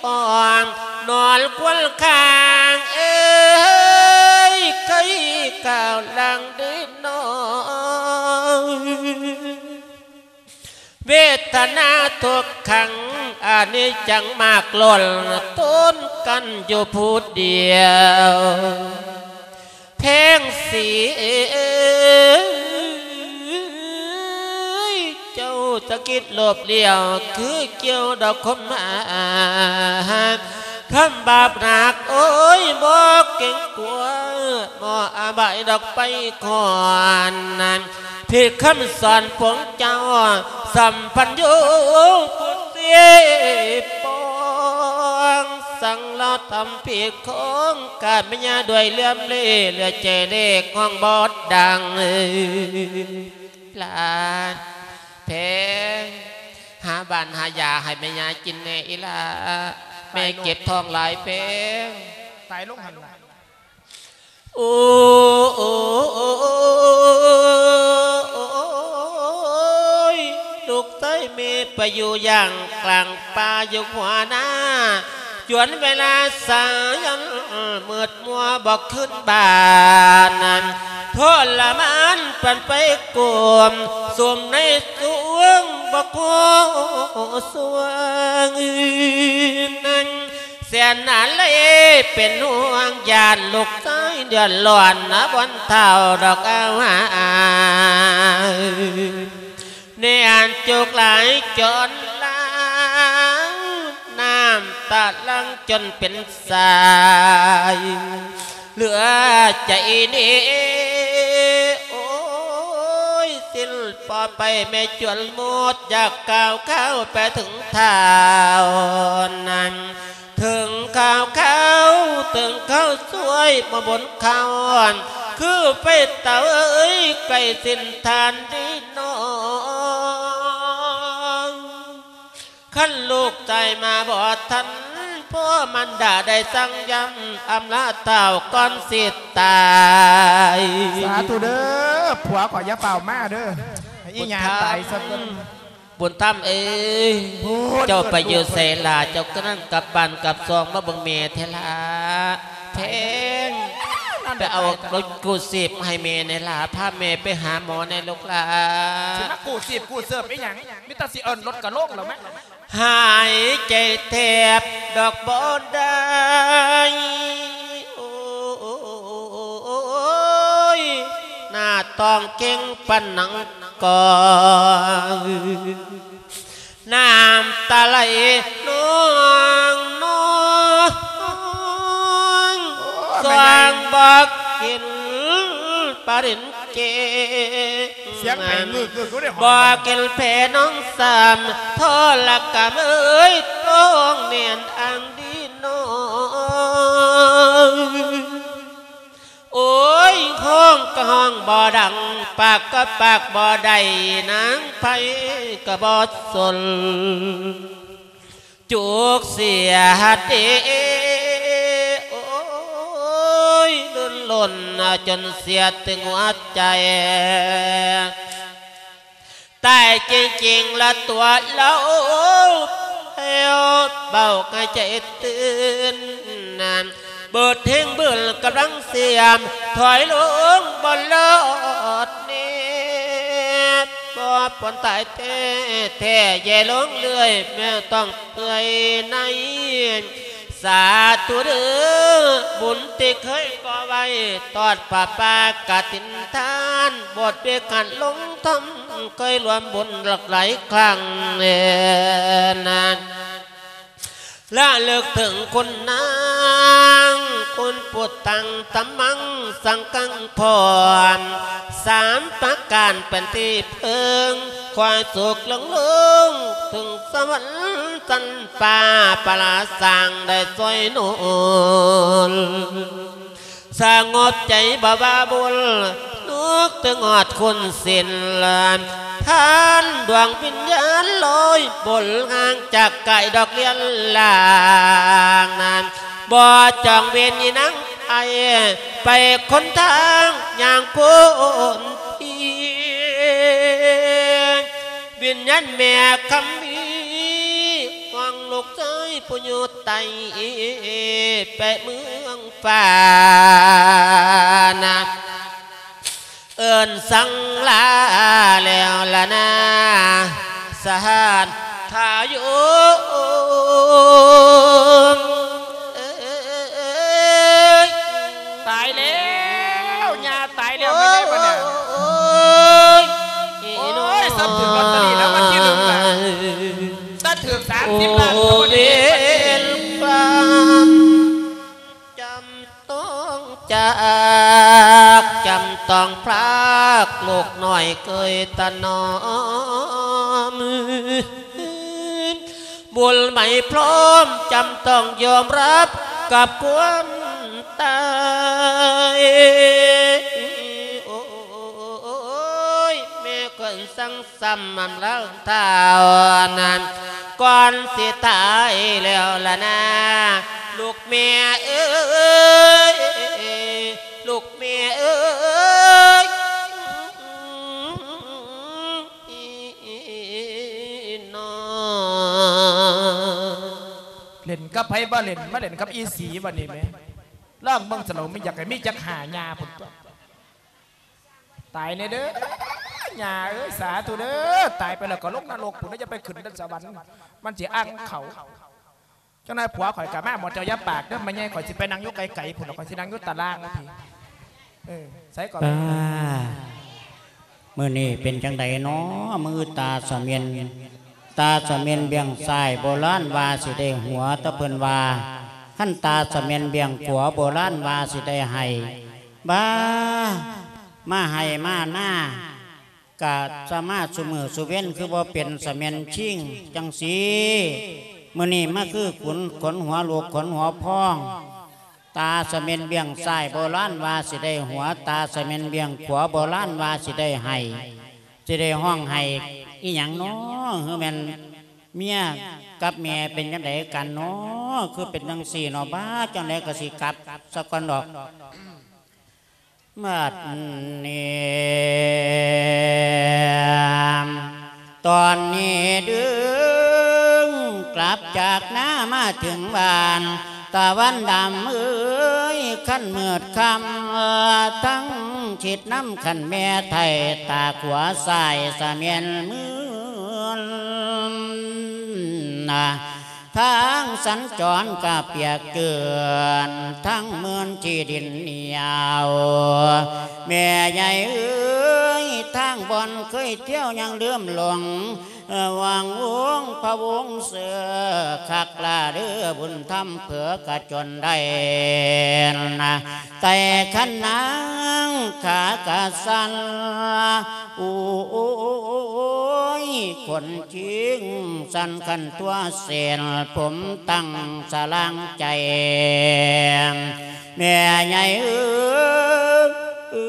ທ້ອງ ນອນຄວນຄາງເອີຍ ໄຂ້ກາວຫຼັງເດນອ ເວດຕະນາທຸກຂັງ ອະນິດຈັງມາກລົ້ນ ທົນກັນຢູ່ຜູ້ດຽວ ແພງສີເອີຍ ເຈົ້າຈະຄິດໂລບລ້ຽວ ຄືກ່ຽວດອກຄົມມາ ທຳບາບໜັກ ໂອ້ຍ ບໍ່ເກງກົວ ບໍ່ອາບາຍດອກໄຟຄອນ ຜິດຄຳສອນຂອງເຈົ້າ ສຳພັນໂຍຜູ້ເສບປອງ ສັ່ງລາວທຳຜິດຂອງການເມຍ ດ້ວຍເຫຼືອມເລ ເຫຼືອໃຈເລກຮ້ອງບໍ່ດັງ ຫຼານແພງ ຫາບ້ານຫາຢາໃຫ້ແມ່ຍາກິນແດ່ອີ່ຫຼ້າ ແມ່ເຈັບທ້ອງຫຼາຍແພງ ຕາຍລົງຫັ້ນລະ ໂອ້ຍ ລູກຊາຍແມ່ໄປຢູ່ຢ່າງກາງປ່າຢູ່ຫົວນາ ຈົນເວລາສາຍຍັນມືດມົວບໍ່ຄືນບ້ານ ທໍລະມານປານໄຟກົມ ສຸມໃນສວງບໍ່ພໍສວງ ແສນອາໄລເປັນຫ່ວງ ຢ້ານລູກຊາຍເດືອດຮ້ອນນະ ບ່ອນເຖົ້າດອກອາວາ ແນມຈຸກຫຼາຍຈົນລາ ນ້ຳຕາຫຼັ່ງຈົນເປັນສາຍ ເຫຼືອໃຈເນ ໂອ້ຍ ສິ້ນພໍໄປແມ່ຈວນໝົດ ຢາກກ່າວຂ່າວໄປເຖິງທ້າວນັ້ນ ເຖິງຂ່າວຂ່າວ ເຖິງຂ່າວຊ່ວຍມາບົນຂ່າວ ຄືໄຟເຕົາເອີຍ ໃກ້ສິ້ນທ່ານດີນ້ອງ ຄັນລູກຕາຍມາບໍ່ທັນ ພໍ່ມານດາໄດ້ສັ່ງຢ້ຳອຳລາທ້າວກ່ອນຊິຕາຍ. ສາທຸເດີ ຜົວຂ້ອຍຢ່າຟ້າວມາເດີ ອີ່ຫຍັງຕາຍຊະເກີນ. ບຸນທຳເອີຍ ເຈົ້າໄປຢູ່ໃສລະ? ເຈົ້າກະນັ້ນກັບບ້ານກັບຊ່ອງມາເບິ່ງແມ່ແທ້ລະ. ແພງ ໄປເອົາລົດກູ້ຊີບໃຫ້ແມ່ແດ່ລະ ພາແມ່ໄປຫາໝໍແດ່ລູກຫຼາ. ຊິມາກູ້ຊີບກູ້ເສີບອີ່ຫຍັງ? ມີແຕ່ຊິເອີ້ນລົດກະໂລງແລ້ວແມະ. ຫາຍໃຈແທບດອກບໍ່ໄດ້ ໂອ້ຍ ໜ້າຕ້ອງເກັ່ງປານໜັງກອງ ນ້ຳຕາໄຫຼນອງໆ ໂອ້ຍ ຊ່ວງບໍ່ກິນປາລິນ ເກງ ສຽງໄຫງຶກໆ ບໍ່ກິນແຜ່ນ້ອງສາມ ທໍລະກຳເອີຍ ຕ້ອງແໜ້ນອັງດີນ້ອງ. ໂອ້ຍ ຮ້ອງກະຮ້ອງບໍ່ດັງ ປາກກະປາກບໍ່ໄດ້ ນາງໃຜກະບໍ່ສົນ. ຈຸກເສຍເດ ໂອ້ຍ ລົ້ນລົນຈົນເສຍຕຶງຫົວໃຈ ຕາຍຈິງໆ ລະຕົວລາວແລ້ວ ເບົາໃຫ້ໃຈຕື່ນ ນານ ເບີດແຮງບືນກຳລັງສຽມ ຖອຍລົງບໍ່ລອດແນບ ບໍ່ປອນຕາຍແທ້ໆ ແຍ່ລົງເລື້ອຍ ແມ່ຕ້ອງເປື່ອຍໃນ ສາທຸເດີ ບຸນທີ່ເຄີຍກໍ່ໄວ້ ທອດຜ້າປ່າກະຖິນທານ ບົດເວກການລົງທຳ ເຄີຍລວມບຸນຫຼັກຫຼາຍຄັ້ງແລນານ ລະລຶກເຖິງຄຸນນາງ ຄຸນພຸດທັງທຳມັງສັງກັງ ພ້ອມສາມປະການເປັນທີ່ເພິ່ງ ຄວາຍສຸກເລື່ອງເລີງ ເຖິງສະຫວັນຊັ້ນຟ້າ ພະລາສ້າງໄດ້ຊ່ວຍໜູນ ສະຫງົບໃຈບໍ່ວ່າບຸນ ນຶກເຖິງຮອດຄຸນສິນ ຜ່ານດວງວິນຍານລອຍບົນ ຫ່າງຈາກກາຍດອກລຽນລ່າງນັ້ນ ບໍ່ຈອງເວນອີນາງໄອ ໄປຄົນທາງຍ່າງຄົນທີ່ ວິນຍານແມ່ຄຳມີ ຫວັງລູກຊາຍຜູ້ຢູ່ໃຕ້ ໄປເມືອງ ຟ້ານະ ເອີ້ນສັ່ງລາແລ້ວລະນາ ສະຫານທາໂຍມ ເອີຍ ຕາຍແລ້ວ ຍ່າຕາຍແລ້ວ ແມ່ນໄດ້ບໍ່ນະ? ໂອ້ຍ ໂອ້ຍ ຊ້ຳຖືກລອດເຕີຣີລາງວັນທີໜຶ່ງນະ ຖ້າຖືກສາມສິບລ້ານກະບໍ່ໄດ້ເຮັດ ເວນກຳ ຈຳ ຕ້ອງຈາກ ຈຳຕ້ອງພຣາກ ລູກນ້ອຍເຄີຍຖະໜອມ ບຸນໄໝພ້ອມ ຈຳຕ້ອງຍອມຮັບກັບຄວາມຕາຍ ໂອ້ຍ ແມ່ເກີນສັງ ຊ້ຳມາແລ້ວທ້າວນັ້ນ ກ່ອນຊິຕາຍແລ້ວລະນາ ລູກແມ່ເອີຍ ລູກແມ່ເອີຍ ເນາະ ເຫຼັ້ນກັບໃຜບໍ່ເຫຼັ້ນ ມາເຫຼັ້ນກັບອີສີບັດນີ້ແມະ ລອງເບິ່ງສະໂລ ມີຢາກໃຫ້ມີຈັກຫ້າຍ່າພຸ້ນຕົວະ. ຕາຍແນ່ເດີ ຍ່າເອີຍ ສາທຸເດີ ຕາຍໄປແລ້ວກໍລົງນະລົກພຸ້ນ ຢ່າໄປຂຶ້ນສະຫວັນ ມັນຊິອັ່ງເຂົາ. ເຈົ້ານາຍຜົວຂ້ອຍກໍມາ ໝໍເຈົ້າຢ່າປາກເດີ ແມ່ໃຫຍ່ ຂ້ອຍຊິໄປນັ່ງຢູ່ໄກໆພຸ້ນ ຂ້ອຍຊິນັ່ງຢູ່ຕາລ່າງພຸ້ນ ເອີ ໃສກໍ ປ້າ ມື້ນີ້ເປັນຈັ່ງໃດນໍ ມືຕາສະເໝັນ ຕາສະເໝັນເບື້ອງຊ້າຍ ໂບລານວ່າຊິໄດ້ຫົວ ແຕ່ເພິ່ນວ່າ ຄັນຕາສະເໝັນເບື້ອງຂວາ ໂບລານວ່າຊິໄດ້ໄຫ້ ບ້າ ມາໄຮ່ມານາ ກະສະມາຊຸມື້ຊຸເວັນ ຄືບໍ່ເປັນສະເໝັນຊິງຈັ່ງຊີ້ ມື້ນີ້ມາຄືຂົນ ຂົນຫົວລູກ ຂົນຫົວພອງ ຕາສະເໝັນເບື້ອງຊ້າຍ ໂບລານວ່າຊິໄດ້ຫົວ ຕາສະເໝັນເບື້ອງຂວາ ໂບລານວ່າຊິໄດ້ໄຫ້ ຊິໄດ້ຮ້ອງໄຫ້ອີ່ຫຍັງນໍ ຄືແມ່ນ ເມຍກັບແມ່ເປັນຈັ່ງໃດກັນເນາະ ຄືເປັນຈັ່ງຊີ້ເນາະ ບ້າ ຈັ່ງໃດກໍຊິກັບສາກ່ອນດອກ. ບັດນີ້ ຕອນນີ້ດຶງກັບຈາກນາມາເຖິງບ້ານ ຕາວັນດຳເອີຍ ຄັນມືດຄ່ຳ ທັງຊິດນຳຄັນແມ່ໄທ້ ຕາຂວາຊ້າຍສະແມ່ນມືນ ທາງສັນຈອນກະປຽກເຈື່ອນ ທັງເມີນທີ່ດິນໜຽວ ແມ່ໃຫຍ່ເອີຍ ທາງບ່ອນເຄີຍທ່ຽວຍັງລືມຫຼົງ ຫວັງວົງພະວົງເສືອ ຄັກລະເດີບຸນທຳເຜືອກະຈົນໄດ້ນະ ໄຕ່ຄັນນາງຂາກະສັ່ນ ໂອ້ຍ ຄົນຈິງສັ່ນຄັນຕົວເສັ້ນ ຜົມຕັ້ງສະລາງໃຈ ແມ່ໃຫຍ່ເອີ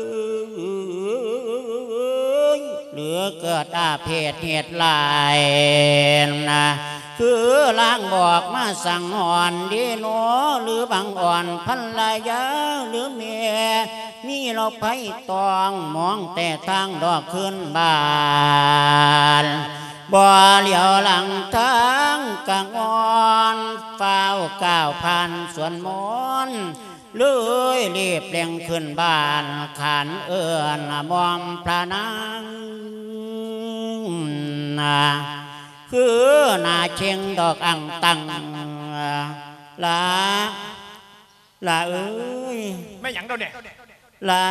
ຍ ຫຼືເກີດອາເພດເຫດຫຼາຍນະ ຄືລາງບອກມາສັງຫອນດີໂນ ຫຼືບັງອ່ອນພັນລະຍາ ຫຼືແມ່ ມີລາວໄພຕອງ ມອງແຕ່ທາງດອກຄືນບ້ານ ບໍ່ຫຼຽວຫຼັງທາງກະງອນ ຟ້າວກ້າວຜ່ານສວນມົນ ເລີຍລີບເລັ່ງຂຶ້ນບ້ານ ຂານເອີ້ນໝ່ອມພະນາງ ນາ ຄືໜ້າເຄັ່ງດອກອັງຕັງ ລາ ລາເອີຍ ແມ່ນຫຍັງດອກນີ້ ລາ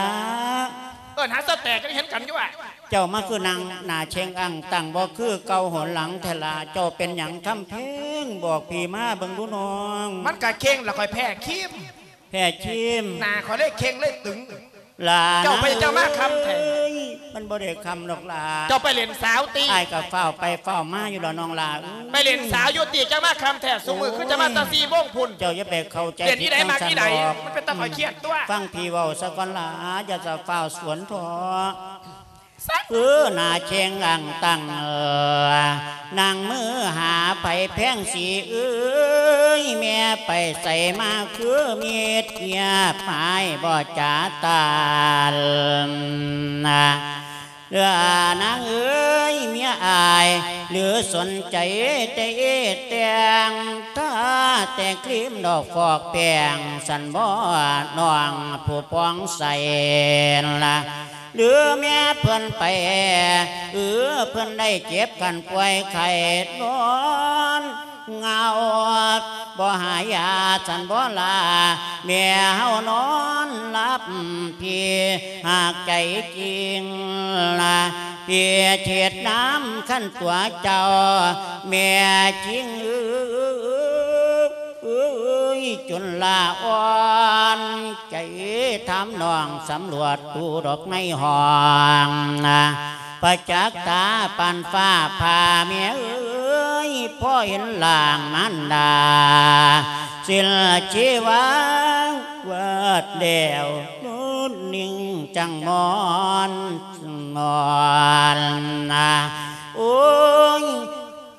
ເອີ້ນຫາສະແຕກ ຍັງເຫັນກັນຢູ່ວ່າ ເຈົ້າມາຄືນັ່ງໜ້າເຄັ່ງອັງຕັງ ບໍ່ຄືເກົ່າຫົນຫຼັງແທ້ລາ ເຈົ້າເປັນຫຍັງຄຳເພັງ ບອກພີ່ມາເບິ່ງດູນ້ອງ ມັນກະເຄັ່ງລະ ຂ້ອຍແພ້ຄີມ ແພ້ຄີມ ໜ້າຂ້ອຍເລີຍເຄັ່ງເລີຍຕຶງ ລາ ເຈົ້າໄປເຈົ້າມາຄ່ຳແທ້ ມັນບໍ່ໄດ້ຄ່ຳດອກລາ ເຈົ້າໄປຫຼິ້ນສາວຕິ ອ້າຍກໍຟ້າວໄປຟ້າວມາຢູ່ລະນ້ອງລາເອີຍ ໄປຫຼິ້ນສາວຢູ່ຕິ ເຈົ້າມາຄ່ຳແທ້ ຊຸມື້ຄືເຈົ້າມາແຕ່ສີ່ໂມງພຸ້ນ ເຈົ້າຢ່າໄປເຂົ້າໃຈຜິດ ມັນເປັນຕາຂ້ອຍຄຽດຕົວະ ຟັງພີ່ເວົ້າສາກ່ອນລາ ຢ່າສະຟ້າວສວນເຖາະ ຄືໜ້າເຄັ່ງອັງຕັງ ນັ່ງມືຫາໃຜແພງສີເອີຍ ແມ່ໄປໃສມາຄືມິດ ງຽບຫາຍບໍ່ຈາຕານ ເຫຼືອນາງເອີຍ ເມຍອ້າຍ ຫຼືສົນໃຈແຕ່ເອແຕ່ງ ທາແຕ່ຄຣີມດອກຟອກແປ້ງ ຊັ້ນບໍ່ນ້ອງຜູ້ປ່ອງໃສລະ ຫຼືແມ່ເພິ່ນໄປ ເອີ ເພິ່ນໄດ້ເຈັບກັນປ່ວຍໄຂ້ ນອນເຫງົາ ບໍ່ຫາຢາຊັ້ນບໍ່ລາ ແມ່ເຮົານອນຫຼັບ ພີ່ຫາກໃຈຈິງລະ ພີ່ເທດນຳຄັນຕົວເຈົ້າ ແມ່ຈິງເອີຍ ເອີຍ ຈົນລາອ່ອນໃຈ ຖາມນ້ອງສຳຫຼວດດູດອກໃນຫ້ອງ ປະຈັກຕາປານຟ້າຜ່າ ແມ່ເອີຍ ພໍເຫັນຮ່າງມານດາ ສິ້ນຊີວາວາດແລ້ວ ນຸດນິ່ງຈັງມອນ ມອນ ໂອ້ຍ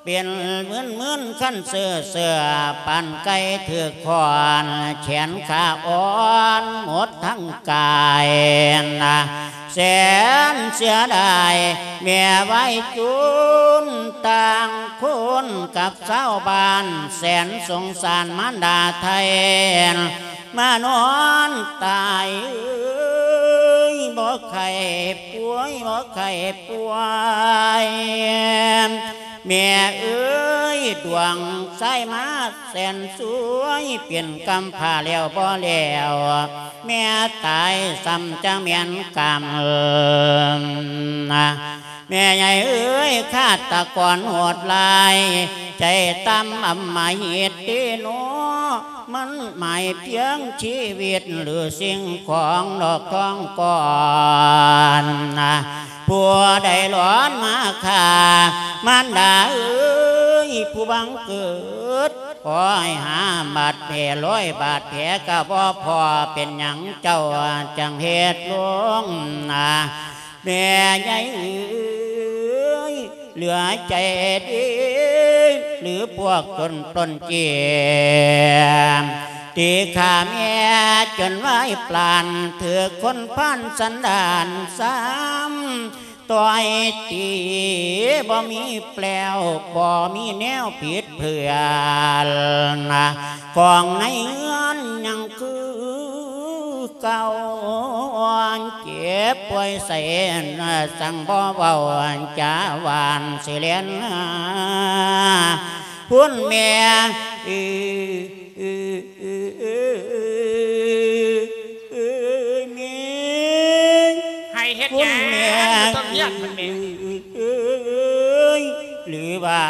ເປັນມື່ນໆ ຄັນເຊື່ອໆ ປານໄກ່ຖືກຄ້ອນ ແຂນຂາອ່ອນໝົດທັງກາຍນະ ແສນເສຍດາຍ ແມ່ວາຍຈູນຕ່າງຄົນກັບຊາວບ້ານ ແສນສົງສານມານດາໄທ ມານອນຕາຍເອີຍ ບໍ່ໄຂ້ປ່ວຍ ບໍ່ໄຂ້ປ່ວຍ ແມ່ເອີຍ ດວງຊາຍມາແສນສວຍ ເປັນກຳພ້າແລ້ວບໍ່ແລ້ວ ແມ່ຕາຍຊ້ຳຈັກແມ່ນກຳນະ ແມ່ໃຫຍ່ເອີຍ ຄາດຕະກອນໂຫດຮ້າຍ ໃຈຕ່ຳອຳມະຫິດຕິໂນ ມັນໝາຍພຽງຊີວິດ ຫຼືສິ່ງຂອງດອກທອງກ່ອນ ຜູ້ໃດຫຼອນມາຂ້າ ມານດາເອີຍ ຜູ້ບັງເກີດ ຂໍໃຫ້ຫາບາດແຜ ລອຍບາດແຜກໍບໍ່ພໍ ເປັນຫຍັງເຈົ້າຈັ່ງເຮັດລົງນະ ແມ່ໃຫຍ່ເອີຍ ເຫຼືອໃຈດີ ຫຼືພວກໂຈນປຸ້ນຈີ້ ຕີຂ້າແມ່ຈົນວາຍປານ ຖືກຄົນພານສັນດານຊ້ຳ ຕ່ອຍຕີບໍ່ມີແປວ ບໍ່ມີແນວຜິດເຜືອນ ຂອງໃນເຮືອນຍັງຄືເກົ່າ ເຈັບປ່ວຍໃສ ສັ່ງບໍ່ເວົ້າຈາຫວານ ຊິແລ່ນຫາພຸ້ນແມ່ ເອີຍ ເອີຍ ເອີຍ ເອີຍ ເອີຍ ແມ່ ໃຫ້ເຮັດຫຍັງ ແມ່ ຕ້ອງຮຽກມັນແມ່ ເອີຍ ຫຼືວ່າ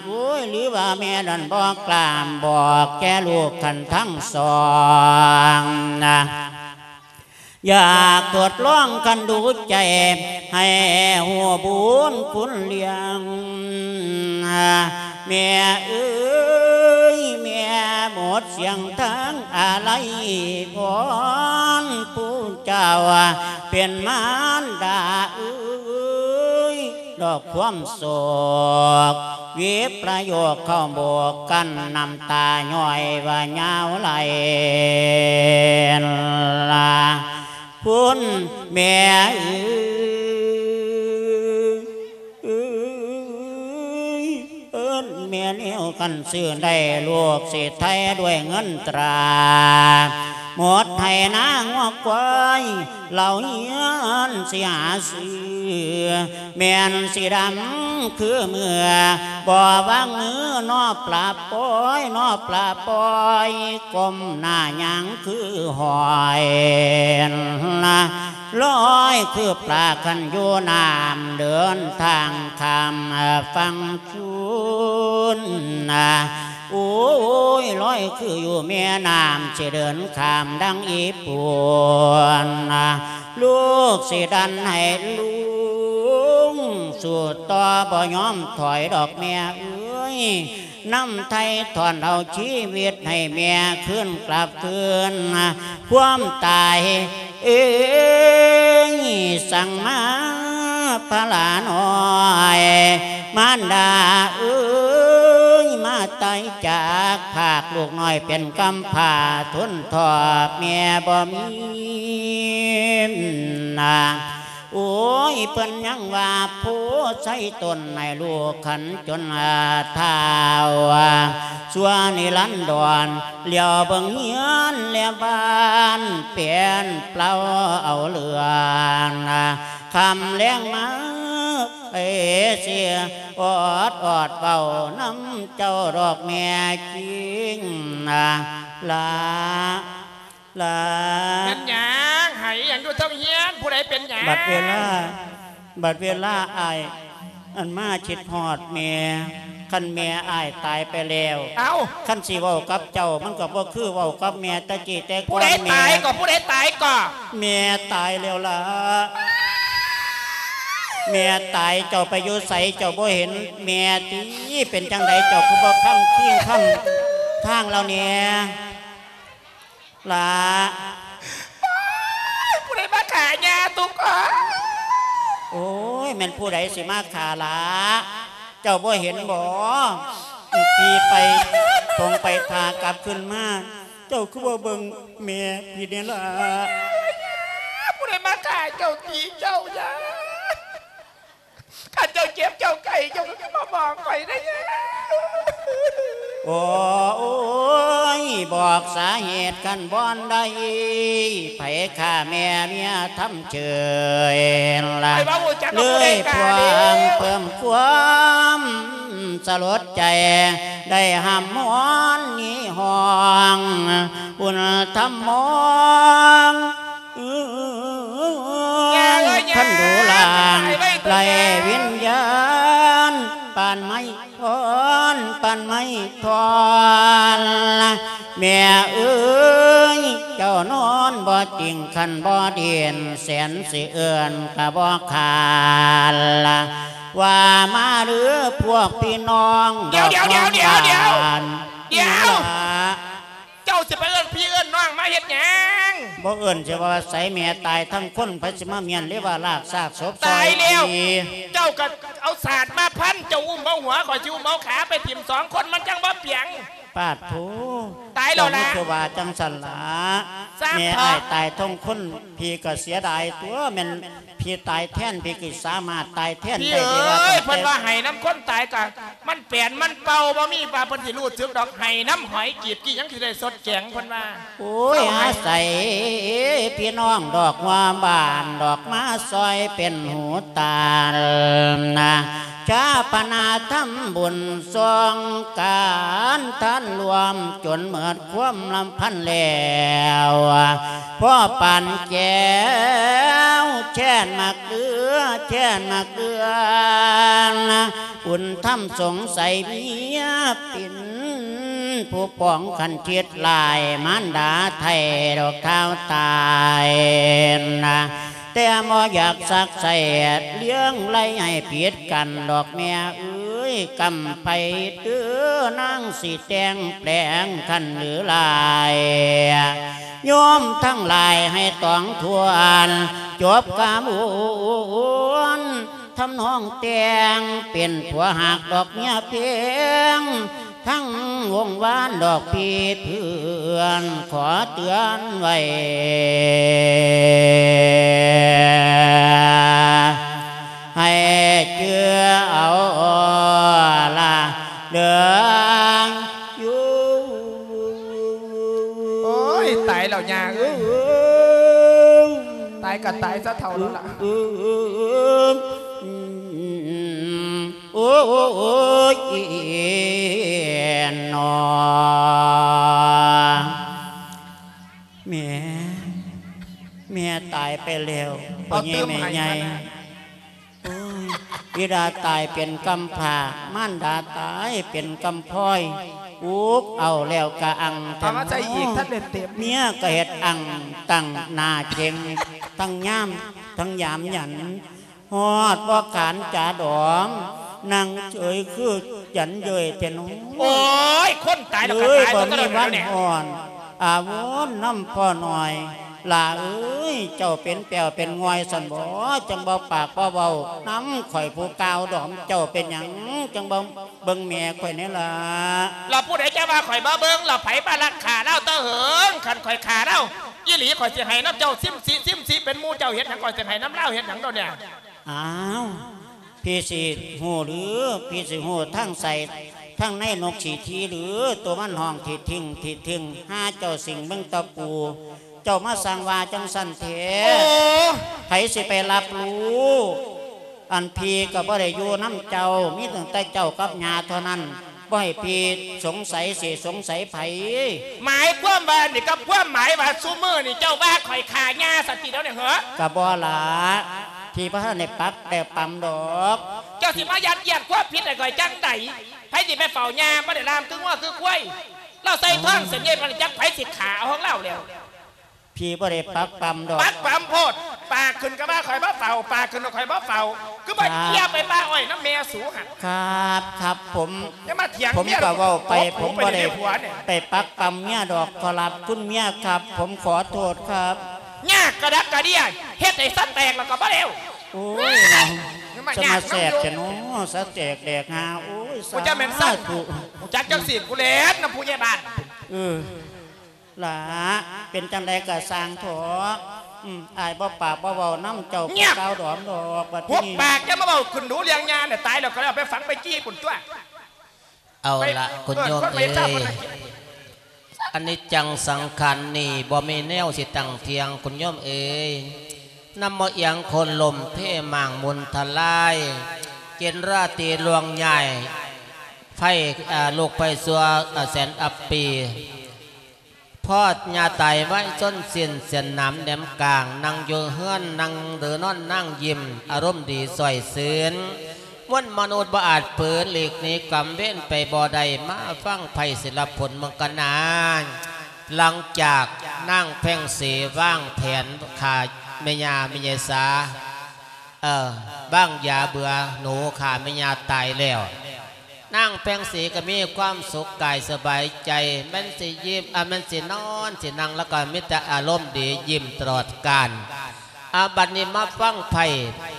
ໂອ້ຍ ຫຼືວ່າແມ່ນັ້ນບໍ່ກລ້າບອກແກ່ລູກຄັນທັງສອງນະ ຢາກທົດລອງຄັນດູໃຈ ໃຫ້ຮູ້ບຸນຄຸນລ້ຽງ ແມ່ເອີຍ ແມ່ໝົດສຽງທາງອາໄລ ວອນຜູ້ເຈົ້າເປັນມານດາເອີຍ ດອກຄວາມໂສກ ວິປະໂຍກເຂົ້າໂບກກັນ ນ້ຳຕາຍ້ອຍວ່າຍາວໄຫຼລາ ພຸ້ນແມ່ເອີຍ ເອີຍ ເອີ້ນແມ່ແນວ ຄັນຊື້ໄດ້ລູກຊິໄຖ່ດ້ວຍເງິນຕາ ໝົດໄຮ່ນາງົວຄວາຍ ເຫຼົ່າເຮືອນຊິຫາຊື້ ແມ່ນສີດຳຄືເມືອ ບໍ່ວາງມືນໍປະປ່ອຍ ນໍປະປ່ອຍ ກົ້ມໜ້າຍ່າງຄືຫອຍ ລອຍຄືປາຄັນຢູ່ນ້ຳ ເດີນທາງຂ້າມຝັ່ງຄູນ ໂອ້ຍ ລອຍຄືຢູ່ແມ່ນ້ຳ ຊິເດີນຂ້າມດັ່ງອີ່ປູນ ລູກຊິດັນໃຫ້ລຸງ ສູ້ຕໍ່ບໍ່ຍອມຖອຍດອກແມ່ເອີຍ ນຳໄຖ່ຖອນເອົາຊີວິດໃຫ້ແມ່ຄືນກັບຄືນ ຄວາມຕາຍເອີຍ ສັ່ງມາພະລານ້ອຍ ມານດາເອີຍ ມາຕາຍຈາກພາກ ລູກນ້ອຍເປັນກຳພ້າ ທົນທໍ້ແມ່ບໍ່ມີນາ ໂອ້ຍ ເພິ່ນຍັງວ່າໂພໄຊຕົ້ນໃຫ້ລູກຂັນຈົນ ອາ ທ້າວ ຊົ່ວນິລັນດອນ ຫຼຽວເບິ່ງເຮືອນແລະບ້ານ ເປັນເປົ່າເອົາເຫຼືອນ ຄ່ຳແລງມາ ເອເຊຍ ອອດອອດເວົ້ານຳເຈົ້າດອກແມ່ຈິງ ລາ ລາ ແມ່ນຫຍັງ? ໄຫ້ອີ່ຫຍັງຢູ່ເທິງເຮືອນ? ຜູ້ໃດເປັນຫຍັງ? ບັດເວລາ ບັດເວລາອ້າຍ ອັນມາຄິດຮອດແມ່ ຄັນແມ່ອ້າຍຕາຍໄປແລ້ວ ເອົ້າ ຄັນຊິເວົ້າກັບເຈົ້າ ມັນກໍບໍ່ຄືເວົ້າກັບແມ່ແຕ່ກີ້ແຕ່ກ່ອນ ຜູ້ໃດຕາຍກໍ ແມ່ ຜູ້ໃດຕາຍກໍ? ແມ່ຕາຍແລ້ວລະ ແມ່ຕາຍ ເຈົ້າໄປຢູ່ໃສ ເຈົ້າບໍ່ເຫັນແມ່ຕິ? ເປັນຈັ່ງໃດ ເຈົ້າຄືບໍ່ຄຳຄີງຄຳທາງລາວແດ່? ຫຼ້າ ໂອ້ຍ ຜູ້ໃດມາຂ້າຍ່າຕຸກເອີຍ? ໂອ້ຍ ແມ່ນຜູ້ໃດຊິມາຂ້າຫຼ້າ? ເຈົ້າບໍ່ເຫັນບໍ? ຕີໄປ ຕົງໄປຖ້າກັບຄືນມາ ເຈົ້າຄືບໍ່ເບິ່ງແມ່ພີ່ແດ່ຫຼ້າ? ຜູ້ໃດມາຂ້າເຈົ້າ ຕີເຈົ້າ ຢ່າ ຄັນເຈົ້າເຈັບເຈົ້າໄຂ້ ເຈົ້າກໍມາບອກຂ້ອຍເດີ. ໂອ້ຍ ບອກສາເຫດຄັນບໍ່ໄດ້ ໃຜຂ້າແມ່ເມຍທຳເຊີຍລະ ເລີຍພວມເພີ່ມຄວາມສະຫຼົດໃຈ ໄດ້ຫ້ຳຮ້ອນນີ້ຮ້ອງ ບຸນທຳມອງ ເອີຍ ຄັນດູລ່າງໄລ່ວິນຍານ ປານໄມ້ທ່ອນ ປານໄມ້ທ່ອນ ແມ່ເອີຍ ເຈົ້ານອນບໍ່ຕິງ ຄັນບໍ່ດິນ ແສນຊິເອີ້ນກໍບໍ່ຂານ ວ່າມາເດີພວກພີ່ນ້ອງ ດອກ ດຽວ ດຽວ ດຽວ ດຽວ ດຽວ ດຽວ ດຽວ ເຈົ້າຊິໄປເອີ້ນພີ່ເອີ້ນນ້ອງມາເຮັດຫຍັງ? ບໍ່ເອີ້ນຊິວ່າໃສ ແມ່ຕາຍທັງຄົນ ໃຜຊິມາມ້ຽນເລີຍວ່າລາກຊາກສົບ ຕາຍແລ້ວ ເຈົ້າກໍ ເອົາສາດມາພັນ ເຈົ້າອຸ້ມເອົາຫົວ ຂ້ອຍຊິອຸ້ມເອົາຂາໄປຖິ້ມສອງຄົນ ມັນຈັ່ງບໍ່ປຽງ. ປາດໂທ ຕາຍແລ້ວລະ ເຈົ້າມີແຕ່ວ່າຈັ່ງຊັ້ນລະ. ສ້າງ ແມ່ ເຖາະ ອ້າຍຕາຍທັງຄົນ ພີ່ກໍເສຍດາຍຕົວະ ແມ່ນພີ່ຕາຍແທນ ພີ່ກໍສາມາດຕາຍແທນໄດ້. ພີ່ເອີຍ ເພິ່ນວ່າໄຫ້ນຳຄົນຕາຍກໍ ມັນແປນມັນເປົ່າບໍ່ມີວ່າເພິ່ນຊິຮູ້ສຶກດອກ ໄຫ້ນຳຫອຍກີບກີ້ຍັງຊິໄດ້ສົດແກງ ເພິ່ນວ່າ. ໂອ້ຍ ອາໄສພີ່ນ້ອງດອກຫົວບ້ານດອກ ມາຊ່ອຍເປັນຫູຕານະ ຊາປະນາທຳບຸນຊ່ອງການທານລວມ ຈົນໝົດຄວາມລຳພັນແລ້ວ ພໍ່ປານແກ້ວ ແຄນໝາກເກືອ ແຄນໝາກເກືອ ບຸນທຳສົງໄສເມຍເປັນຜູ້ປອງຄັນຄິດຫຼາຍ ມານດາໄຖ່ດອກທ້າວຕາຍນະ ແຕ່ບໍ່ຢາກຊັກໄສ້ລ້ຽງໄລ່ໃຫ້ຜິດກັນດອກແມ່ເອີຍ ກຳໄປເດີ້ນາງຊິແຕ່ງແປງຄັນຫຼືຫຼາຍ ໂຍມທັງຫຼາຍໃຫ້ຕອງທວນ ຈົບກາບວນ ທຳນອງແຕ່ງເປັນຜົວຮັກດອກເມຍເພງ ທັງວົງວານດອກພີ່ເພື່ອນ ຂໍເຕືອນໄວ້ ໃຫ້ຈື່ເອົາລະເດີ. ໂອ້ຍ ຕາຍແລ້ວຍ່າເອີຍ ຕາຍກໍຕາຍຊະເຖົ້າແລ້ວລະ. ໂອ້ຍ ເນາະ ແມ່ ແມ່ຕາຍໄປແລ້ວ ພໍ່ໃຫຍ່ແມ່ໃຫຍ່. ໂອ້ຍ ບິດາຕາຍເປັນກຳພ້າ ມານດາຕາຍເປັນກຳພ້ອຍ ອຸກເອົາແລ້ວກະອັ່ງ ເອົາມາໃສ່ອີກ ທັນໄດ້ເຕັມ ເມຍກະເຮັດອັ່ງ ຕັ້ງໜ້າເຈັງ ທັງຍາມ ທັງຍາມຢັນ ຮອດບໍ່ຂານຈາດອມ ນັ່ງເຈີຍຄືຢັນເຍີຍແທ້ເນາະ. ໂອ້ຍ ຄົນຕາຍແລ້ວກໍຕາຍ ເອີຍ ບໍ່ມີວັນ ເບິດເທົ່ານັ້ນແລ້ວເນຍ ອາວົນນຳພໍ່ນ້ອຍ ຫຼ້າເອີຍ ເຈົ້າເປັນແປ້ວເປັນງ່ອຍຊັ້ນບໍ ຈັ່ງບໍ່ປາກບໍ່ເວົ້ານຳຂ້ອຍຜູ້ກ່າວດອມ ເຈົ້າເປັນຫຍັງຈັ່ງບໍ່ເບິ່ງແມ່ຂ້ອຍແດ່ລະ? ລະຜູ້ໃດຈະວ່າຂ້ອຍບໍ່ເບິ່ງ ລະໃຜມາລັກຂ້າລາວແຕ່ເຫິງ ຄັນຂ້ອຍຂ້າລາວອີ່ຫຼີ ຂ້ອຍຊິໃຫ້ນຳເຈົ້າສິມສີ ສິມສີເປັນໝູ່ເຈົ້າ ເຮັດຫຍັງ ຂ້ອຍຊິໃຫ້ນຳລາວເຮັດຫຍັງດອກເນຍ? ອ້າວ ພີ່ຊິຮູ້ຫຼື ພີ່ຊິຮູ້ທາງໃສທາງໃນນົກສີທີຫຼື ໂຕມັນຮ້ອງທິດທິງ ທິດທິງ ຫາເຈົ້າສິງເບິ່ງຕະປູ ເຈົ້າມາສ້າງວ່າຈັ່ງຊັ້ນແທ້. ໂອ້ ໃຜຊິໄປຮັບຮູ້ ອັນພີ່ກໍບໍ່ໄດ້ຢູ່ນຳເຈົ້າ ມີຕັ້ງແຕ່ເຈົ້າກັບຍ່າເທົ່ານັ້ນ ບໍ່ໃຫ້ພີ່ສົງໄສ ຊິສົງໄສໃຜ? ໝາຍຄວາມວ່ານີ້ ກັບຄວາມໝາຍວ່າຊຸມື້ນີ້ເຈົ້າວ່າຂ້ອຍຂ້າຍ່າຊັ້ນຕິດຽວນີ້ເຫີ? ກໍບໍ່ລະ ພີ່ບໍ່ທັນໄດ້ປັກໄດ້ປຳດອກ. ເຈົ້າຊິມາຍັດຢຽດຄວາມຜິດໃຫ້ຂ້ອຍຈັ່ງໃດ? ໃຜຊິໄປເຝົ້າຍ່າ ບໍ່ໄດ້ລ່າມຄືງົວຄືຄວາຍ? ລາວໃສ່ທ້ອງເສັ້ນໃຫຍ່ປານນີ້ ຈັກໃຜຊິຂ້າເອົາຂອງລາວແລ້ວ. ພີ່ບໍ່ໄດ້ປັກປຳດອກ. ປັກປຳໂພດ ປາກຂຶ້ນກໍວ່າຂ້ອຍບໍ່ເຝົ້າ ປາກຂຶ້ນກໍຂ້ອຍບໍ່ເຝົ້າ ຄືບໍ່ເຈຍໄປປ່າອ້ອຍນຳແມ່ສູຫັ້ນ? ຄັບ ຄັບ ຜົມ ຢ່າມາຖຽງ ຜົມກໍເວົ້າໄປ ຜົມບໍ່ໄດ້ໄປປັກປຳເມຍດອກ ຂໍຮັບຄຸນເມຍຄັບ ຜົມຂໍໂທດຄັບ. ຍາກກະດັກກະເດຍ ເຮັດໃຫ້ສະແຕກແລ້ວກໍບໍ່ແລ້ວ. ໂອ້ຍເນາະ ສະມາແຊບແທ້ເນາະ ສະແຕກແດກຫາ. ໂອ້ຍ ສາທຸ ຈັກຈັ່ງຊີ້ ກູແລ່ນນຳຜູ້ໃຫຍ່ບ້ານ. ເອີ ຫຼ້າ ເປັນຈັ່ງໃດກໍຊ່າງເຖາະ ອືມ ອ້າຍບໍ່ປາກບໍ່ເວົ້ານຳເຈົ້າ ເງີຍບ ກ່າວດອມດອກ. ບັດນີ້ ຫຸບປາກ ຢ່າມາເວົ້າຂຶ້ນດູເລື່ອງຍ່ານະ ຕາຍແລ້ວກໍໄດ້ເອົາໄປຝັງໄປຈີ່ພຸ້ນຕົວະ. ເອົາລະ ເອີ ຄຸນໂຍມເອີຍ ອະນິດຈັງສັງຂານນີ້ ບໍ່ມີແນວຊິຕັ້ງທ່ຽງ ຄຸນໂຍມເອີຍ. ນຳບໍ່ອຽງໂຄ່ນລົ້ມເພມ້າງໝູນທະລາຍ ເກນລາຕີລ່ວງຍ້າຍ ໄຟ ອາ ລຸກໄຟຊົ່ວ ອາ ແສນອັບປີ ພອດຍ່າຕາຍໄວຊົນສິ້ນ ເສັ້ນໜາມແຫຼມກາງ ນັ່ງຢູ່ເຮືອນ ນັ່ງຫຼືນອນນາງຍິ້ມ ອາລົມດີຊ່ອຍຊື່ນ ມວນມະນຸດບໍ່ອາດຝືນ ຫຼີກໜີກຳເວນໄປບໍ່ໄດ້ ມາຟັງໄພສິລະພົນເມືອງກະນາ. ຫຼັງຈາກນາງແພງສີວາງແຜນຂ້າແມ່ຍ່າ ແມ່ຍາຍສາ ເອີ ວາງຢາເບື່ອໜູຂ້າແມ່ຍ່າຕາຍແລ້ວ ນາງແພງສີກໍມີຄວາມສຸກກາຍສະບາຍໃຈ ແມ່ນຊິຍິ້ມ ອາ ແມ່ນຊິນອນຊິນັ່ງ ແລ້ວກໍມີແຕ່ອາລົມດີ ຍິ້ມຕະຫຼອດການ. ອາ ບັດນີ້ມາຟັງໄພ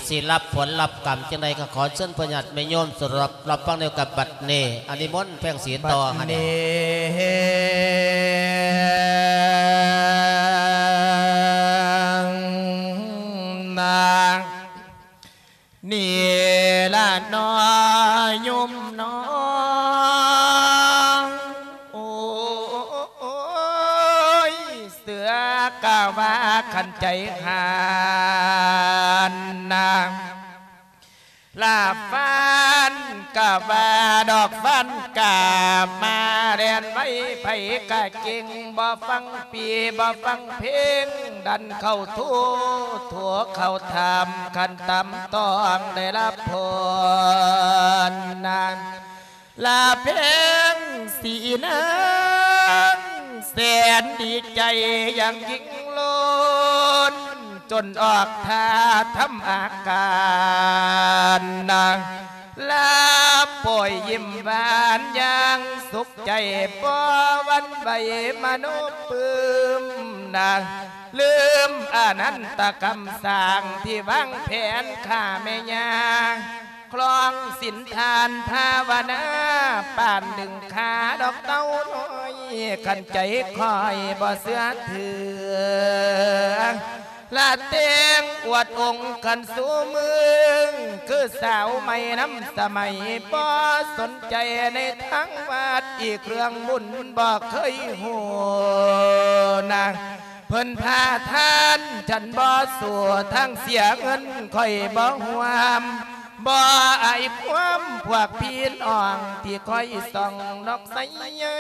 ຊິຮັບຜົນຮັບກຳຈັ່ງໃດ ກໍຂໍເຊີນພວກຍາດແມ່ໂຍມສະດັບຮັບຟັງນຳກັນບັດນີ້. ອາ ນິມົນແພງສີຕໍ່ຫັ້ນເດ. ບັດນີ້ນາ ນີ້ລະໜໍໂຍມໜໍ ໂອ້ຍ ເສືອກະວ່າຄັນໃຈຫານນາ ລາຟານກະວ່າດອກຟານກາບມາແລ່ນໄວ ໃຜກະເກັ່ງ ບໍ່ຟັງ ປີບໍ່ຟັງເພງ ດັນເຂົ້າໂທ ໂທເຂົ້າຖາມ ຄັນຕາມຕ້ອງໄດ້ຮັບພົນນາ ລາແພງສີນາງ ແສນດີໃຈຢ່າງຍິ່ງລົ້ນ ຈົນອອກທ່າທຳອາການນາ ລາປ່ອຍຍິ້ມຫວານຢ່າງສຸກໃຈ ບໍ່ຫວັ່ນໄຫວມະໂນປຶ້ມນາ ລືມອະນັນຕະກຳສ້າງທີ່ວາງແຜນຂ້າແມ່ຍ່າ ຄລອງສິນທານພາວະນາ ປານດຶງຂາດອກເຕົ້ານ້ອຍ ຄັນໃຈຂ້ອຍບໍ່ເຊື່ອຖື ລະແຕ່ງອວດອົງກັນສູ່ເມືອງ ຄືສາວໃໝ່ນຳສະໄໝ ບໍ່ສົນໃຈໃນທາງວັດ ອີກເລື່ອງບຸນບໍ່ເຄີຍຮູ້ນາ ເພິ່ນພາທານ ສັນບໍ່ສູ້ ທາງເສຍເງິນຂ້ອຍບໍ່ຮ່ວມ ບໍ່ອາຍຄວາມພວກພີ່ນ້ອງ ທີ່ຄອຍສ່ອງນອກໃສໃຫຍ່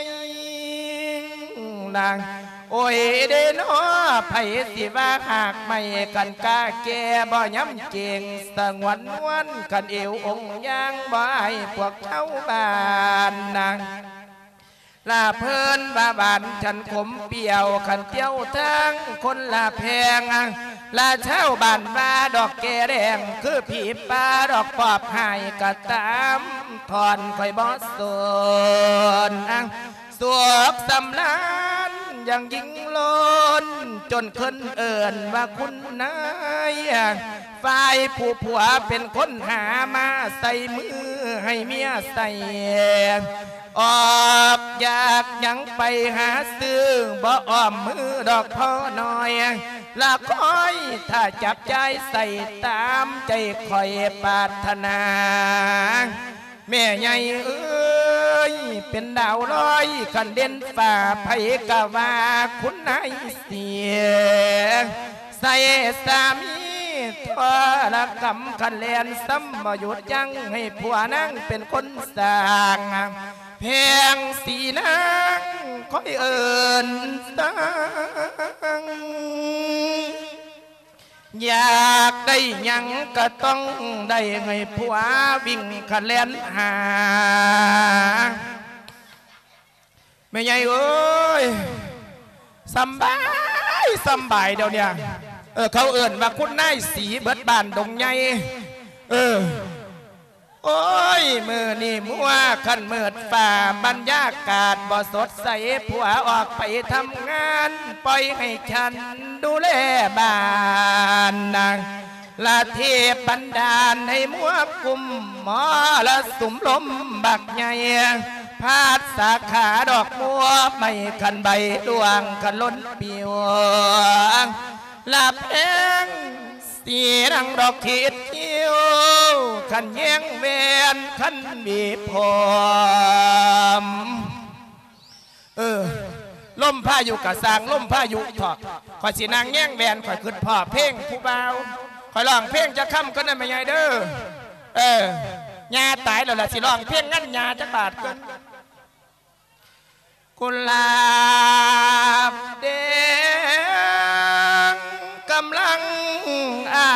ນາ ໂອ້ຍເດນໍ ໃຜຊິວ່າຫາກໄມ້ ຄັນກ້າແກ່ບໍ່ຍຳເກັ່ງ ສະຫງວນນວນ ຄັນເອວອົງຍາງ ບໍ່ອາຍພວກຊາວບ້ານນາ ລາເພິ່ນວ່າຫວານ ສັນຂົມປ່ຽວ ຄັນຕຽວທາງຄົນລະແພງ ລາຊາວບ້ານວ່າດອກແກ່ແດງ ຄືຜີປ່າດອກປອບຫາຍກະຕາມ ທ່ອນຂ້ອຍບໍ່ສົນ ສວກສຳລານຢ່າງຍິ່ງລົ້ນ ຈົນເອີ້ນວ່າຄຸນນາຍ ຝ່າຍຜູ້ຜົວເປັນຄົນຫາມາໃສ່ມືໃຫ້ເມຍໃສ່ ອອກຢາກຫຍັງໄປຫາຊື້ ບໍ່ອ້ອມມືດອກພໍ່ນ້ອຍ ລະຄອຍຖ້າຈັບຈ່າຍໃສ່ຕາມໃຈຂ້ອຍປາດຖະໜາ. ແມ່ໃຫຍ່ເອີຍ ເປັນດາວລອຍ ຄັນເດັ່ນຟ້າ ໃຜກະວ່າຄຸນນາຍເສຍ ໃສ່ສາມີທໍລະກຳ ຄັນແລ່ນຊ້ຳບໍ່ຢຸດຢັ້ງ ໃຫ້ຜົວນາງເປັນຄົນສ້າງ ແພງສີນາງ ຂ້ອຍເອີ້ນສ້າງ ຢາກໄດ້ຫຍັງກະຕ້ອງໄດ້ ໃຫ້ຜົວວິ່ງຂະແລ່ນຫາ. ແມ່ໃຫຍ່ເອີຍ ສຳບາຍ ສຳບາຍດຽວນີ້ ເອີ ເຂົາເອີ້ນວ່າຄຸນນາຍສີເບິດບ້ານດົງໃຫຍ່ ເອີ. ໂອ້ຍ ມື້ນີ້ມົວຄັນມືດຟ້າ ບັນຍາກາດບໍ່ສົດໃສ ຜົວອອກໄປທຳງານ ປ່ອຍໃຫ້ສັນດູແລບ້ານນາງ ລະເທບບັນດານໃຫ້ມົວກຸມ ມໍລະສຸມລົມບັກໃຫຍ່ ພັດສາຂາດອກມົວ ໄມ້ຄັນໃບລ່ວງຄັນຫຼົ່ນປິວ ລະແພງ ສີນາງດອກຂີດຄິ້ວ ຄັນແຍງແວ່ນຄັນຫວີຜົມ ເອີ ລົມພາຍຸກະຊ່າງ ລົມພາຍຸເຖາະ ຂ້ອຍຊິນັ່ງແຍງແວ່ນ ຂ້ອຍຄຶດພໍ້ເພງຜູ້ບ່າວ ຂ້ອຍຮ້ອງເພງຈັກຄຳກ່ອນນະແມ່ໃຫຍ່ເດີ. ເອີ ຍ່າຕາຍແລ້ວລະ ຊິຮ້ອງເພງງານຍ່າຈັກບາດກ່ອນ. ກຸຫຼາບແດງກຳລັງອາ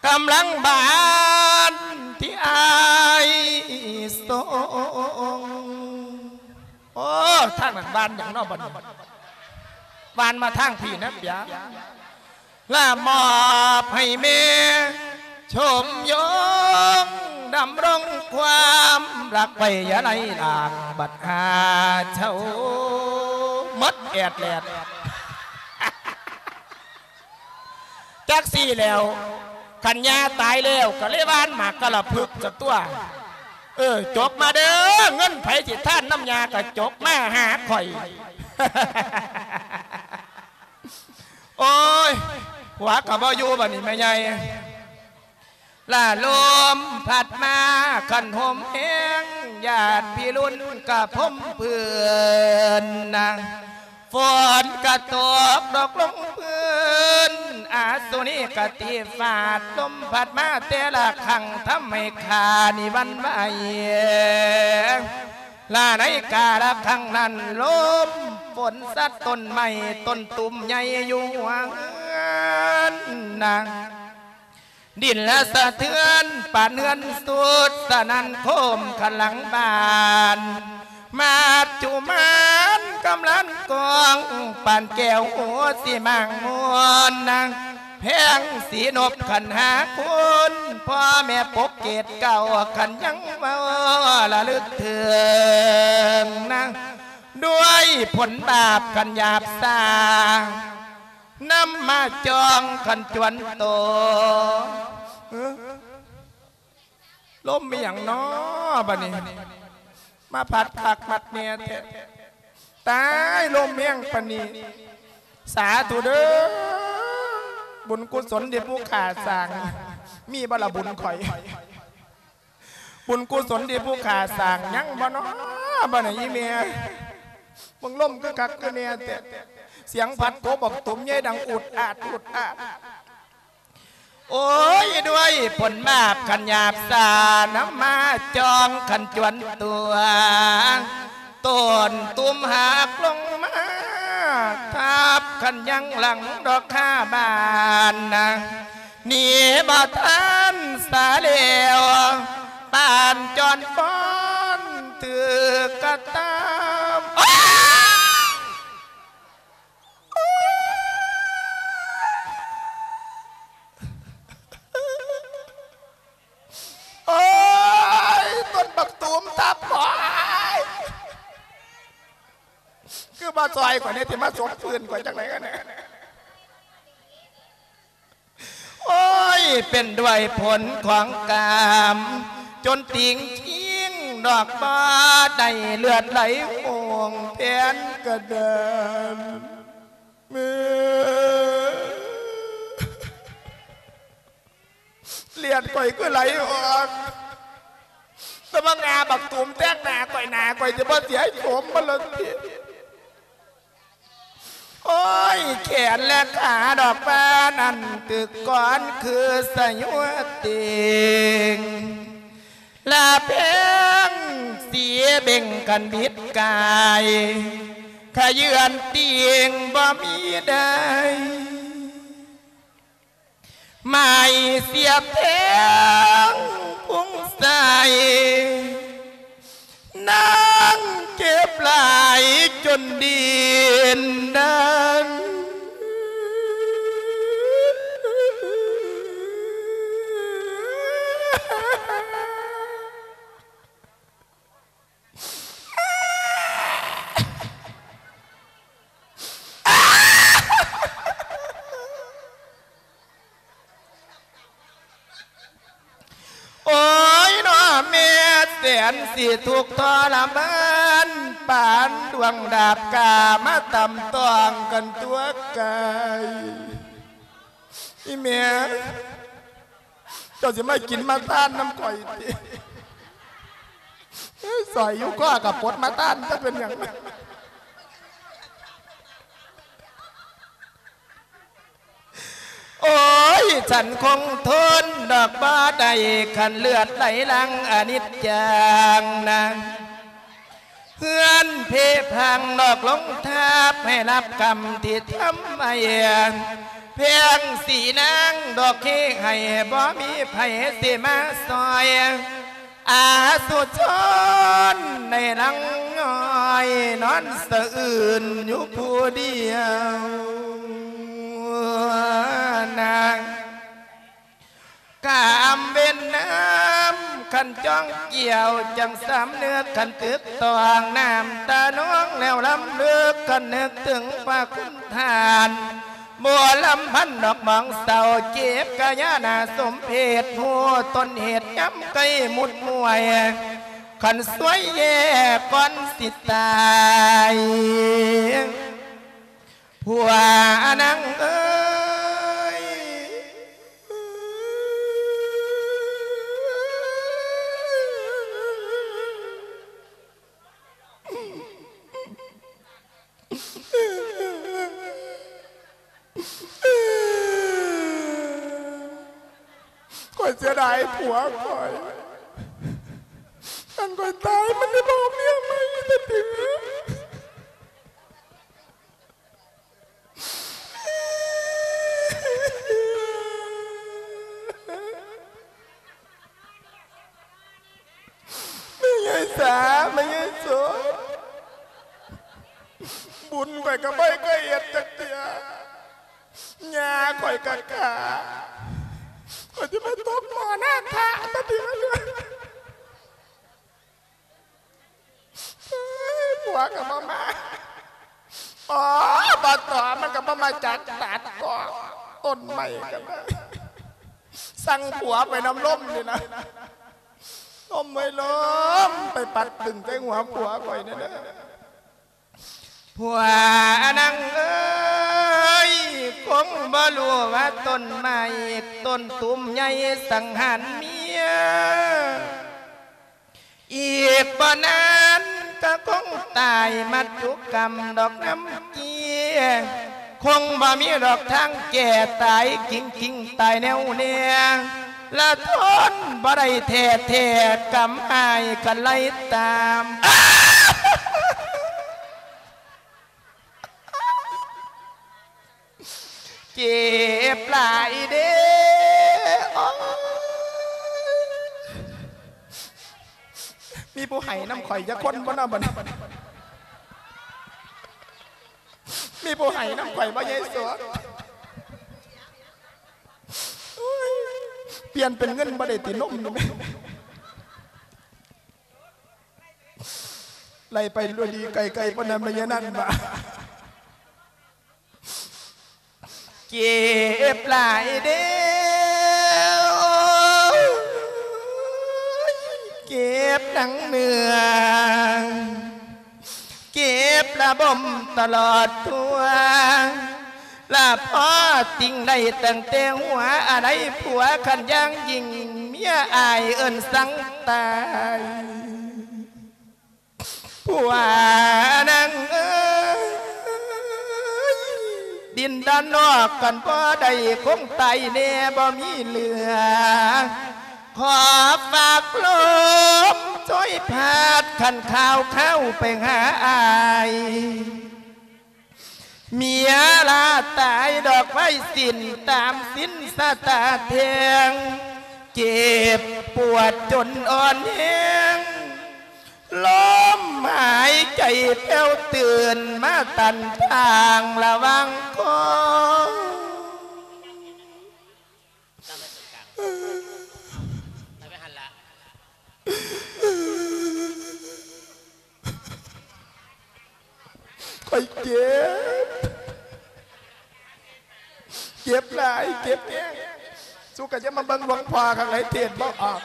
ກຳລັງບານທີ່ອາຍສົ່ງ. ໂອ້ ທາງນັ້ນບານຫຍັງເນາະບັດນີ້ ບານມາທາງພີ້ນະປຽ. ລະມອບໃຫ້ແມ່ຊົມຢງ ດຳລົງຄວາມຮັກໄວ້ຢ່າໄຫຼລາງ ບັດຫາເຊົາໝົດແອດແລດ. ຈັກຊີ້ແລ້ວ ຄັນຍ່າຕາຍແລ້ວກໍເລີຍຫວ່ານໝາກກະລະພຶກຊະຕົວະ. ເອີ ຈົກມາເດີ້ ເງິນໃຜຊິທານນຳຍ່າກໍຈົກມາຫາຂ້ອຍ. ໂອ້ຍ ຜົວກໍບໍ່ຢູ່ບັດນີ້ແມ່ໃຫຍ່. ລະລົມພັດມາຄັນໂຫມແຮງ ຍາດພີ່ລຸນກະພົມພື້ນນະ ຝົນກະຕົກດອກລົງພື້ນ ອາສຸນີກະຕີຟາດ ລົມພັດມາແຕ່ລະຄັ້ງ ທຳໃຫ້ຂ້ານີ້ຫວັ່ນໄຫວ. ລະໃນກາລະຄັ້ງນັ້ນ ລົມຝົນຊັດຕົ້ນໄມ້ຕົ້ນຕຸ່ມໃຫຍ່ຢູ່ຫົວເຮືອນນະ ດິນລະສະເທືອນ ປານເຮືອນສຸດສະໜັ່ນໂຄມຄັນຫຼັງບ້ານ ມັດຈຸມານກຳລັນກອງ ປານແກ້ວຫົວສີມາງມວນນາງ ແພງສີນົບຂັນຫ້າຄູນ ພໍ່ແມ່ປົກເກດເກົ້າ ຄັນຍັງເວົ້າລະລຶກເຖິງນາງ ດ້ວຍຜົນບາບຄັນຫຍາບຊາ ນຳມາຈອງຄັນຈວນໂຕ. ເອີ ລົມອີ່ຫຍັງນໍບັດນີ້ ມາພັດຄັກມັດແນ່ແທ້. ຕາຍ ລົມແຮງປານນີ້ ສາທຸເດີ້ ບຸນກຸສົນທີ່ຜູ້ຂ້າສ້າງ ມີບໍ່ລະບຸນຂ້ອຍ? ບຸນກຸສົນທີ່ຜູ້ຂ້າສ້າງຍັງບໍ່ນໍບັດນີ້ອີ່ແມ່? ເບິ່ງລົມຄືຄັກຄືແນ່ແທ້ ສຽງພັດກົບບັກຕຸມໃຫຍ່ດັງອຸດອາດອຸດອາດ. ໂອ້ຍ ດ້ວຍຜົນບາບຄັນຫຍາບຊາ ນຳມາຈອງຄັນຈວນຕົວ ຕົ້ນຕຸ່ມຫັກລົງມາ ທັບຄັນຍັງຫຼັງດອກຄາບານນາງ ໜີບໍ່ທັນສາແລ້ວ ປານຈອນຟ້ອນຖືກກະຕຳ. ໂອ້ຍ ໂອ້ຍ ຕົ້ນບັກຕູມທັບຂ້ອຍ ຄືບໍ່ຊ່ອຍຂ້ອຍແດ່ ຊິມາສົບຟື້ນຂ້ອຍຈັ່ງໃດກັນແດ່? ໂອ້ຍ ເປັນດ້ວຍຜົນຂອງກຳ ຈົນຕິງຄິງດອກບໍ່ໄດ້ ເລືອດໄຫຼໂຮງແຜ່ນກະດານ. ເລືອດຂ້ອຍຄືໄຫຼອອກ ແຕ່ວ່າງາບັກຕູມແທງໜ້າຂ້ອຍ ໜ້າຂ້ອຍຈະບໍ່ເສຍໂສມບໍ່ລະຕິ. ໂອ້ຍ ແຂນແລະຂາດອກວ່ານັ້ນ ຕຶກກ່ອນຄືສະຍົວເຕັງ ລະແພງສີເບັ່ງກັນບິດກາຍ ຂະເຍືອນຕິ່ງບໍ່ມີໄດ້. ໄມ້ສຽບແທງພຸງໃສ່ ນາງເຈັບຫຼາຍຈົນດິນດັນ. ໂອ້ຍ ເນາະ ແມ່ແສນຊິທຸກທໍລະມານ ປານດວງດາບກາມາຕຳຕ້ອງກັນຕົວະກາຍ. ອີແມ່ ເຈົ້າຊິມາກິນມາທານນຳຂ້ອຍຕິ? ເອີຍ ສ້ອຍຢູ່ຄໍກໍປົດມາທານ ຈະເປັນຫຍັງ? ໂອ້ຍ ສັນຄົງທົນດອກບໍ່ໄດ້ ຄັນເລືອດໄຫຼຫຼັງອະນິດຈັງນາງ ເຮືອນເພພັງນອກລົງທັບ ໃຫ້ຮັບກຳທີ່ທຳໄວ້ ແພງສີນາງດອກເຄໃຫ້ ບໍ່ມີໃຜຊິມາຊ່ອຍ ອາສຸຊົນໃນຫຼັງນ້ອຍ ນອນສະອື່ນຢູ່ຜູ້ດຽວນາງ. ກາມເວັນນ້ຳ ຄັນຈ້ອງກ່ຽວ ຈັ່ງສຳນຶກ ຄັນຕຶກຕອງນ້ຳຕານອງແລ້ວລຳລຶກ ຄັນນຶກເຖິງພະຄຸນທ່ານ ບໍ່ລຳພັນດອກມອງເສົ້າ ເຈັບກະຍາໜ້າສົມເພດ ຮູ້ຕົ້ນເຫດຍາມໃກ້ມຸດມວຍ ຄັນສວຍແຍ່ກ່ອນຊິຕາຍ ຜົວນາງເອີຍ. ຂ້ອຍເສຍດາຍຜົວຂ້ອຍ ຄັນຂ້ອຍຕາຍມັນຊິບໍ່ເອົາເມຍໃໝ່ອີກຕິ. ແມ່ໃຫຍ່ສາ ແມ່ໃຫຍ່ໂສ ບຸນຂ້ອຍກໍບໍ່ເຄີຍເຮັດຈັກເທື່ອ ຍ່າຂ້ອຍກໍຂ້າ ຂ້ອຍຊິມາຕົກໝໍ້ນາທະຕະຕິ ຜົວກໍບໍ່ມາ ອໍ ບໍ່ຕໍ່ ມັນກໍບໍ່ມາຈັດຕັດກໍຕົ້ນໄມ້ກໍໄດ້ ສັ່ງຜົວໄປນຳລົມນີ້ນະ ລົມເອີຍລົມ ໄປປັດຕຶງໃສ່ຫົວຜົວຂ້ອຍແດ່ເດີ ຜົວນາງເອີຍ ຄົງບໍ່ຮູ້ວ່າຕົ້ນໄມ້ຕົ້ນຕູມໃຫຍ່ສັງຫານເມຍ ອີກບໍ່ນານກໍຄົງຕາຍມັດຈຸກຳດອກນ້ຳເກຍ ຄົງບໍ່ມີດອກທາງແກ້ຕາຍ ກິງໆຕາຍແນວແນ ລະທົນບໍ່ໄດ້ແທ້ໆ ກຳອ້າຍກັນໄລ່ຕາມ. ເຈັບຫຼາຍເດ້ ໂອ້ຍ ມີຜູ້ໄຫ້ນຳຂ້ອຍຈັກຄົນບໍ່ເນາະບັດນີ້ ມີຜູ້ໄຫ້ນຳຂ້ອຍບໍ່ຍາຍໂສ ໂອ້ຍ ປ່ຽນເປັນເງິນບໍ່ໄດ້ຕິ ນົມນີ້ແມ່ ໄລ່ໄປລວຍດີໄກໆ ປານນັ້ນ ແມ່ນຫຍັງນັ້ນບາດ ເຈັບຫຼາຍເດ້ ເຈັບທັງເນື້ອ ເຈັບລະບົມຕະຫຼອດທົ່ວ ລະພໍຕິງໄດ້ຕັ້ງແຕ່ຫົວ ອາໄລຜົວຄັນຢ່າງຍິ່ງ ເມຍອາຍເອີ້ນສັງຕາຍ. ຜົວນາງເອີຍ ດິນດອນນອກກັນບໍ່ໄດ້ ຄົງຕາຍແນ່ບໍ່ມີເຫຼືອ ຂໍຝາກລົມຊ່ວຍພາດ ຄັນຂ່າວຄາວໄປຫາອ້າຍ ເມຍລາຕາຍດອກໄວສິນ ຕາມສິນຊະຕາແທ່ງ ເຈັບປວດຈົນອ່ອນແຮງ ລົມຫາຍໃຈແຜ່ວຕື່ນ ມາຕັນທາງລະຫວ່າງຄອ. ຂ້ອຍເຈັບ ເຈັບຫຼາຍ ເຈັບແຮງ ສຸກະຈະມາເບິ່ງຫຼວງພໍ່ຂ້າງໃນເທດບໍ່ອອກ.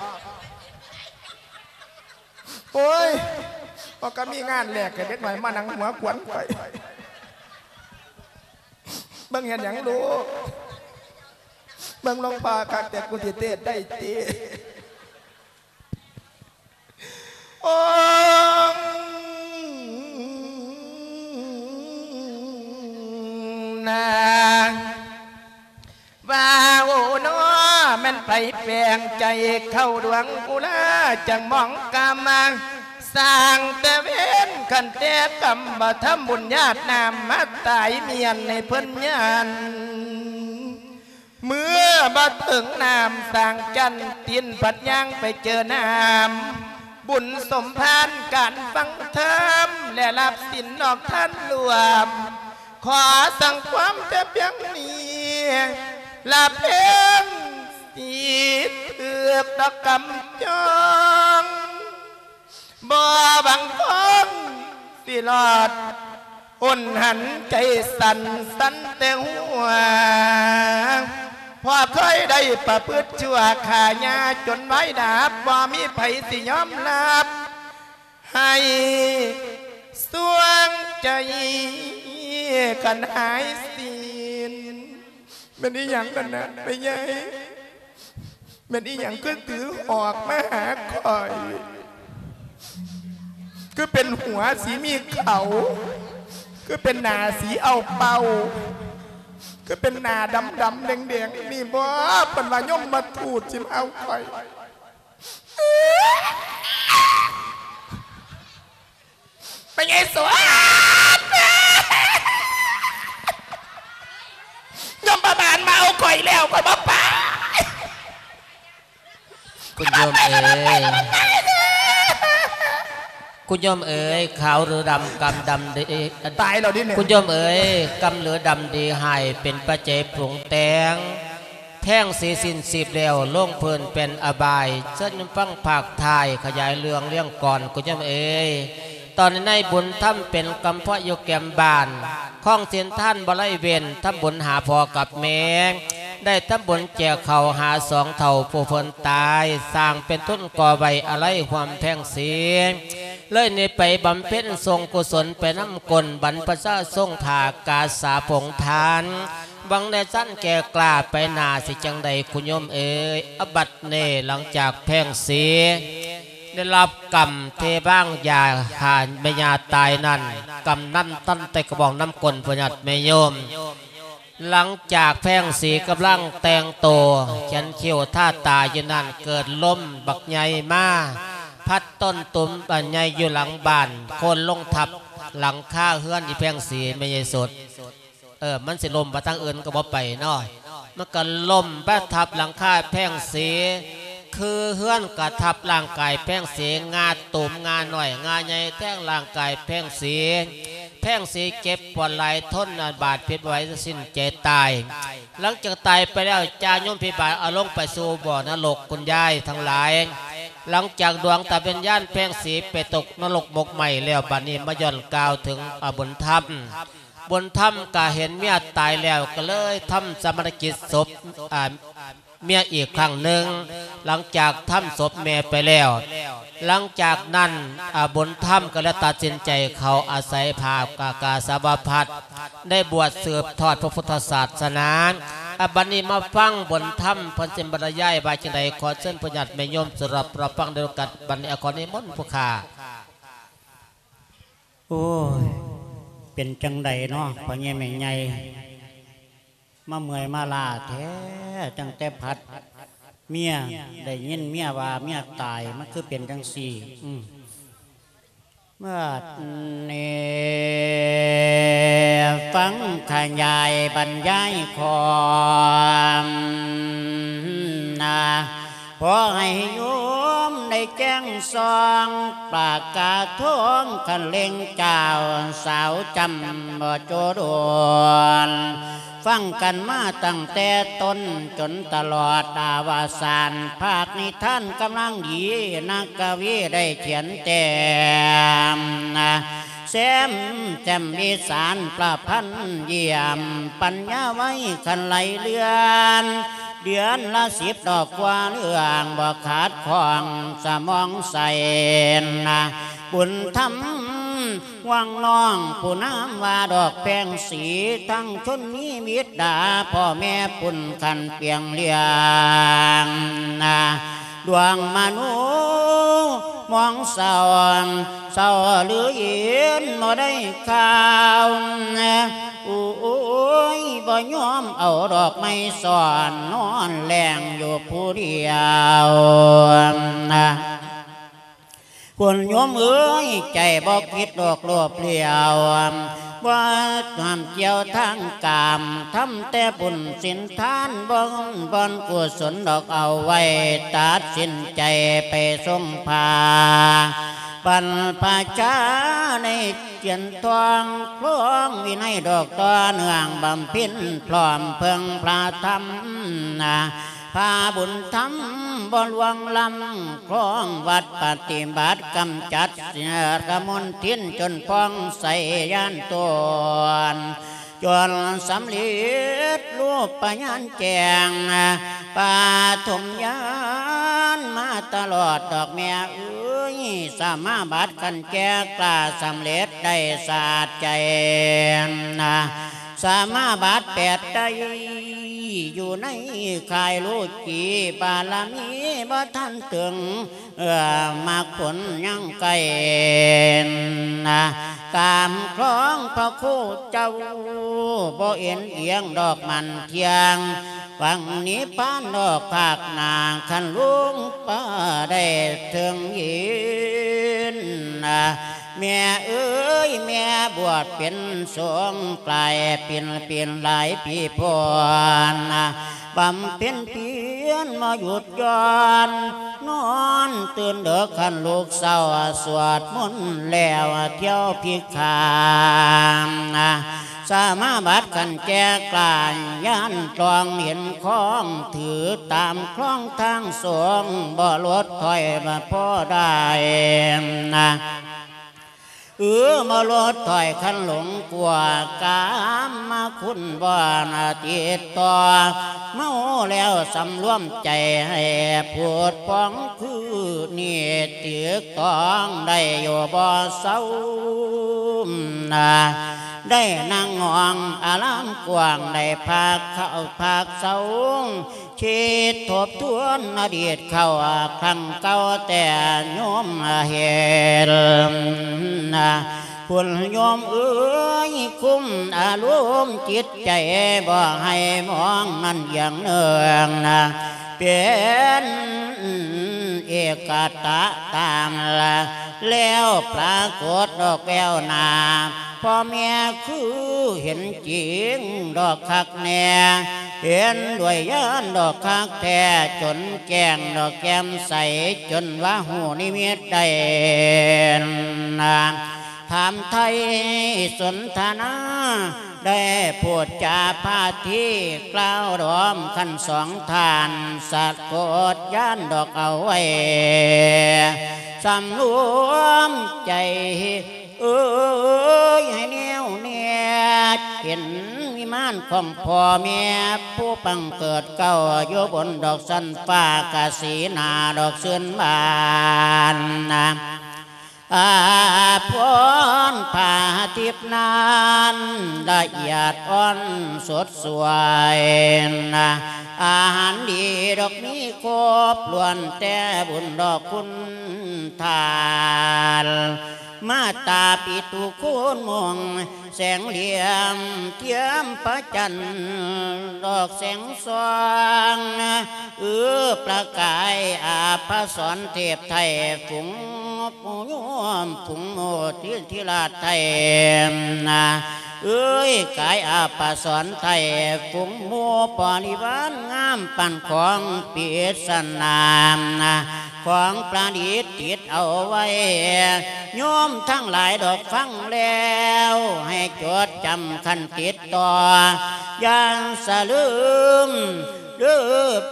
ໂອ້ຍ ບໍ່ກະມີງານແລກໃຫ້ເດັກນ້ອຍມານັ່ງຫົວຂວັນຂ້ອຍ ເບິ່ງເຮັດຫຍັງລູກ ເບິ່ງຫຼວງພໍ່ຄັກແຕ່ ກູຊິເທດໄດ້ຕິ? ໂອ້ ນາງ ວ່າໂອນໍ ແມ່ນໃຜແຝງໃຈເຂົ້າດວງອຸລາ ຈັ່ງມອງກາມາ ສ້າງແຕ່ເວນ ຄັນແຕ່ກຳບໍ່ທຳບຸນ ຍາດນ້ຳມາຕາຍມ້ຽນໃຫ້ເພິ່ນຍານ ເມື່ອບໍ່ເຖິງນ້ຳສ້າງຈັນ ຕີນພັດຍ່າງໄປເຈີນ້ຳ ບຸນສົມພານການຟັງທຳ ແລະ ຮັບສິນນອກທ່ານລວມ ຂໍສັ່ງຄວາມແຕ່ພຽງນີ້ ລະເພງສິເຖືກດອກກຳຈອງ ບໍ່ຫວັງຄອງຊິລອດ ອົນຫັນໃຈສັ່ນສັ່ນແຕ່ຫົວ ເພາະເຄີຍໄດ້ປະພຶດຊົ່ວຂ້າຍ່າຈົນວາຍດັບ ບໍ່ມີໃຜຊິຍອມຮັບ ໃຫ້ສວງໃຈກັນຫາຍສິ້ນ. ແມ່ນອີ່ຫຍັງນັ້ນນະ ແມ່ໃຫຍ່? ແມ່ນອີ່ຫຍັງຄືຖືຫອກມາຫາຂ້ອຍ? ຄືເປັນຫົວສີມີເຂົາ? ຄືເປັນໜ້າສີເອົາເປົ່າ? ຄືເປັນໜ້າດຳໆແດງໆ ນີ້ບໍ? ເພິ່ນວ່າຍົມມະທູດຊິມາເອົາຂ້ອຍ. ພະຍາຍສວນ ຍມບາບານມາເອົາຂ້ອຍແລ້ວ ຂ້ອຍບໍ່ໄປ. ຄຸນໂຍມເອີຍ ຄຸນໂຍມເອີຍ ຂາວຫຼືດຳ ກຳດຳດີ ຕາຍແລ້ວເດນີ້. ຄຸນໂຍມເອີຍ ກຳຫຼືດຳດີຮ້າຍ ເປັນປັດໄຈປຸງແຕ່ງ ແພງສີສິ້ນຊີບແລ້ວ ລົງພື້ນເປັນອະບາຍ. ເຊີນຟັງພາກທ້າຍຂະຫຍາຍເລື່ອງລຽງກ່ອນ ຄຸນໂຍມເອີຍ. ຕອນນີ້ນາຍບຸນທຳເປັນກຳພ້ອຍຢູ່ແຄມບ້ານ ຄອງສິນທານບໍ່ໄດ້ເວັ້ນ ທຳບຸນຫາພໍ່ກັບແມ່ ໄດ້ທຳບຸນແຈກເຂົ້າຫາສອງເຖົ້າຜູ້ເພິ່ນຕາຍ ສ້າງເປັນທຶນກໍ່ໄວ້ອາໄລຮ່ວມແພງສີ ເລີຍນີ້ໄປບຳເພັນສົ່ງກຸສົນໄປນຳກົ້ນບັນພະຊາຊົງຜາກາສາຜົງທານ ຫວັງໄດ້ຊັ້ນແກ່ກ້າໄປໜ້າ ຊິຈັ່ງໃດຄຸນໂຍມເອີຍ. ອາ ບັດນີ້ຫຼັງຈາກແພງສີໄດ້ຮັບກຳທີ່ວາງຢາຂ້າແມ່ຍ່າຕາຍນັ້ນ ກຳນັ້ນຕັນແຕ່ກະບອງນຳກົ້ນພະຍາດແມ່ໂຍມ. ຫຼັງຈາກແພງສີກຳລັງແຕ່ງໂຕ ຂຽນຄິ້ວທາຕາຢູ່ນັ້ນ ເກີດລົມບັກໃຫຍ່ມາ ພັດຕົ້ນຕຸ່ມອັນໃຫຍ່ຢູ່ຫຼັງບ້ານ ໂຄ່ນລົງທັບຫຼັງຄາເຮືອນອີແພງສີ ແມ່ໃຫຍ່ສົດ. ເອີ ມັນຊິລົ້ມໄປທາງອື່ນກໍບໍ່ໄປເນາະ ມັນກໍລົ້ມໄປທັບຫຼັງຄາແພງສີ ຄືເຮືອນກະທັບຮ່າງກາຍແພງສີ ງາຕູມງານ້ອຍງາໃຫຍ່ແທງຮ່າງກາຍແພງສີ. ແພງສີເຈັບປວດຫຼາຍ ທົນບາດເຈັບບໍ່ໄຫວ ສິ້ນໃຈຕາຍ. ຫຼັງຈາກຕາຍໄປແລ້ວ ຈາໂຍມພິບານເອົາລົງໄປສູ່ບໍ່ນະລົກ ຄຸນຍາຍທັງຫຼາຍ. ຫຼັງຈາກດວງຕາວິນຍານແພງສີໄປຕົກນະລົກໝົກໄໝ້ແລ້ວ ບັດນີ້ມາຍ້ອນກ່າວເຖິງ ອາ ບຸນທຳ. ບຸນທຳກະເຫັນເມຍຕາຍແລ້ວ ກໍເລີຍທຳຊາປະນະກິດສົບ ອາ ເມຍອີກຄັ້ງໜຶ່ງ. ຫຼັງຈາກທຳສົບແມ່ໄປແລ້ວ ຫຼັງຈາກນັ້ນ ອາ ບຸນທຳກໍເລີຍຕັດສິນໃຈເຂົ້າອາໄສພາກາ ກາສາວະພັດ ໄດ້ບວດສືບທອດພະພຸດທະສາສະໜາ. ອາ ບັດນີ້ມາຟັງບຸນທຳເພິ່ນຊິບັນລະຍາຍວ່າຈັ່ງໃດ ຂໍເຊີນພະຍາດແມ່ໂຍມສະດັບຮັບຟັງດ້ວຍກັນ. ບັດນີ້ ອາ ຂໍນິມົນຜູ້ຂ້າ. ໂອ້ຍ ເປັນຈັ່ງໃດເນາະ ພໍ່ໃຫຍ່ແມ່ໃຫຍ່ ມາເມື່ອຍມາລ້າແທ້ ຕັ້ງແຕ່ພັດເມຍ ໄດ້ຍິນເມຍວ່າເມຍຕາຍ ມັນຄືເປັນຈັ່ງຊີ້. ອືມ ບັດນີ້ຟັງຂະຫຍາຍບັນຍາຍຄວາມນະ ຂໍໃຫ້ໂຍມໄດ້ແຈ້ງສ່ອງ ປາກກາທອງຄັນເລັ່ງເຈົ້າ ສາວຈຳບໍ່ໂຈໂດນ ຟັງກັນມາຕັ້ງແຕ່ຕົ້ນຈົນຕະຫຼອດອະວະສານ ພາກນິທານກຳລັງດີ ນັກກະວີໄດ້ຂຽນແຕ້ມ ແຊມແຈ່ມວິສານປະພັນຢ້ຽມ ປັນຍາໄວຄັນໄຫຼເລື່ອນ ເດືອນລະສິບດອກກວ່າເລື່ອງ ບໍ່ຂາດຂ້ອງສະໝອງໃສນະ ບຸນທຳຫວັງນ້ອງຜູ້ນາມວ່າດອກແພງສີ ທັງຊົນມີບິດດາ ພໍ່ແມ່ປຸ້ນຄັນປຽງລ້ຽງນະ ດວງມະໂນມອງເສົ້າ ເສົ້າຫຼືເຢັນບໍ່ໄດ້ຂ່າວ ໂອ້ຍ ບໍ່ຍອມເອົາດອກໄມ້ສອນ ນອນແລງຢູ່ຜູ້ດຽວນະ ຄົນໂຍມເອີຍ ໃຈບໍ່ຄິດດອກໂລບຫຼຽວ ບໍ່ຫ້າມກ່ຽວທາງກາມ ທຳແຕ່ບຸນສິນທານ ບໍ່ບ່ອນກຸສົນດອກເອົາໄວ້ ຕັດສິນໃຈໄປຊົງພາ ບັນພະຊາໃນຈຽນທອງ ຄອງວິໄນດອກຕໍ່ເນື່ອງ ບຳເພັນພ້ອມເພິ່ງພະທຳນະ ພາບຸນທຳບໍ່ລວງລ້ຳ ຄອງວັດປະຕິບັດ ກຳຈັດເສຍກະມົນທິນ ຈົນຜ່ອງໃສຍານຕົນ ຈົນສຳເລັດຮູບປະຍານແຈ້ງ ປະຖົມຍານມາຕະຫຼອດດອກແມ່ເອີຍ ສະມາບັດຄັນແກ່ກລ້າ ສຳເລັດໄດ້ສາດໃຈ ສະມາບັດແປດໄດ້ ຢູ່ໃນຄ້າຍໂລກີ ບາລະມີບໍ່ທັນເຖິງ ເອີ ມັກຜົນຍັງໄກນະ ຕາມຄອງພະຄູເຈົ້າ ບໍ່ເອັນອຽງດອກໝັ້ນທ່ຽງ ຫວັງນິບພານດອກພາກໜ້າ ຄັນລຸງປ້າໄດ້ເຖິງເຫັນນະ ແມ່ເອີຍ ແມ່ບວດເປັນສົງ ກາຍເປັນ ເປັນຫຼາຍປີໂພນນະ ບຳເພັນພຽນບໍ່ຢຸດຢ່ອນ ນອນຕື່ນເດິກຄັນລຸກເຊົ້າ ສວດມົນແລ້ວທ່ຽວພິກຂາ ສະມາບັດຄັນແຈກຫຼາຍ ຍານຕອງເຫັນຄອງ ຖືຕາມຄອງທາງສົງ ບໍ່ຫຼຸດຖອຍບໍ່ພໍໄດ້ນະ ເອີ ມາໂລດຖອຍຄັນຫຼົງກວ່າ ກາມມະຄຸນບໍ່ນະຕິດຕໍ່ ເມົາແລ້ວສຳລວມໃຈໃຫ້ຜູດຜ່ອງ ຄືນີ້ຖືກຕ້ອງໄດ້ຢູ່ບໍ່ເຊົານະ ໄດ້ນັ່ງຫ້ອງອາລາມກວ້າງ ໄດ້ພັກເຂົ້າພັກເຊົາ ຄິດທົບທວນອະດີດເກົ່າ ຄັ້ງເກົ່າແຕ່ໂຍມເຮັດ ຄຸນໂຍມເອີຍ ຄຸມອາລົມຈິດໃຈ ບໍ່ໃຫ້ມອງນັ້ນຢ່າງເໜືອງນະ ເປັນເອກະຕະຕາມລະ ແລ້ວປາກົດດອກແວວໜ້າ ພໍ່ແມ່ຄືເຫັນຈິງດອກຄັກແນ່ ເຫັນດ້ວຍຍານດອກຄັກແທ້ ຈົນແຈ້ງດອກແຈ່ມໃສ ຈົນວ່າຮູ້ນິມິດໄດ້ນາ ຖາມໄຖ່ສົນທະນາ ໄດ້ພູດຈາພາທີ ກ່າວດອມຄັນສອງທ່ານ ສະກົດຍານດອກເອົາໄວ້ ສຳລວມໃຈ ເອີຍ ໃຫ້ແນວແນ່ ເຫັນວິມານຂອງພໍ່ແມ່ ຜູ້ບັງເກີດເກົ້າ ຢູ່ບົນດອກຊັ້ນຟ້າ ກະສີໜ້າດອກຊື່ນບານນະ ອາພອນຜ້າທິບນັ້ນ ລະອຽດອ່ອນສົດສວຍນະ ອາຫານດີດອກມີຄົບ ລ້ວນແຕ່ບຸນດອກຄຸນ ທານ ມາຕາປິຕຸຄູນມຸງ ແສງຫຼ້ຽມທຽມພະຈັນ ດອກແສງສ່ອງ ເອື້ອປະກາຍອາພະສອນ ເທບໄທຝູງໂຍມ ຝູງໂມທິນທິລາດໄທນະ ເອີຍ ກາຍອາພະສອນໄທ ຝູງໝູ່ບໍລິວານງາມ ປານຂອງປິດສະໜາມນະ ຂອງປະດິດຕິດເອົາໄວ້ ໂຍມທັງຫຼາຍດອກຟັງແລ້ວ ໃຫ້ຈົດຈຳຄັນຕິດຕໍ່ ຢ່າສະລືມເດີ້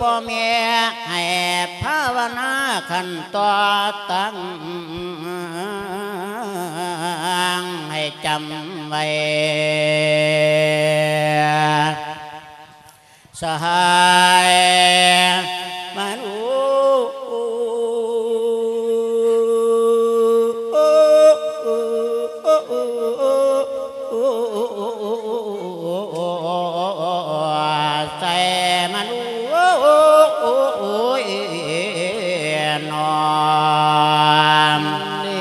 ພໍ່ແມ່ ໃຫ້ພາວະນາຄັນຕໍ່ຕັ້ງ ໃຫ້ຈຳໄວ້ ສະຫາຍມະນຸ ໃສ່ມະນຸ ໂອ້ຍ ນອມ ນີ້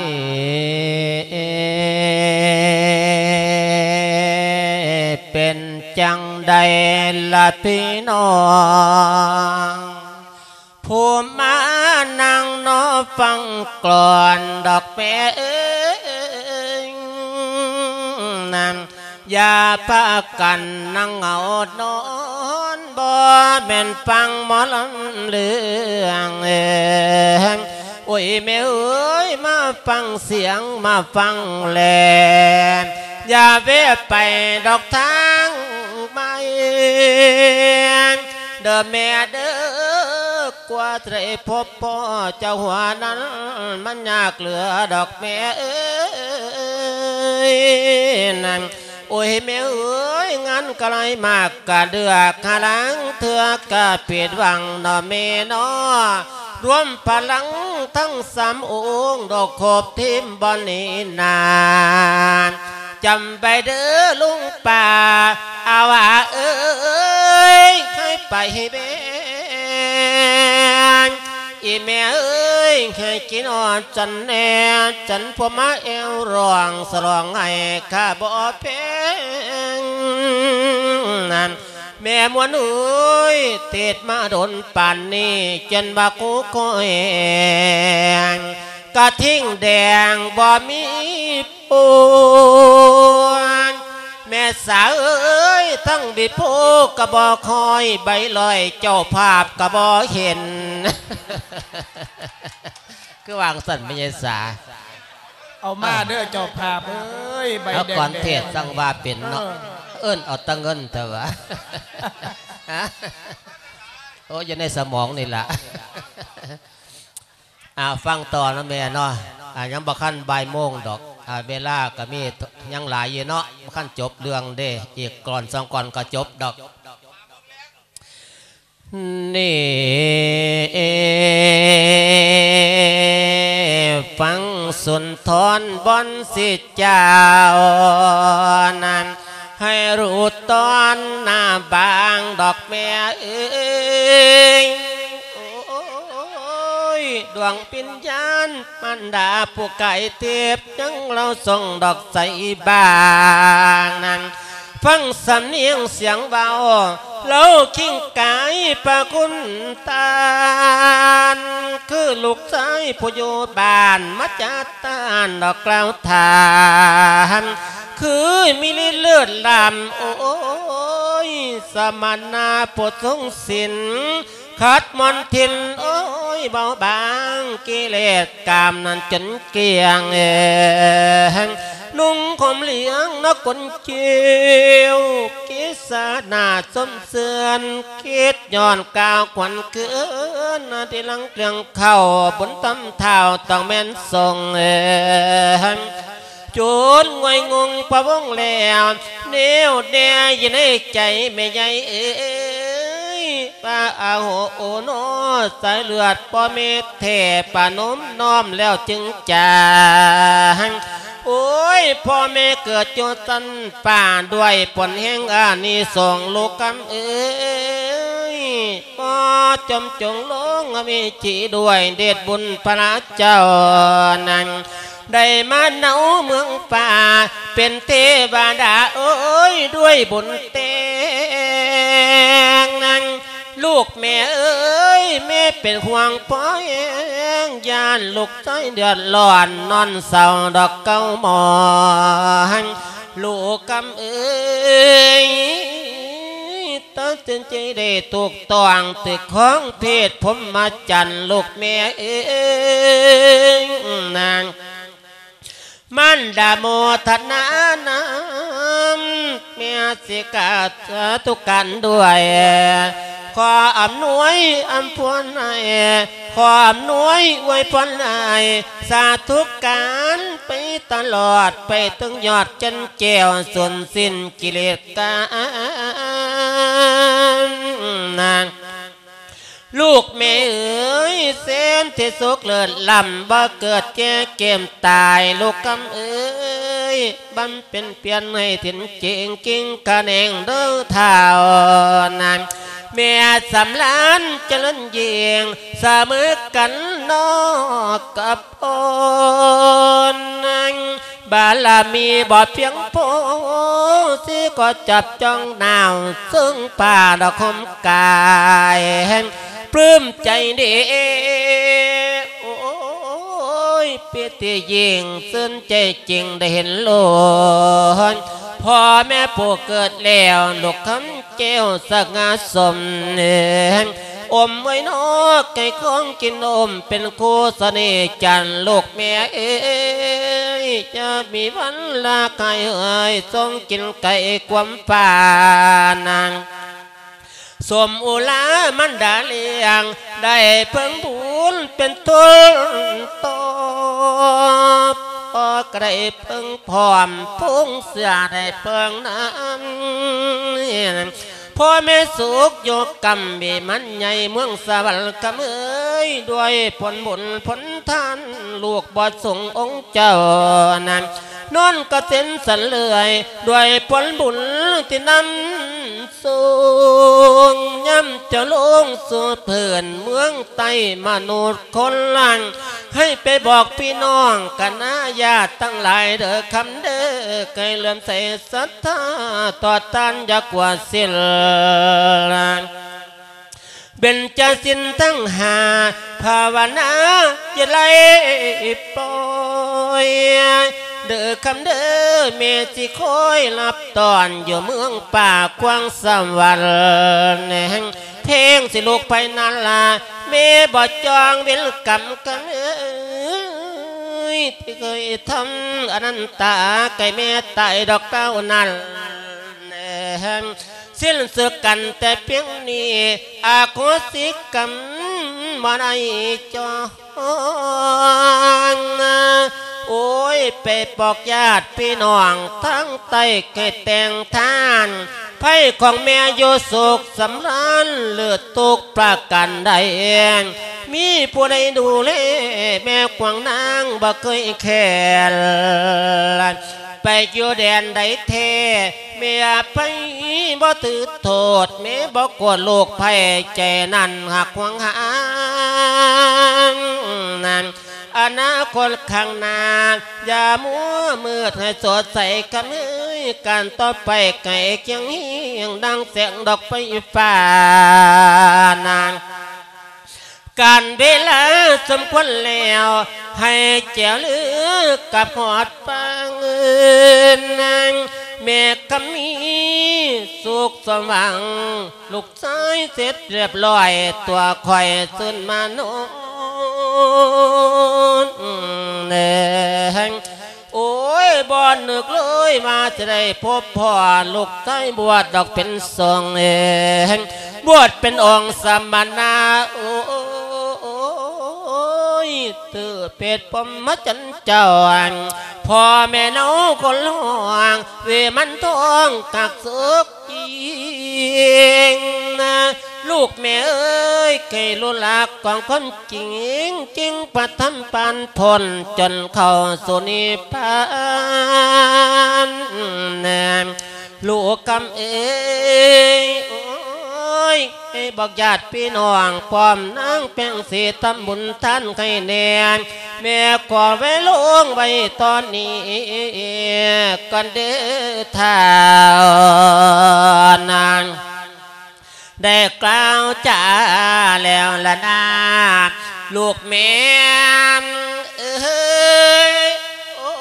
ເປັນ ຈັ່ງໃດລະພີ່ນ້ອງ ຜູ້ມານັ່ງນອຟັງກລອນດອກແມ່ເອີຍ ນັ້ນຢ່າພາກັນນັ່ງເຫງົານອນ ບໍ່ແມ່ນຟັງໝໍລຳເລື່ອງ ໂອ້ຍແມ່ເອີຍ ມາຟັງສຽງ ມາຟັງແລ ຢ່າແວະໄປດອກທາງໃໝ່ ເດີ້ແມ່ເດີ້ ກວ່າຈະໄດ້ພົບພໍ້ເຈົ້າຫົວນັ້ນ ມັນຍາກເຫຼືອດອກແມ່ເອີຍ ໂອ້ຍແມ່ເອີຍ ງານກະໄລມາກກະເດືອກ ຫາລາງເທື່ອກະຜິດຫວັງເນາະແມ່ເນາະ ລວມພະລັງທັງສາມອົງ ດອກຄົບທີມບ່ອນນີ້ນາ ຈຳໄວ້ເດີລຸງປ້າ ອາວາເອີຍ ໃຫ້ໄປໃຫ້ແບງ ອີແມ່ເອີຍ ໃຫ້ກິນອອດຈັນແດ່ ຈັນພວມມາແອວຮ້ອງສະຫຼອງໃຫ້ຂ້າບໍ່ແພງ ແມ່ມວນເອີຍ ເທດມາດົນປານນີ້ ຈົນວ່າກູຂ້ອຍ ກະທິງແດງບໍ່ມີ ໂອ້ຍ ແມ່ສາເອີຍ ທັງບິດໂພກະບໍ່ຄ່ອຍ ໃບລອຍເຈົ້າພາບກະບໍ່ເຫັນ ຄືວ່າຈັ່ງຊັ້ນແມ່ໃຫຍ່ສາ ເອົາມາເດີເຈົ້າພາບເອີຍ ໃບແດງໆ ເອົາກ່ອນເທດຈັ່ງວ່າເປັນເນາະ ເອີ ເອີ້ນເອົາແຕ່ເງິນແທ້ຫວາ ໂອ້ຍ ຢູ່ໃນສະໝອງນີ້ລະ. ອ່າ ຟັງຕໍ່ນະແມ່ເນາະ ອ່າ ຍັງບໍ່ທັນບ່າຍໂມງດອກ ອ່າ ເວລາກໍມີຍັງຫຼາຍຢູ່ເນາະ ບໍ່ທັນຈົບເລື່ອງເດ້ ອີກກ່ອນສອງກ່ອນກໍຈົບດອກ ນີ້ ຟັງສຸນທອນບ່ອນສິເຈົ້ານັ້ນ ໃຫ້ຮູ້ຕອນໜ້າບາງດອກແມ່ເອີຍ ໂອ້ຍ ດວງວິນຍານມານດາຜູ້ກາຍທິບ ຍັງເລົ່າສົ່ງດອກໃສບາງນັ້ນ ຟັງສຳນຽງສຽງເວົ້າ ເລົ່າຄິງກາຍພະຄຸນທ່ານ ຄືລູກຊາຍຜູ້ຢູ່ບ້ານມາຈາ ທ່ານດອກກ່າວຖາມ ຄືມີລິດເລີດລ້ຳ ໂອ້ຍ ສະມະນະຜູ້ຊົງສິນ ຂັດມອນທິນ ໂອ້ຍ ເບົາບາງ ກິເລດກາມນັ້ນຈົນກ້ຽງ ນຸ່ງຫົ່ມຫຼຽງນະກົນ ເຈົ້າ ກິສະໜ້າຊົມເຊືອນ ຄິດຍ້ອນກ່າວຂວັນຄືນ ທີ່ຫຼັງເຄື່ອງເຂົ້າບຸນຕຳທ້າວ ຕ້ອງແມ່ນສົ່ງ ຈົນງວຍງົງພະວົງແລ້ວ ແນວແດ່ຢູ່ໃນໃຈແມ່ໃຫຍ່ເອີຍ ວ່າອາໂຫໂອໂນ ສາຍເລືອດພໍ່ແມ່ແທ້ ປະນົມນ້ອມແລ້ວຈຶ່ງຈາ ໂອ້ຍ ພໍ່ແມ່ເກີດຢູ່ຊັ້ນຟ້າ ດ້ວຍຜົນແຫ່ງອານິສົງ ລູກກຳເອີຍ ພໍ່ຈົ່ມຈົງລົງອະເວຈີ ດ້ວຍເດດບຸນພະລາເຈົ້ານັ້ນ ໄດ້ມາເນົາເມືອງຟ້າ ເປັນເທວະດາ ໂອ້ຍ ດ້ວຍບຸນແຕ່ງນັ້ນ ລູກແມ່ເອີຍ ແມ່ເປັນຫ່ວງພໍ່ແຮງ ຢ້ານລູກຊາຍເດືອດຮ້ອນ ນອນເສົ້າດອກເກົ້າໝໍນ ລູກກຳເອີຍ ຕັດສິນໃຈໄດ້ຖືກຕ້ອງ ຖືກຂອງເພດພົມມະຈັນ ລູກແມ່ເອີຍ ນາງ ມານດາໂມທະນານຳ ແມ່ສິກາສາທຸການດ້ວຍ ຂໍອຳນວຍອຳພວນໃຫ້ ຂໍອຳນວຍອວຍພອນໃຫ້ ສາທຸການໄປຕະຫຼອດ ໄປເຖິງຍອດຈັນແກ້ວ ສູນສິ້ນກິເລດກາມນາງ ລູກແມ່ເອີຍ ເຊນທີ່ສຸກເລີດລ້ຳ ບໍ່ເກີດແກ່ເກມຕາຍ ລູກກຳເອີຍ ບຳເພັນພຽນໃຫ້ເຖິງເຈິງກິ່ງຂະແໜງເດີທ້າວນາງ ແມ່ສຳລານຈະເລີນຍິ່ງ ສະເໝີກັນນອກກັບ ອ່ອນນັ້ນ ບາລະມີບໍ່ພຽງພໍ ຊິກໍຈັບຈ້ອງໜາວ ເຊິ່ງຜ້າດອກຫົ່ມກາຍ ປຶ້ມໃຈເດ ໂອ້ຍ ປີຕິຍິ່ງຊື່ນໃຈຈິງໄດ້ເຫັນໂລດ ພໍ່ແມ່ຜູ້ເກີດແລ້ວ ລູກຄຳ ແກ້ວສັກງາສົມ ອົມໄວ້ນອກໃຫ້ຂອງກິນອົມ ເປັນຄູ່ສະເໜ່ຈັນ ລູກແມ່ເອີຍ ຈະມີວັນລາກາຍເອີຍ ຊົງກິນໄກ່ຄວາມປານາງ ສົມອຸລາມັນດາລ້ຽງ ໄດ້ເພິ່ງບຸນເປັນຕົ້ນຕອບ ກໍໄດ້ເພິ່ງພ້ອມ ພຸງເສຍໄດ້ເພິ່ງນຳ ພໍ່ແມ່ສຸກຢູ່ກຳເບມັນໃຫຍ່ ເມືອງສະຫວັນກຳເອີຍ ດ້ວຍຜົນບຸນຜົນທານ ລູກບໍ່ສົງອົງເຈົ້ານັ້ນ ນອນກະເຊັນສັນເລື່ອຍ ດ້ວຍຜົນບຸນທີ່ນຳ ສູງ ຍາມເຈົ້າລົງສູ່ພື້ນເມືອງໃຕ້ ມະນຸດຄົນລາງ ໃຫ້ໄປບອກພີ່ນ້ອງຄະນະຍາດທັງຫຼາຍເດີຄຳເດີ ໃຫ້ເຫຼື້ອມໃສສັດທາຕໍ່ທ່ານຢ່າກວາດສິ້ນ ເບັນຈະສິນທັງຫ້າ ພາວະນາຢ່າໄດ້ປ່ອຍ ເດີຄຳເດີ ແມ່ຊິຄອຍຮັບຕ້ອນ ຢູ່ເມືອງປ່າກວ້າງສະຫວັນ ແຫ່ງເພງຊິລູກໄປນັ້ນລະ ແມ່ບໍ່ຈອງເວນກຳກຳເອີຍ ທີ່ເຄີຍທຳອະນັນຕາ ໃກ້ແມ່ຕາຍດອກເຕົ້ານັ້ນ ສິ້ນສຸດກັນແຕ່ພຽງນີ້ ອະໂຫສິກຳບໍ່ໄດ້ຈອງ ໂອ້ຍ ໄປບອກຍາດພີ່ນ້ອງທາງໃຕ້ ໃຫ້ແຕ່ງທານ ໄພຂອງແມ່ຢູ່ສຸກສຳລານ ຫຼືທຸກປະການໃດ ມີຜູ້ໃດດູແລ ແມ່ຂວາງນາງບໍ່ເຄີຍແຄນ ໄປຢູ່ແດນໃດແທ້ ແມ່ໄພບໍ່ຖືໂທດ ແມ່ບໍ່ໂກດລູກໄພ ໃຈນັ້ນຫາກຫວງຫານານ ອະນາຄົດຂ້າງໜ້າ ຢ່າມົວມືດໃຫ້ສົດໃສກະເມີຍ ການຕໍ່ໄປໄກຄຽງຮຽງ ດັ່ງແສງດອກໄຟຟ້ານານ ການເວລາສົມຄວນແລ້ວ ໃຫ້ແຈວລືກັບຮອດຝັ່ງເອີນນາງ ແມ່ຄຳມີສຸກສົມຫວັງ ລູກຊາຍເສັດຮຽບຮ້ອຍ ຕົວຂ້ອຍຊື່ນມານອນແລງ ໂອ້ຍ ບໍ່ນຶກເລີຍວ່າຈະໄດ້ພົບພໍ້ ລູກຊາຍບວດດອກເປັນສົງເອງ ບວດເປັນອົງສະມະນະ ໂອ້ຍ ຖືເປັດພົມມະຈັນເຈົ້າ ພໍ່ແມ່ເນົາຄົນຮ້ອງ ເວມັນທອງກັກສຸກຈິງ ລູກແມ່ເອີຍ ໃຫ້ຮູ້ຫຼັກຂອງຄວາມຈິງ ຈຶ່ງປະທຳປານພົ້ນ ຈົນເຂົ້າສູ່ນິບພານ ລູກຄຳເອີຍ ໂອ້ຍ ໃຫ້ບອກຍາດພີ່ນ້ອງ ພ້ອມນາງແປ້ງສີ ທຳບຸນທານໃຫ້ແດ່ ແມ່ຂໍໄວ້ລົງໄວ້ຕອນນີ້ກ່ອນເດີທ້າວນາງ ໄດ້ກ່າວຈາແລ້ວລະນາ ລູກແມ່ເອີຍ ໂອ້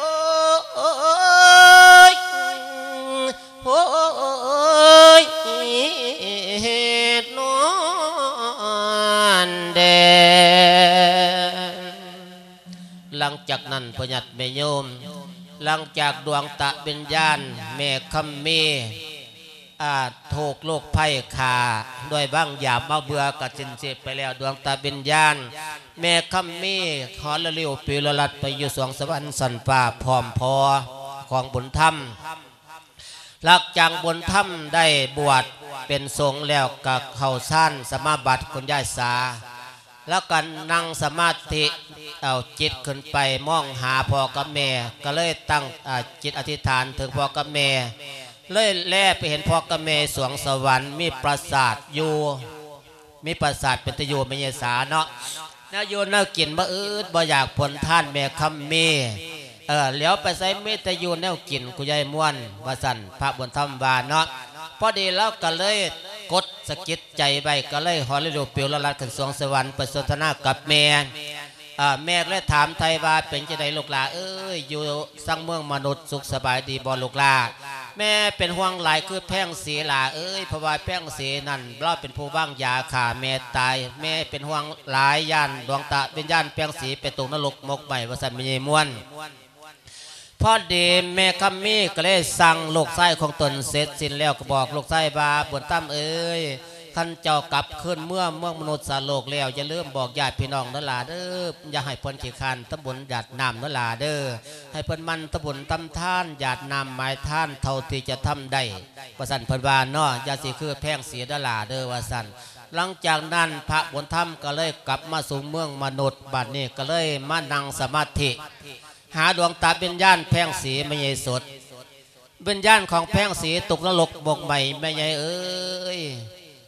ຍ ໂອ້ຍ ນອນແດ່. ຫຼັງຈາກນັ້ນ ພໍ່ຍາດແມ່ໂຍມ ຫຼັງຈາກດວງຕະວິນຍານແມ່ຄຳມີ ອາ ຖືກໂລກໄພຂ້າດ້ວຍວາງຢາມາເບື່ອກະສິ້ນຊີບໄປແລ້ວ ດວງຕະວິນຍານແມ່ຄຳມີຂໍລະລິວປິວລະລັດໄປຢູ່ສວງສະຫວັນຊັ້ນຟ້າ ພ້ອມພໍ່ຂອງບຸນທຳ. ຫຼັງຈາກບຸນທຳໄດ້ບວດເປັນສົງແລ້ວ ກະເຂົ້າຊານສະມາບັດ ຄຸນຍາຍສາ ແລ້ວກໍນັ່ງສະມາທິ ເອົາຈິດຂຶ້ນໄປມອງຫາພໍ່ກັບແມ່ ກໍເລີຍຕັ້ງ ອາ ຈິດອະທິດຖານເຖິງພໍ່ກັບແມ່ ເລີຍແລໄປເຫັນພໍ່ກັບແມ່ສວງສະຫວັນ ມີປາສາດຢູ່ ມີປາສາດເປັນຕາຢູ່ ແມ່ຍາຍສາເນາະ ແນວຢູ່ແນວກິນບໍ່ອຶດບໍ່ຢາກ ຜົນທານແມ່ຄຳມີ ເອີ ຫຼຽວໄປໃສມີແຕ່ຢູ່ແນວກິນ ຄຸນຍາຍມ່ວນ ວ່າຊັ້ນ ພະບຸນທຳວ່າເນາະ. ພໍດີລາວກໍເລີຍກົດສະກິດໃຈໄວ້ ກໍເລີຍຫໍລະລິວປິວລະລັດຂຶ້ນສວງສະຫວັນ ໄປສົນທະນາກັບແມ່. ເອີ ແມ່ກໍເລີຍຖາມໄຖ່ວ່າ ເປັນຈັ່ງໃດລູກຫຼ້າເອີຍ ຢູ່ສັງເມືອງມະນຸດ ສຸກສະບາຍດີບໍ່ລູກຫຼ້າ? ແມ່ເປັນຫ່ວງຫຼາຍຄືແພງສີຫຼ້າເອີຍ ເພາະວ່າແພງສີນັ້ນ ລາວເປັນຜູ້ວາງຢາຂ້າແມ່ຕາຍ ແມ່ເປັນຫ່ວງຫຼາຍ ຢ້ານດວງຕະວິນຍານແພງສີໄປຕົກນະລົກໝົກໄໝ້ ວ່າຊັ້ນແມ່ຍາຍມ່ວນ. ພໍດີແມ່ຄຳມີກໍເລີຍສັ່ງລູກຊາຍຂອງຕົນເສັດສິ້ນແລ້ວ ກໍບອກລູກຊາຍວ່າ ບຸນທຳເອີຍ ຄັນເຈົ້າກັບຄືນເມືອເມືອງມະນຸດສາໂລກແລ້ວ ຢ່າລືມບອກຍາດພີ່ນ້ອງເດີຫຼ້າເດີ ຢ່າໃຫ້ເພິ່ນຂີ້ຄ້ານທຳບຸນຢາດນ້ຳເດີຫຼ້າເດີ ໃຫ້ເພິ່ນໝັ່ນທຳບຸນທຳທານຢາດນ້ຳໝາຍທານເທົ່າທີ່ຈະທຳໄດ້ ວ່າຊັ້ນເພິ່ນວ່າເນາະ ຢ່າຊິຄືແພງສີເດີຫຼ້າເດີ ວ່າຊັ້ນ. ຫຼັງຈາກນັ້ນພະບຸນທຳກໍເລີຍກັບມາສູ່ເມືອງມະນຸດ ບາດນີ້ກໍເລີຍມານັ່ງສະມາທິ ຫາດວງຕາວິນຍານແພງສີ ແມ່ໃຫຍ່ສົດ. ວິນຍານຂອງແພງສີຕົກນະລົກໝົກໄໝ້ ແມ່ໃຫຍ່ເອີຍ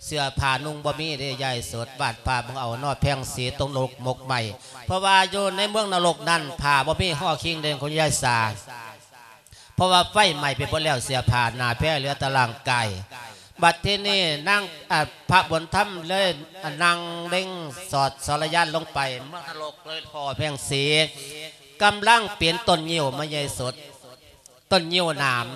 ເສື້ອຜ້ານຸ່ງບໍ່ມີເດ້ຍາຍສົດ ບາດຜ້າເບິ່ງເອົາເນາະ ແພງສີຕົກນະລົກໝົກໄໝ້ ເພາະວ່າຢູ່ໃນເມືອງນະລົກນັ້ນ ຜ້າບໍ່ມີຫໍຄິງເດ້ ຄຸນຍາຍສາ ເພາະວ່າໄຟໄໝ້ໄປເບິດແລ້ວ ເສື້ອຜ້າໜ້າແພເຫຼືອແຕ່ຮ່າງກາຍ. ບັດທີນີ້ນາງ ອາ ພະບຸນທຳເລີຍ ອາ ນັ່ງເລັງສອດສອນລະຍານລົງໄປ ເມືອງນະລົກເລີຍພໍ້ແພງສີ ກຳລັງປີນຕົ້ນງິ້ວມາໃຫຍ່ສົດ ຕົ້ນງິ້ວໜາມ.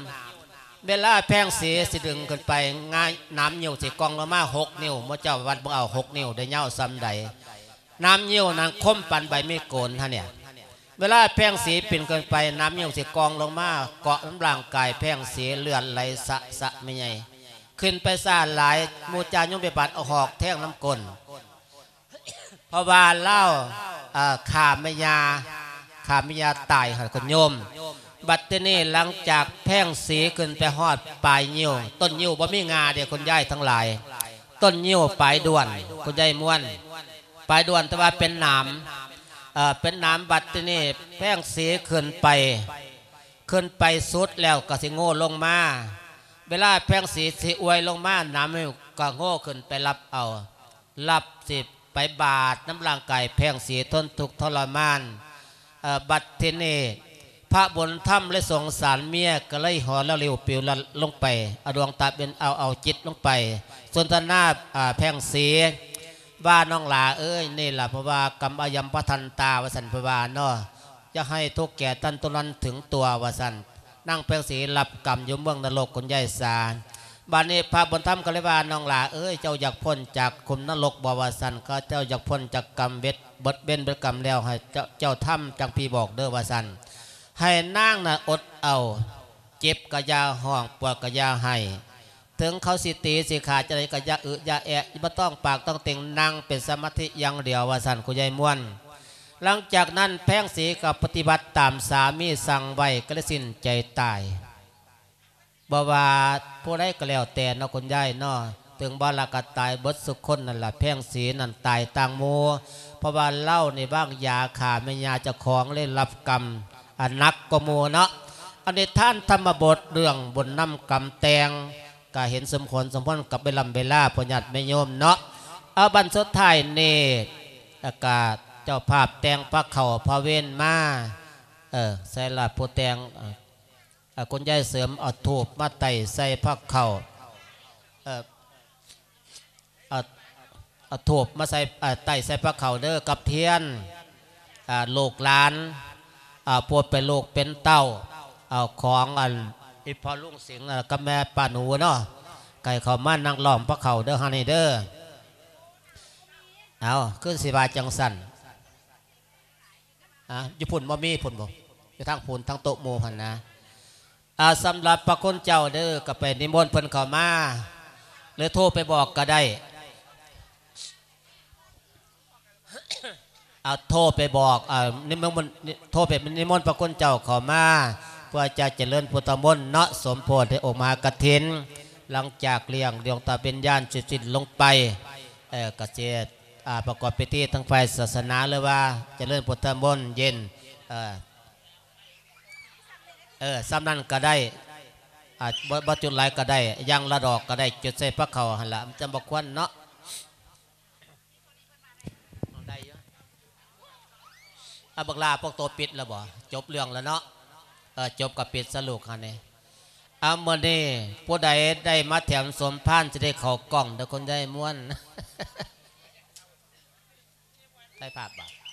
ເວລາແພງສີຊິດຶງຂຶ້ນໄປ ງ່າຍ ໜາມງິ້ວຊິກ່ອງລົງມາຫົກນິ້ວ ໝູ່ເຈົ້າວັດເບິ່ງເອົາຫົກນິ້ວໄດ້ຍາວສ່ຳໃດ. ໜາມງິ້ວນັ້ນຄົມປານໃບມີໂກນຫັ້ນເນຍ. ເວລາແພງສີປີນຂຶ້ນໄປ ໜາມງິ້ວຊິກ່ອງລົງມາເກາະນຳຮ່າງກາຍແພງສີ ເລືອດໄຫຼສະສະແມ່ໃຫຍ່. ຂຶ້ນໄປຊ້າຫຼາຍ ໝູ່ຈາຍົມພະຍາບາດເອົາຫອກແທງນຳກົ້ນ. ເພາະວ່າລາວ ເອີ ຂ້າແມ່ຍ່າ ຂ້າແມ່ຍ່າຕາຍຫັ້ນຄຸນໂຍມ. ບັດທີນີ້ຫຼັງຈາກແພງສີຂຶ້ນໄປຮອດປາຍງິ້ວ ຕົ້ນງິ້ວບໍ່ມີງ່າເດ້ ຄຸນຍາຍທັງຫຼາຍ ຕົ້ນງິ້ວປາຍດ້ວນ ຄຸນຍາຍມ່ວນ ປາຍດ້ວນ ແຕ່ວ່າເປັນໜາມ ເອີ ເປັນໜາມ. ບັດທີນີ້ແພງສີຂຶ້ນໄປ ຂຶ້ນໄປສຸດແລ້ວກໍຊິໂງ່ລົງມາ. ເວລາແພງສີຊິອວຍລົງມາ ໜາມງິ້ວກໍໂງ່ຂຶ້ນໄປຮັບເອົາ ຮັບຊິ ໄປບາດນຳຮ່າງກາຍແພງສີ ທົນທຸກທໍລະມານ. ເອີ ບັດທີນີ້ພະບຸນທຳເລີຍສົງສານເມຍ ກໍເລີຍຫໍລະລິວປິວລັດລົງໄປ ເອົາດວງຕາເປັນ ເອົາ ເອົາຈິດລົງໄປສົນທະນາ ອາ ແພງສີ ວ່າ ນ້ອງຫຼ້າເອີຍ ນີ້ລະ ເພາະວ່າກຳອາຍັມປະທັນຕາ ວ່າຊັ້ນເພິ່ນວ່າເນາະ ຢ່າໃຫ້ທຸກແກ່ທ່ານຕົວນັ້ນເຖິງຕົວ ວ່າຊັ້ນ. ນາງແພງສີຮັບກຳຢູ່ເມືອງນະລົກ ຄຸນຍາຍສາ. ບາດນີ້ພະບຸນທຳກໍເລີຍວ່າ ນ້ອງຫຼ້າເອີຍ ເຈົ້າຢາກພົ້ນຈາກຂຸມນະລົກບໍ່ ວ່າຊັ້ນ. ຂ້າພະເຈົ້າຢາກພົ້ນຈາກກຳເວັດ ເບິດເວນເບິດກຳແລ້ວ ໃຫ້ເຈົ້າ ເຈົ້າທຳຈັ່ງພີ່ບອກເດີ ວ່າຊັ້ນ. ໃຫ້ນາງນະອົດເອົາ ເຈັບກະຢ່າຮ້ອງ ປວດກະຢ່າໄຫ້ ເຖິງເຂົາຊິຕີຊິຂ້າຈັ່ງໃດກໍຢ່າອຶຢ່າແອະ ບໍ່ຕ້ອງປາກຕ້ອງເຕັງ ນັ່ງເປັນສະມາທິຢ່າງດຽວ ວ່າຊັ້ນ ຄຸນຍາຍມ່ວນ. ຫຼັງຈາກນັ້ນແພງສີກໍປະຕິບັດຕາມສາມີສັ່ງໄວ້ ກໍເລີຍສິ້ນໃຈຕາຍ. ບໍ່ວ່າຜູ້ໃດກໍແລ້ວແຕ່ເນາະ ຄຸນຍາຍເນາະ ເຖິງບໍ່ລະກໍຕາຍເບິດສຸຄົນນັ້ນລະ. ແພງສີນັ້ນຕາຍຕ່າງໝູ່ ເພາະວ່າລາວນີ້ວາງຢາຂ້າແມ່ຍ່າເຈົ້າຂອງ ເລີຍຮັບກຳອັນໜັກກວ່າໝູ່ເນາະ. ອັນນິທານທຳມະບົດເລື່ອງບຸນນຳກຳແຕ່ງ ກະເຫັນສົມຄວນສົມພົນກັບເວລຳເວລາ ພໍ່ຍາດແມ່ໂຍມເນາະ. ເອົາ ບັດສຸດທ້າຍນີ້ ອາກາດເຈົ້າພາບແຕ່ງພະເຂົ້າພະເວັນມາ ເອີ ໃສ່ລະຜູ້ແຕ່ງ ເອີ ເອົາ ຄຸນຍາຍເສີມເອົາທູບມາໄຕ້ໃສ່ພະເຂົ້າ ເອີ ເອົາ ເອົາທູບມາໃສ່ ເອົາ ໄຕ້ໃສ່ພະເຂົ້າເດີ ກັບທຽນ ອ່າ ລູກຫຼານ ອ່າ ຜູ້ເປັນລູກເປັນເຕົ້າ ເອົາຂອງອັນອີ່ພໍ່ລຸງສິງ ແລ້ວກັບແມ່ປ້າໜູເນາະ ໃຫ້ເຂົ້າມານັ່ງລ້ອມພະເຂົ້າເດີ ຫັ້ນນີ້ເດີ. ເອົາ ຄືຊິວ່າຈັ່ງຊັ້ນ ອ່າ ຢູ່ພຸ້ນບໍ່ມີພຸ້ນບໍ່? ຢູ່ທາງພຸ້ນ ທາງໂຕະໝູ່ຫັ້ນນະ. ອ່າ ສຳລັບພະຄຸນເຈົ້າເດີ ກໍໄປນິມົນເພິ່ນເຂົ້າມາ ຫຼືໂທໄປບອກກໍໄດ້. ເອົາ ໂທໄປບອກ ເອົາ ນິມົນ ໂທໄປນິມົນພະຄຸນເຈົ້າເຂົ້າມາ ເພື່ອຈະຈະເລີນພຸດທະມົນເນາະ ສົມໂພດໃຫ້ອົງມະຫາກະຖິນ. ຫຼັງຈາກລ້ຽງດວງຕາວິນຍານເສັດສິ້ນລົງໄປ ເອີ ກະຊິ ອ່າ ປະກອບພິທີທາງຝ່າຍສາສະໜາ ຫຼືວ່າຈະເລີນພຸດທະມົນເຢັນ ເອີ ເອີ ສ່ຳນັ້ນກໍໄດ້ ອ່າ ບໍ່ ບໍ່ຈຸດຫຼາຍກໍໄດ້ ຢ່າງລະດອກກໍໄດ້ ຈຸດໃສ່ພະເຂົ້າຫັ້ນລະ ມັນຈະບໍ່ຄວັນເນາະ. ໄດ້ຢູ່. ອາ ບັກຫຼ້າ ພວກໂຕປິດແລ້ວບໍ່? ຈົບເລື່ອງແລ້ວເນາະ. ເອີ ຈົບກໍປິດສະລູກຫັ້ນນີ້. ອາ ມື້ນີ້ຜູ້ໃດໄດ້ມາແຖມສົມພານ ຊິໄດ້ເຂົ້າກ້ອງເດີ ຄົນໃຫຍ່ມ່ວນ. ໄດ້ພາບບໍ່?